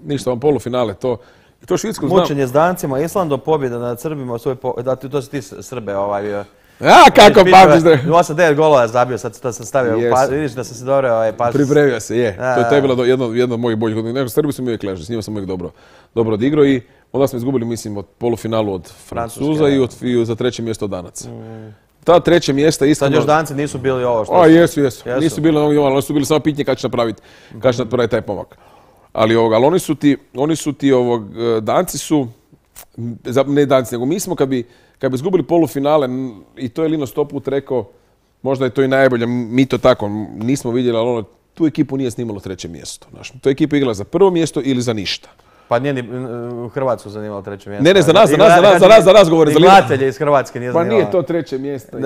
Speaker 3: Ništa, vam polufinale, to, i to Švicarsku znam.
Speaker 2: Mučenje s Dancima, Islandom, pobjeda nad Srbima. Svoj po, da, ti- to si ti Srbe ovaj... e,
Speaker 3: A, kako pamtiš da...
Speaker 2: osam devet golova je zabio, sad to sam stavio.
Speaker 3: Jesu.
Speaker 2: Pa, vidiš da sam se dobro ovaj, paš...
Speaker 3: Pripremio se, je.
Speaker 2: Da,
Speaker 3: To je, to je
Speaker 2: da.
Speaker 3: bilo do- jedno, jedno od mojih boljih godina. Nego, Srbi su mi uvijek ležali, s njima sam uvijek dobro, dobro odigrao i onda smo izgubili, mislim, od polufinalu od Francuza
Speaker 2: Francuske,
Speaker 3: i, od, i za treće mjesto od Danaca. Ta treće mjesta
Speaker 2: Sad
Speaker 3: iskreno...
Speaker 2: još Danci nisu bili ovo što...
Speaker 3: A, jesu, jesu.
Speaker 2: Jesu.
Speaker 3: Nisu bili onog oni su bili samo pitanje kada će napraviti, kada će napraviti taj pomak. Ali, ovog, ali oni su ti, oni su ti ovog, e, Danci su, m, za- ne Danci, nego mi smo kad bi, kad bi izgubili polufinale, m, i to je Lino sto put rekao, možda je to i najbolje, m, mi to tako m, nismo vidjeli, ali ono, tu ekipu nije snimalo treće mjesto. Znaš, tu ekipa igrala za prvo mjesto ili za ništa.
Speaker 2: Pa nije ni u Hrvatsku zanimalo treće mjesto.
Speaker 3: Ne, ne, za nas, za
Speaker 2: I
Speaker 3: nas, za nas, za nas, za nas govore,
Speaker 2: i
Speaker 3: za Lino.
Speaker 2: gledatelje iz Hrvatske nije
Speaker 3: Pa
Speaker 2: zanimalo.
Speaker 3: nije to treće mjesto. je.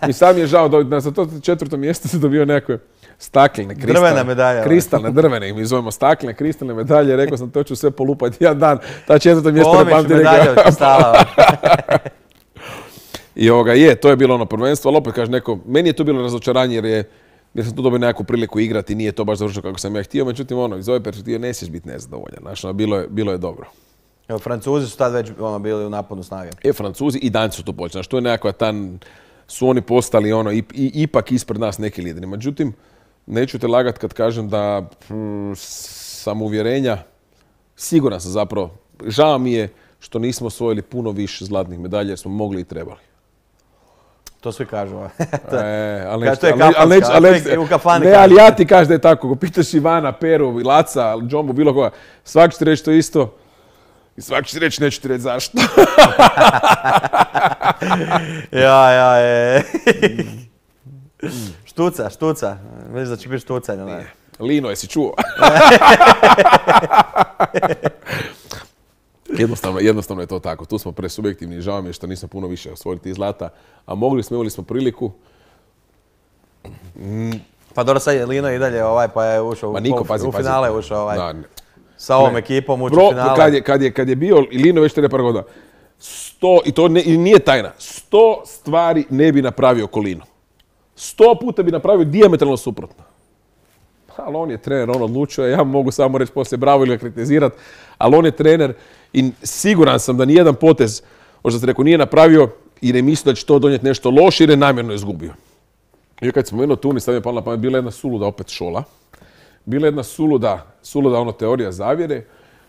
Speaker 3: I sam je žao da da za to četvrto mjesto se dobio nekakve staklene, kristalne.
Speaker 2: Drvene medalje, ovaj.
Speaker 3: Kristalne, drvene, mi zovemo staklene, kristalne medalje. Rekao sam, to ću sve polupati jedan dan. Ta četvrto mjesto ne
Speaker 2: Polomiš
Speaker 3: pamti
Speaker 2: medalje
Speaker 3: neka.
Speaker 2: od kristala.
Speaker 3: I ovoga, je, to je bilo ono prvenstvo, ali opet kaže neko, meni je to bilo razočaranje jer je jer sam tu dobio nekakvu priliku igrati, nije to baš završilo kako sam ja htio, međutim ono, iz ove perspektive ne smiješ biti nezadovoljan, znaš, ono, bilo je, bilo je dobro.
Speaker 2: Evo, Francuzi su tad već ono, bili u naponu snage.
Speaker 3: E, Francuzi i Danci su to počeli, znaš, to je nekakva tan, su oni postali ono, i, i- ipak ispred nas neki lideri. Međutim, neću te lagat kad kažem da mm, samouvjerenja, siguran sam zapravo, žao mi je što nismo osvojili puno više zlatnih medalja jer smo mogli i trebali.
Speaker 2: To svi kažu. To je-
Speaker 3: E, ali
Speaker 2: Kaže,
Speaker 3: neću-
Speaker 2: to je
Speaker 3: ali- ali
Speaker 2: kafanska,
Speaker 3: neću- ali
Speaker 2: to je
Speaker 3: neću-
Speaker 2: u kafani
Speaker 3: Ne,
Speaker 2: kažu.
Speaker 3: ali ja ti kažem da je tako. Ako pitaš Ivana, Peru, Laca, Džombu, bilo koga, svaki će ti reći to isto. I svaki će ti reći, neću ti reći zašto.
Speaker 2: Ja, ja, je. Štuca, štuca. Vidiš da će biti štucanje. Ne?
Speaker 3: Lino, jesi čuo? Jednostavno, jednostavno je to tako. Tu smo presubjektivni. Žao mi je što nismo puno više osvojili tih zlata. A mogli smo, imali smo priliku.
Speaker 2: Pa dobro, sad je Lino i dalje ovaj, pa je ušao
Speaker 3: Ma
Speaker 2: u,
Speaker 3: niko,
Speaker 2: pol-
Speaker 3: pazi,
Speaker 2: u
Speaker 3: pazi.
Speaker 2: finale je ušao ovaj.
Speaker 3: Da, ne.
Speaker 2: Sa ovom
Speaker 3: Ne.
Speaker 2: ekipom ušao
Speaker 3: Bro,
Speaker 2: u finale.
Speaker 3: kad je, kad, je, kad je bio i Lino već tere par godina, sto, i to ne, i nije tajna, sto stvari ne bi napravio oko Lino. Sto puta bi napravio dijametralno suprotno. Ali on je trener, on odlučio, ja mogu samo reći poslije bravo ili ga kritizirati, ali on je trener i siguran sam da nijedan potez, možda ste rekao, nije napravio i ne misli da će to donijeti nešto loše jer je namjerno izgubio. I kad smo spomenuo Tunis, sad mi je pala na pamet, bila jedna suluda opet šola. Bila jedna suluda, suluda ono teorija zavjere,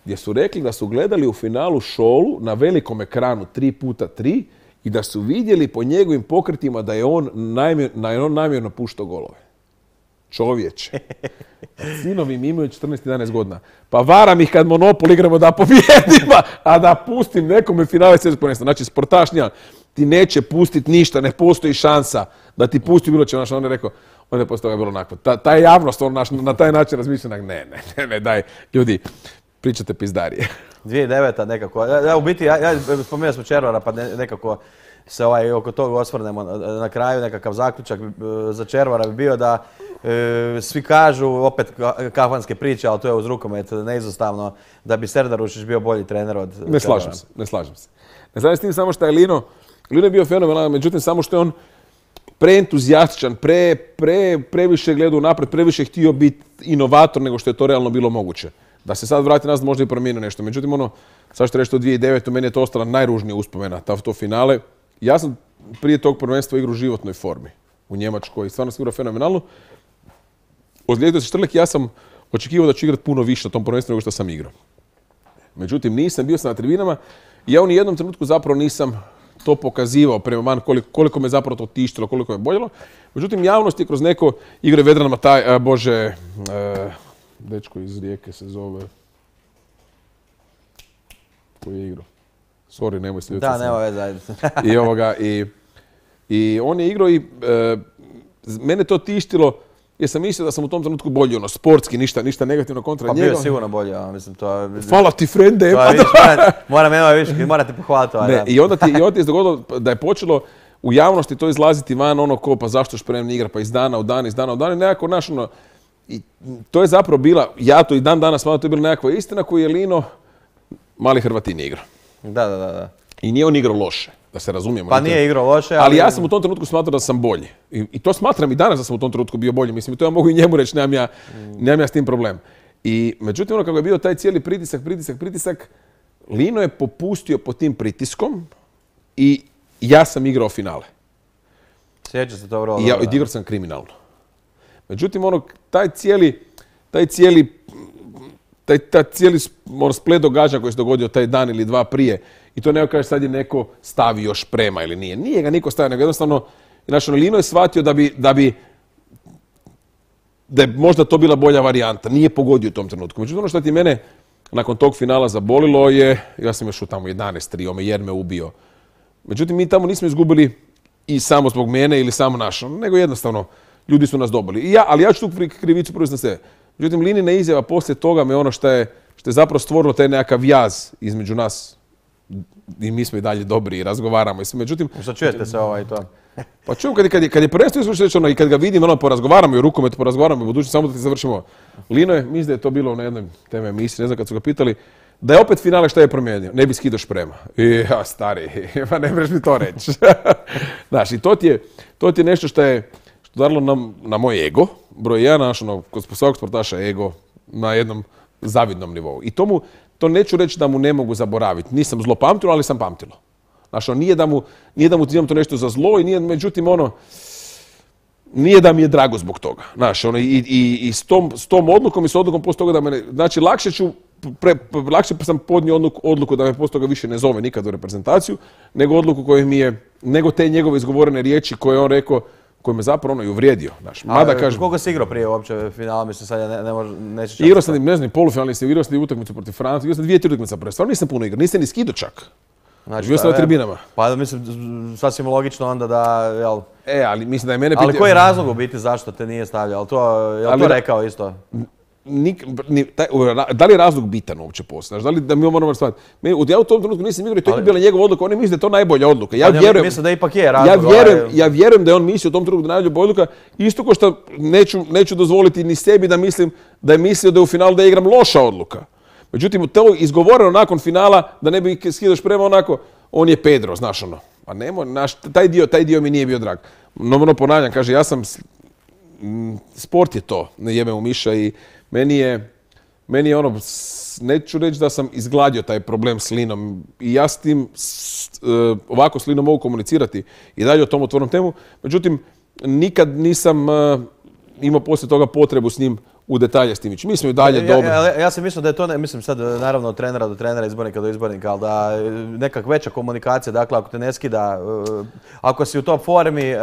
Speaker 3: gdje su rekli da su gledali u finalu šolu na velikom ekranu tri puta tri i da su vidjeli po njegovim pokretima da je on, namjer, da je on namjerno puštao golove. Čovječe. Sinovi mi imaju četrnaest jedanaest godina. Pa varam ih kad Monopol igramo da pobjedimo, a da pustim nekome finale svjetskog prvenstva. Znači, sportaš nijedan ti neće pustiti ništa, ne postoji šansa da ti pusti bilo će. Znači, on je rekao, onda je poslije toga bilo onako. Ta, ta javnost on, naš, na taj način razmišlja, ne, ne, ne, ne, daj, ljudi, pričate pizdarije.
Speaker 2: dvije tisuće deveta nekako. Ja, ja, u biti, ja, ja spomenuo smo Červara, pa ne- nekako se ovaj, oko toga osvrnemo. Na kraju nekakav zaključak e, za Červara bi bio da e, svi kažu, opet ka- kafanske priče, ali to je uz rukomet neizostavno, da bi Serdar Ušić bio bolji trener od
Speaker 3: Ne slažem se, ne slažem se. Ne slažem s tim samo što je Lino, Lino je bio fenomenalan, međutim samo što je on preentuzijastičan, pre, pre, previše gledao napred, previše htio biti inovator nego što je to realno bilo moguće. Da se sad vrati nazad možda i promijenio nešto. Međutim, ono, sad što reći to dvije tisuće devete. meni je to ostala najružnija uspomena, ta, to finale. Ja sam prije tog prvenstva igrao u životnoj formi u Njemačkoj i stvarno sam igrao fenomenalno. Ozlijedio se Štrlek i ja sam očekivao da ću igrati puno više na tom prvenstvu nego što sam igrao. Međutim, nisam, bio sam na tribinama i ja u nijednom trenutku zapravo nisam to pokazivao prema van, koliko, koliko me zapravo to tištilo, koliko me boljelo. Međutim, javnost je kroz neko igre Vedran Mataj, a, bože, e, dečko iz Rijeke se zove, koji je igrao? Sorry, nemoj se ljutiti.
Speaker 2: Da, nema veze, ajde.
Speaker 3: I, ovoga, i, I on je igrao i e, mene to tištilo jer sam mislio da sam u tom trenutku bolji, ono, sportski, ništa, ništa negativno kontra
Speaker 2: pa
Speaker 3: njega.
Speaker 2: Pa bio sigurno bolji, ja mislim, to je...
Speaker 3: Hvala ti, frende!
Speaker 2: To je, vidiš, moram, moram jedno više, morate pohvaliti ovaj
Speaker 3: ne,
Speaker 2: dan.
Speaker 3: I onda ti, i onda ti je dogodilo da je počelo u javnosti to izlaziti van, ono ko, pa zašto Šprem ne igra, pa iz dana u dan, iz dana u dan, i nekako, naš, ono, i to je zapravo bila, ja to i dan danas smatram, to je bila nekakva istina koju je Lino, mali Hrvatin, igra.
Speaker 2: Da, da, da, da.
Speaker 3: I nije on igrao loše, da se razumijemo.
Speaker 2: Pa nije igrao loše, ali...
Speaker 3: Ali ja sam u tom trenutku smatrao da sam bolji. I, i to smatram i danas da sam u tom trenutku bio bolji. Mislim, to ja mogu i njemu reći, nemam ja, mm. nemam ja s tim problem. I međutim, ono kako je bio taj cijeli pritisak, pritisak, pritisak, Lino je popustio pod tim pritiskom i ja sam igrao finale.
Speaker 2: Sjeća se to vrlo.
Speaker 3: I ja igrao sam kriminalno. Međutim, ono, taj cijeli, taj cijeli, taj, taj cijeli ono, splet događaja koji se dogodio taj dan ili dva prije, i to neko kaže sad je neko stavio Šprema ili nije. Nije ga niko stavio, nego jednostavno, znači, Lino je shvatio da bi, da bi, da je možda to bila bolja varijanta. Nije pogodio u tom trenutku. Međutim, ono što ti mene nakon tog finala zabolilo je, ja sam još u tamo jedanaest tri, ome jer me ubio. Međutim, mi tamo nismo izgubili i samo zbog mene ili samo našo, nego jednostavno ljudi su nas dobili. I ja, ali ja ću tu krivicu prvi na sebe. Međutim, Linina izjava poslije toga me ono što je, što je zapravo stvorilo taj nekakav jaz između nas. I mi smo i dalje dobri i razgovaramo. Međutim,
Speaker 2: što čujete se ovaj to?
Speaker 3: Pa čujem kad je, kad je, kad je prvenstvo izvršeno ono, i kad ga vidim, ono, porazgovaramo i u rukometu, porazgovaramo i u budućnosti, samo da ti završimo. Lino je, mislim da je to bilo na jednoj teme emisiji, ne znam kad su ga pitali, da je opet finale šta je promijenio. Ne bi skidao Šprema. I ja, stari, pa ne možeš mi to reći. Znaš, i to ti je, to ti je nešto što je što darilo na, na moj ego, broj jedan, naš, ono, kod svakog sportaša ego na jednom zavidnom nivou. I to mu, to neću reći da mu ne mogu zaboraviti. Nisam zlo pamtilo, ali sam pamtilo. Znaš, nije da mu, nije da mu imam to nešto za zlo i nije, međutim, ono, nije da mi je drago zbog toga. Znaš, ono, i, i, i s, tom, s tom odlukom i s odlukom poslije toga da me, znači, lakše ću, pre, lakše sam podnio odluku, odluku da me poslije toga više ne zove nikad u reprezentaciju, nego odluku koju mi je, nego te njegove izgovorene riječi koje je on rekao, koji me zapravo ono i uvrijedio. Znaš, mada
Speaker 2: A,
Speaker 3: kažem,
Speaker 2: koliko si igrao prije uopće finala, mislim sad ja ne, ne može, neću čak...
Speaker 3: Igrao sam, ne znam, polufinalni sam, igrao sam utakmicu protiv Francuske, igrao sam dvije, tri utakmice prve. Stvarno nisam puno igrao, nisam ni skido čak.
Speaker 2: Znači,
Speaker 3: bio sam na tribinama.
Speaker 2: Pa mislim, sasvim logično onda da, jel...
Speaker 3: E, ali mislim da je mene...
Speaker 2: Ali
Speaker 3: pitao...
Speaker 2: koji je razlog u biti zašto te nije stavljao? To, jel ali, to rekao isto?
Speaker 3: Nik, ni, taj, da li je razlog bitan uopće poslije? Znaš, da li da mi moramo shvatiti? Ja u tom trenutku nisam igrao i to je bila njegova odluka. On je mislio da je to najbolja odluka. Ja vjerujem,
Speaker 2: mislim da ipak je razlog.
Speaker 3: Ja vjerujem, ovaj... ja vjerujem da je on mislio u tom trenutku da je najbolja odluka. Isto kao što neću, neću dozvoliti ni sebi da mislim da je mislio da je u finalu da igram loša odluka. Međutim, to izgovoreno nakon finala, da ne bi skidao Šprema onako, on je Pedro, znaš ono. A nemoj, naš, taj, dio, taj dio mi nije bio drag. No, ono ponavljam, kaže, ja sam, sport je to, ne jebe u miša i meni je, meni je ono, neću reći da sam izgladio taj problem s Linom i ja s tim, s, uh, ovako s Linom mogu komunicirati i dalje o tom otvornom temu, međutim, nikad nisam uh, imao poslije toga potrebu s njim u detalje s tim ići. Mi smo i dalje
Speaker 2: ja,
Speaker 3: dobri.
Speaker 2: Ja, ja, ja sam mislio da je to, ne, mislim sad naravno od trenera do trenera, izbornika do izbornika, ali da nekak veća komunikacija, dakle ako te ne skida, uh, ako si u top formi, uh,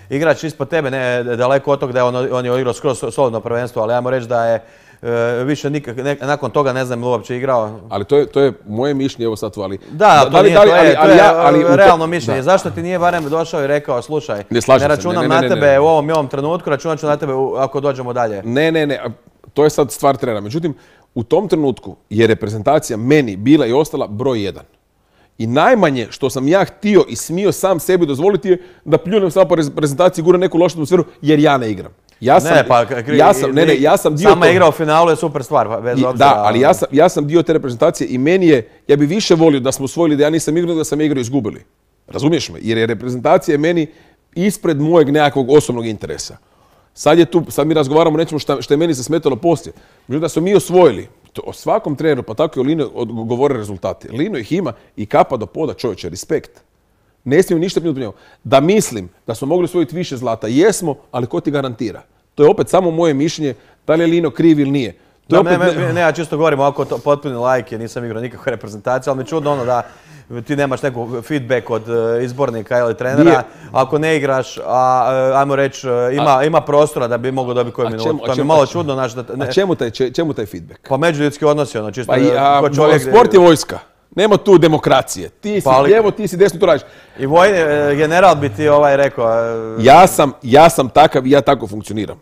Speaker 2: igrač ispod tebe, ne daleko od toga da je on, on je igrao skroz solidno prvenstvo, ali ja moram reći da je uh, više nikak, ne, nakon toga ne znam uopće igrao.
Speaker 3: Ali to je, to je moje mišljenje, evo sad tu, ali...
Speaker 2: Da, to, da li, nije, da li, to je, ali, to je ali, ali, realno ali, mišljenje. Da. Zašto ti nije barem došao i rekao, slušaj, ne, ne računam ne, ne, ne, na tebe ne, ne, ne. u ovom i ovom trenutku, računam ću na tebe ako dođemo dalje.
Speaker 3: Ne, ne, ne, to je sad stvar trenera. Međutim, u tom trenutku je reprezentacija meni bila i ostala broj jedan. I najmanje što sam ja htio i smio sam sebi dozvoliti je da pljunem samo po reprezentaciji, gura neku lošu atmosferu jer ja ne igram. Ja sam,
Speaker 2: ne, pa, kri,
Speaker 3: ja sam, ne, ne, ja sam dio
Speaker 2: sama igra u finalu je super stvar, bez obzira.
Speaker 3: Da, ali ja sam, ja sam dio te reprezentacije i meni je, ja bi više volio da smo osvojili da ja nisam igrao, da sam igrao i izgubili. Razumiješ me? Jer je reprezentacija meni ispred mojeg nekakvog osobnog interesa. Sad je tu, sad mi razgovaramo o nečemu što, što je meni se smetalo poslije. Međutim, da smo mi osvojili, to o svakom treneru, pa tako i o Lino govore rezultati. Lino ih ima i kapa do poda, čovječe, respekt. Ne smijem ništa primiti od njega. Da mislim da smo mogli osvojiti više zlata, jesmo, ali ko ti garantira? To je opet samo moje mišljenje, da li je Lino kriv ili nije. To
Speaker 2: da, opet... ne, ne, ne, ja čisto govorim ovako potpuni lajk, jer nisam igrao nikakve reprezentacije, ali mi čudno ono da ti nemaš neku feedback od uh, izbornika ili trenera,
Speaker 3: Nije.
Speaker 2: ako ne igraš, a, uh, ajmo reći, uh, ima,
Speaker 3: A-
Speaker 2: ima prostora da bi mogao dobiti koju
Speaker 3: A
Speaker 2: minutu.
Speaker 3: čemu- a
Speaker 2: To mi je
Speaker 3: čemu-
Speaker 2: malo
Speaker 3: a-
Speaker 2: čudno, znaš, da... Ne,
Speaker 3: A čemu taj, če- čemu taj feedback?
Speaker 2: pa međuljudski odnosi, ono, čisto
Speaker 3: Pa i, a,
Speaker 2: ko čovjek...
Speaker 3: sport je vojska. Nema tu demokracije. Ti si
Speaker 2: Pa ali-
Speaker 3: lijevo, ti si desno, to radiš.
Speaker 2: I vojni e, general bi ti ovaj rekao... e,
Speaker 3: Ja sam, ja sam takav i ja tako funkcioniram.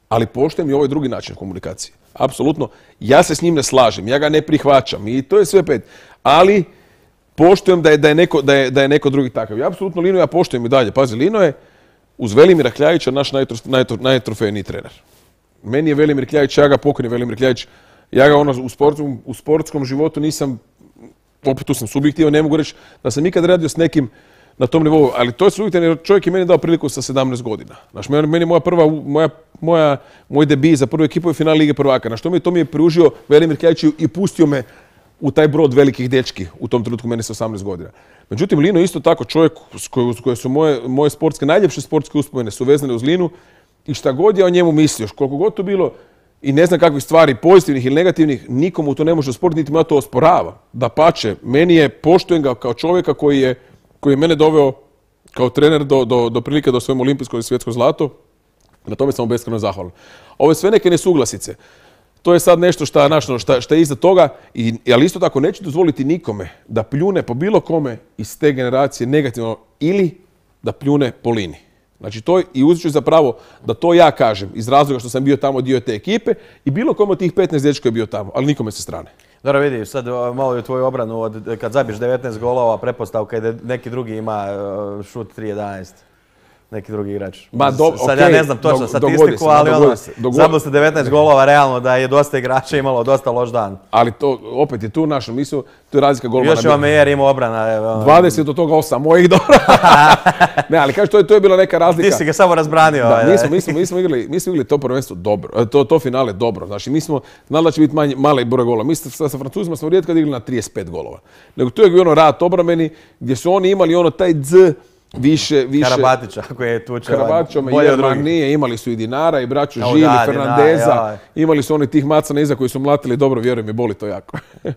Speaker 3: Ali poštujem i ovaj drugi način komunikacije. Apsolutno. Ja se s njim ne slažem, ja ga ne prihvaćam i to je sve pet. Ali poštujem da je, da je, neko, da je, da je neko drugi takav. Ja apsolutno Linu ja poštujem i dalje. Pazi, Lino je uz Velimira Kljajića naš najtrof, najtro, najtrofejniji trener. Meni je Velimir Kljajić, ja ga pokojni Velimir Kljajić, ja ga ono u sportskom, u sportskom životu nisam, opet tu sam subjektivan, ne mogu reći da sam ikad radio s nekim na tom nivou, ali to je subjektivno jer čovjek je meni dao priliku sa sedamnaest godina. Znaš, meni meni je moja prva, moja, moja, moj debi za prvu ekipu je final Lige prvaka. Na što mi je to mi je pružio Velimir Kljajić i pustio me u taj brod velikih dečki, u tom trenutku meni sa osamnaest godina. Međutim, Lino je isto tako čovjek s koje, s koje su moje, moje sportske, najljepše sportske uspomene su vezane uz Linu i šta god ja o njemu mislio, koliko god to bilo i ne znam kakvih stvari, pozitivnih ili negativnih, nikomu to ne može osporiti, niti ja to osporava. Dapače, meni je, poštujem ga kao čovjeka koji je, koji je mene doveo kao trener do, do, do prilike do svojom olimpijsko i svjetsko zlato. Na tome sam mu beskrajno zahvalan. Ove sve neke nesuglasice, to je sad nešto šta, našno, šta, šta je iza toga, i, ali isto tako neću dozvoliti nikome da pljune po bilo kome iz te generacije negativno ili da pljune po Lini. Znači to je, i uzet ću za pravo da to ja kažem iz razloga što sam bio tamo dio te ekipe i bilo kome od tih petnaest dečka je bio tamo, ali nikome sa strane.
Speaker 2: Dobro, vidi, sad o, malo i u tvoju obranu, od, kad zabiješ devetnaest golova, pretpostavka je da neki drugi ima uh, šut tri jedanaest. Neki drugi igrač.
Speaker 3: Ma, do-
Speaker 2: sad
Speaker 3: okej,
Speaker 2: ja ne znam točno
Speaker 3: dog-
Speaker 2: statistiku,
Speaker 3: dogodi se, ma,
Speaker 2: ali ono,
Speaker 3: dogodi se, dogodi-
Speaker 2: zabili ste devetnaest golova, realno da je dosta igrača imalo dosta loš dan.
Speaker 3: Ali to opet je tu naša misao, to je razlika golmana.
Speaker 2: Još je Omejer imao obrana. evo, ono,
Speaker 3: dvadeset od toga osam mojih dobro. Ne, ali kažeš, to je, to je bila neka razlika.
Speaker 2: Ti si ga samo razbranio.
Speaker 3: Da,
Speaker 2: ovaj,
Speaker 3: mi smo, mi smo, mi smo igrali, mi smo igrali to prvenstvo dobro, e, to, to finale dobro. Znači, mi smo znali da će biti manji, mali broj golova. Mi sa, sa Francuzima smo rijetko igrali na trideset pet golova. Nego to je bio ono rat obrambeni, gdje su oni imali ono taj dz više, više...
Speaker 2: Karabatića koji je tučeo.
Speaker 3: Karavačom i
Speaker 2: bolje od drugih.
Speaker 3: Nije, imali su i Dinara, i braću
Speaker 2: Ja,
Speaker 3: Žili,
Speaker 2: da,
Speaker 3: Fernandeza,
Speaker 2: Dinara, ja.
Speaker 3: imali su oni tih macana iza koji su mlatili, dobro, vjerujem mi, boli to jako.
Speaker 2: Je-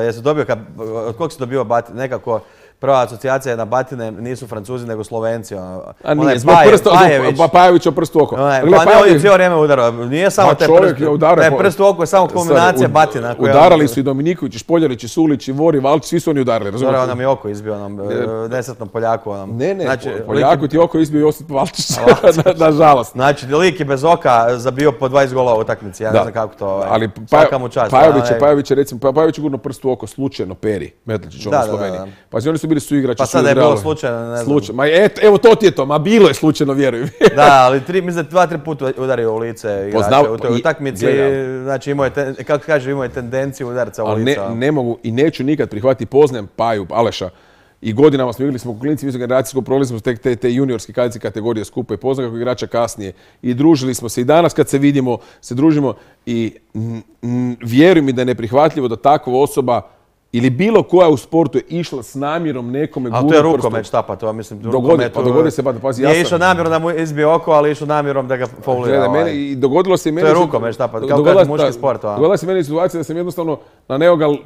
Speaker 2: Jesu dobio, kad, od kog si dobio batine? Nekako prva asocijacija je na batine, nisu Francuzi nego Slovenci. Ono.
Speaker 3: A nije,
Speaker 2: Onaj
Speaker 3: zbog
Speaker 2: Paje-
Speaker 3: prsta,
Speaker 2: Pajević.
Speaker 3: zbog Pajevića prst u oko.
Speaker 2: Onaj,
Speaker 3: Gle,
Speaker 2: pa ne, on je
Speaker 3: Pajević-
Speaker 2: cijelo vrijeme udarao. Nije samo
Speaker 3: Ma,
Speaker 2: te
Speaker 3: čovjek
Speaker 2: prst,
Speaker 3: je udarao
Speaker 2: taj
Speaker 3: po-
Speaker 2: prst u oko je samo kombinacija
Speaker 3: Stvari,
Speaker 2: batina. koja-
Speaker 3: Udarali su i Dominiković, i Špoljarić, i Sulić, i Vori, Valč, svi su oni udarali,
Speaker 2: Dobro,
Speaker 3: razumiješ?
Speaker 2: on nam je oko izbio, onom e, nesretnom Poljaku. Onom.
Speaker 3: Ne, ne,
Speaker 2: znači,
Speaker 3: po-
Speaker 2: lik,
Speaker 3: Poljaku ti oko izbio Josip Valčić,
Speaker 2: Valčić.
Speaker 3: nažalost.
Speaker 2: znači, lik je bez oka zabio po dvadeset golova u utakmici, ja ne
Speaker 3: Da.
Speaker 2: znam kako to, ovaj,
Speaker 3: Ali
Speaker 2: svaka mu čast.
Speaker 3: Pajović je,
Speaker 2: onaj-
Speaker 3: Pajović je, recimo, Pa- Pajović je gurno prst u oko slučajno Peri, Metličić, ono
Speaker 2: Da,
Speaker 3: u
Speaker 2: da, da,
Speaker 3: Sloveniji.
Speaker 2: da.
Speaker 3: Pa oni su bili suigrači.
Speaker 2: Pa
Speaker 3: su
Speaker 2: sad da je bilo
Speaker 3: igrali.
Speaker 2: slučajno, ne znam.
Speaker 3: Slučaj- Ma et, evo to ti je to, ma bilo je slučajno, vjerujem.
Speaker 2: Da, ali tri, mislim da dva, tri puta udario u lice igrača
Speaker 3: Poznav-
Speaker 2: u toj
Speaker 3: i-
Speaker 2: utakmici.
Speaker 3: gledam.
Speaker 2: Znači imao je, ten, kako kaže, imao je tendenciju udarca u
Speaker 3: Ali
Speaker 2: lice.
Speaker 3: ne, ne mogu i neću nikad prihvatiti, poznajem Paju, Aleša, i godinama smo igrali, smo u klinici visokogeneracijskog, prolazili smo te, te, te juniorske kadice kategorije skupa i poznam kako igrača kasnije i družili smo se i danas kad se vidimo, se družimo i n, n, vjeruj mi da je neprihvatljivo da takva osoba ili bilo koja u sportu je išla s namjerom nekome
Speaker 2: Ali
Speaker 3: gurnut
Speaker 2: to je
Speaker 3: prstom.
Speaker 2: rukomet, šta pa to, mislim, u
Speaker 3: Dogodi-
Speaker 2: rukometu,
Speaker 3: pa dogodi se, pa da pazi, ja
Speaker 2: Nije
Speaker 3: sam-
Speaker 2: išao namjerno da mu izbije oko, ali je išao namjerom da ga faulira.
Speaker 3: Gledaj,
Speaker 2: ovaj.
Speaker 3: meni, i dogodilo se i meni...
Speaker 2: je
Speaker 3: su-
Speaker 2: rukomet, šta pa, kao
Speaker 3: dogodila
Speaker 2: kaže
Speaker 3: se-
Speaker 2: muški
Speaker 3: da,
Speaker 2: sport, a?
Speaker 3: Dogodila se meni situacija da sam jednostavno na Neogal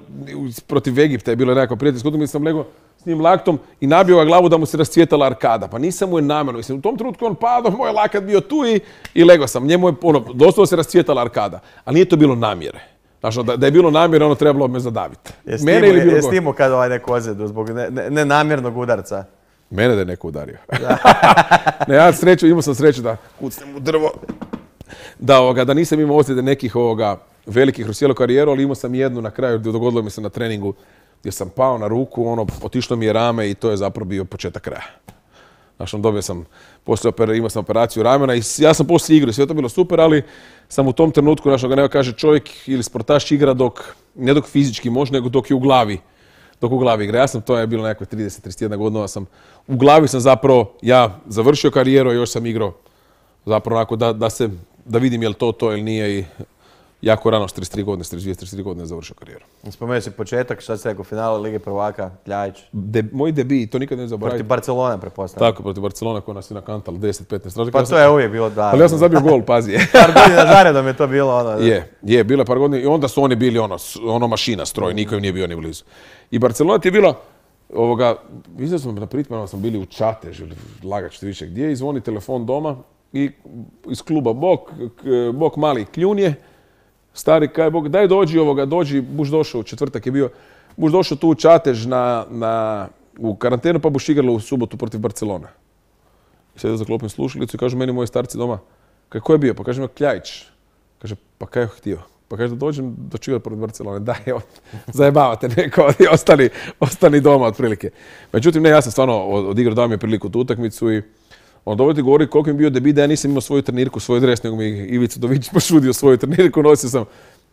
Speaker 3: protiv Egipta je bilo nekako prijateljsko utakmica, sam legao s njim laktom i nabio ga glavu da mu se rascvjetala arkada. Pa nisam mu je namjerno. Mislim, u tom trenutku on padao, moj lakat bio tu i, i legao sam. Njemu je, ono, doslovno se rascvjetala arkada. Ali nije to bilo namjere. Znači, da, da je bilo namjere, ono trebalo me zadaviti.
Speaker 2: Jesi
Speaker 3: Mene
Speaker 2: ti
Speaker 3: ili
Speaker 2: mu-
Speaker 3: bilo
Speaker 2: jesi
Speaker 3: koga?
Speaker 2: ti mu kad ovaj neku ozljedu zbog ne- ne- nenamjernog udarca?
Speaker 3: Mene da je neko udario. Ne, ja sreću, imao sam sreću da kucnem u drvo. Da, ovoga, da nisam imao ozljede nekih ovoga, velikih kroz cijelu karijeru, ali imao sam jednu na kraju, dogodilo mi se na treningu gdje sam pao na ruku, ono, otišlo mi je rame i to je zapravo bio početak kraja. Znači, dobio sam, poslije opera- imao sam operaciju ramena i s- ja sam poslije igrao, sve je to bilo super, ali sam u tom trenutku, znači, ga nema kaže čovjek ili sportaš igra dok, ne dok fizički može, nego dok je u glavi. Dok u glavi igra. Ja sam, to je bilo nekakve trideset trideset jedna godina, sam, u glavi sam zapravo, ja završio karijeru, a još sam igrao zapravo onako da, da se, da vidim je li to to ili nije i jako rano, s trideset tri godine, s trideset dvije, trideset tri godine završio karijeru.
Speaker 2: Spomenuo si početak, šta si rekao, finale Lige prvaka, Kljajić.
Speaker 3: De, moj debi, to nikad ne
Speaker 2: Protiv
Speaker 3: zaboravim.
Speaker 2: Barcelone, pretpostavljam.
Speaker 3: Tako, protiv Barcelona koja nas je nakantala deset petnaest razlika.
Speaker 2: Pa
Speaker 3: Ja sam-
Speaker 2: to je uvijek bilo da.
Speaker 3: Ali ja sam zabio gol, pazi.
Speaker 2: Par godina zaredom je to bilo ono.
Speaker 3: Je, je, bilo je par godina i onda su oni bili ono, s- ono mašina, stroj, niko im nije bio ni blizu. I Barcelona ti je bila Ovoga, mislim da smo na pripremama smo bili u Čatež ili Lagač više gdje i zvoni telefon doma i iz kluba Bok, Bok mali kljunje, stari kaj Bog, daj dođi ovoga, dođi, buš došao u četvrtak je bio, buš došao tu u Čatež na, na, u karantenu pa buš igralo u subotu protiv Barcelona. I sad za klopim slušalicu i kažu meni moji starci doma, kako je bio? Pa kaže ima Kljajić. Kaže, pa kaj je htio? Pa kaže da dođem do čigati protiv Barcelone. Daj, zajebavate neko, ostani, ostani doma otprilike. Međutim, ne, ja sam stvarno odigrao, dao mi je priliku tu utakmicu i on dovoljno ti govori koliko mi je bio debit da ja nisam imao svoju trenirku, svoj dres, nego mi Ivica Dović pošudio svoju trenirku, nosio sam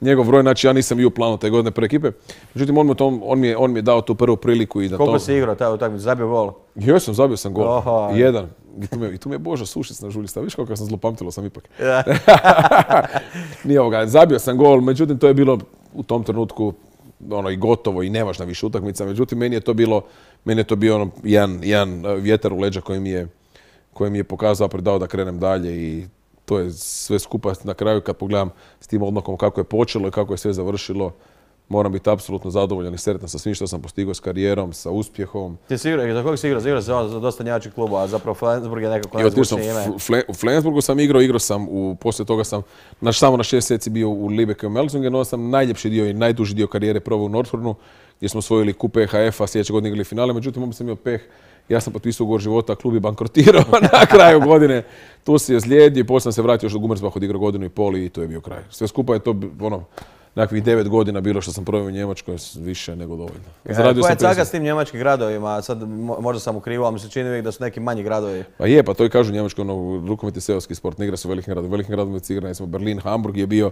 Speaker 3: njegov broj, znači ja nisam bio u planu te godine prve ekipe. Međutim, on mi, tom, on mi, je, on mi je dao tu prvu priliku i da
Speaker 2: koliko
Speaker 3: to...
Speaker 2: si igrao taj utakmicu, zabio gol?
Speaker 3: Jesam, zabio sam gol.
Speaker 2: Oho.
Speaker 3: Jedan. I tu, me, I tu me je Boža Sušic na žulji stavio. Viš kako sam zlopamtilo sam ipak.
Speaker 2: Ja.
Speaker 3: Nije ovoga, zabio sam gol, međutim to je bilo u tom trenutku ono i gotovo i nevažna više utakmica. Međutim, meni je to bilo, meni je to bio ono jedan, jedan vjetar u leđa koji mi je, koji mi je pokazao, predao da krenem dalje i to je sve skupa na kraju kad pogledam s tim odmakom kako je počelo i kako je sve završilo. Moram biti apsolutno zadovoljan i sretan sa svim što sam postigao s karijerom, sa uspjehom. Ti
Speaker 2: si igrao, za koga si igrao? Igrao sam za dosta njemačkih klubova, a zapravo Flensburg je nekako najzvučnije ime.
Speaker 3: U Flensburgu sam igrao, igrao sam, u, poslije toga sam naš, samo na šest mjeseci bio u Lübecku i Melsungen, sam najljepši dio i najduži dio karijere proveo u Nordhornu, gdje smo osvojili kup E H F-a, sljedeće godine igrali finale, međutim on sam imao peh. Ja sam potpisao ugovor života, klub je bankrotirao na kraju godine. Tu se je zlijedio i poslije sam se vratio još do Gummersbach, odigrao godinu i pol i to je bio kraj. Sve skupa je to ono, nekakvih devet godina bilo što sam proveo u Njemačkoj, više nego dovoljno.
Speaker 2: Zaradio koja je caga s tim njemačkim gradovima? Sad možda sam ukrivo, ali mi se čini uvijek da su neki manji gradovi.
Speaker 3: Pa je, pa to i kažu Njemačkoj, ono, rukomet je seoski sport, ne igra se u velikim gradovima. U velikim gradovima se igra, ne znam, Berlin, Hamburg je bio.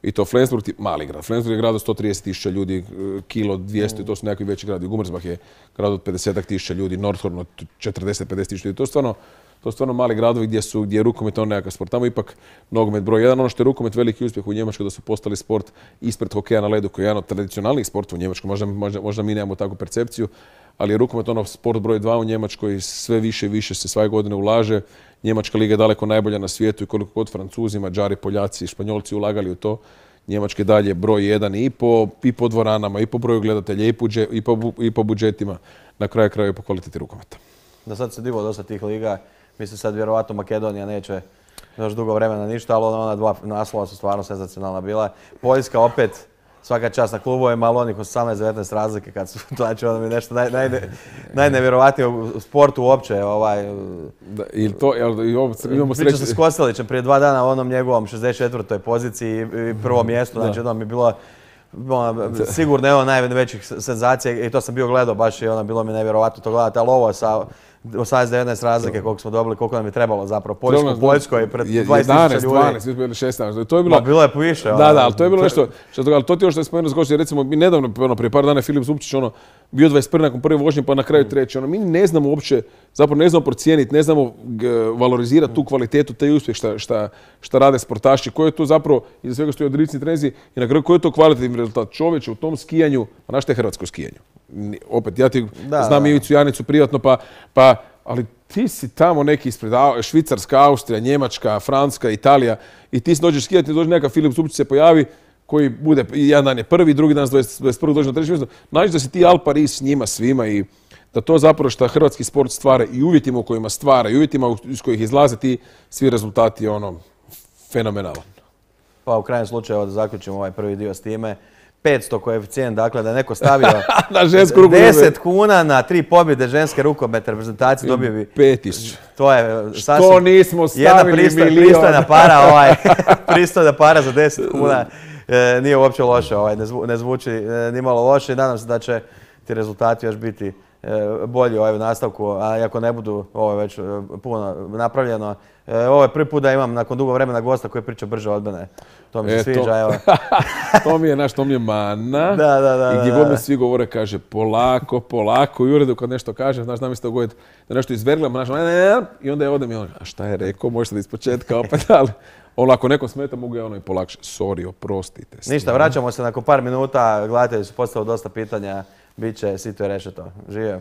Speaker 3: I to Flensburg, mali grad. Flensburg je grad od sto trideset tisuća ljudi, kilo dvjesto, to su nekakvi veći gradi. Gummersbach je grad od pedeset tisuća ljudi, Nordhorn od četrdeset do pedeset tisuća ljudi. To je stvarno, to je stvarno mali gradovi gdje, su, gdje je rukomet on nekakav sport. Tamo ipak nogomet broj jedan. Ono što je rukomet veliki uspjeh u Njemačkoj da su postali sport ispred hokeja na ledu koji je jedan od tradicionalnih sportova u Njemačkoj. Možda, možda, možda mi nemamo takvu percepciju, ali je rukomet ono sport broj dva u Njemačkoj, sve više i više se svake godine ulaže. Njemačka liga je daleko najbolja na svijetu i koliko god Francuzi, Mađari, Poljaci i Španjolci ulagali u to. Njemačke dalje broj jedan i po, i po dvoranama, i po broju gledatelja, i po, i po, i po budžetima, na kraju kraju i po kvaliteti rukometa.
Speaker 2: Da sad se divo dosta tih liga, mislim sad vjerovatno Makedonija neće još dugo vremena ništa, ali ona dva naslova su stvarno senzacionalna bila. Poljska opet, svaka čast na klubovima, ali onih osamnaest devetnaest razlike kad su, znači ono mi nešto naj, naj, najnevjerovatnije u sportu uopće. Ovaj,
Speaker 3: da, ili to, ili ovo, imamo
Speaker 2: sreće. Pričao sam s Kostelićem prije dva dana u onom njegovom šezdeset četvrtoj poziciji i prvo mjesto, znači ono mi je bilo ono, sigurno je ono najvećih senzacija i to sam bio gledao baš i ono bilo mi nevjerovatno to gledati, ali ovo sa osamnaest devetnaest razlike koliko smo dobili, koliko nam je trebalo zapravo. Poljsko, Poljsko je pred dvadeset tisuća ljudi.
Speaker 3: dvanaest, mi smo bili šesnaest. To je bilo...
Speaker 2: Ma, bilo je više.
Speaker 3: Da, da, ali to je bilo nešto, što, ali to ti još što je spomenuo zgošće, recimo, mi nedavno, ono, prije par dana je Filip Zupčić, ono, bio dvadeset prvi nakon prve vožnje, pa na kraju treći, ono, mi ne znamo uopće, zapravo ne znamo procijeniti, ne znamo g, valorizirati tu kvalitetu, taj uspjeh šta, šta, šta rade sportaši, koji je to zapravo, iza svega stoji odricni trenzi i na kraju koji je to kvalitativni rezultat čovječa u tom skijanju, a naš je hrvatsko skijanje. Opet, ja ti da, znam da. Ivicu Janicu privatno, pa, pa ali ti si tamo neki ispred Švicarska, Austrija, Njemačka, Francuska, Italija i ti si dođeš skijati, dođe neka Filip Zupčić se pojavi koji bude, jedan dan je prvi, drugi dan dvadeset prvog dođe na treći mjesto. Naći da si ti Al Paris s njima svima i da to zapravo što hrvatski sport stvara i uvjetima u kojima stvara i uvjetima iz kojih izlaze ti svi rezultati ono fenomenalan.
Speaker 2: Pa u krajnjem slučaju da zaključimo ovaj prvi dio s time. petsto koeficijent, dakle da je neko stavio deset kuna na tri pobjede ženske rukometne reprezentacije dobio bi
Speaker 3: pet tisuća.
Speaker 2: To je
Speaker 3: sasvim što nismo stavili
Speaker 2: jedna
Speaker 3: milion.
Speaker 2: pristojna para, ovaj, pristojna para za deset kuna. E, nije uopće loše, ovaj, ne, zvu, ne zvuči e, ni malo loše i nadam se da će ti rezultati još biti e, bolji ovaj, u nastavku, a ako ne budu ovo već e, puno napravljeno. E, ovo je prvi put da imam nakon dugo vremena gosta koji priča brže od mene. To mi se e, sviđa, to. Evo.
Speaker 3: To mi je naš, to mi je mana.
Speaker 2: Da, da, da.
Speaker 3: I gdje
Speaker 2: da,
Speaker 3: god
Speaker 2: da.
Speaker 3: mi svi govore, kaže polako, polako. I u uredu kad nešto kaže, znaš, nam se dogoditi da nešto izverglamo, znaš, i onda je odem i on, a šta je rekao, možete da ispočetka opet, ali ono, ako nekom smeta, mogu ja ono i polakše. Sorry, oprostite.
Speaker 2: Ništa, vraćamo se nakon par minuta, gledatelji su postavili dosta pitanja, bit će, Sito je rešeto. Živio.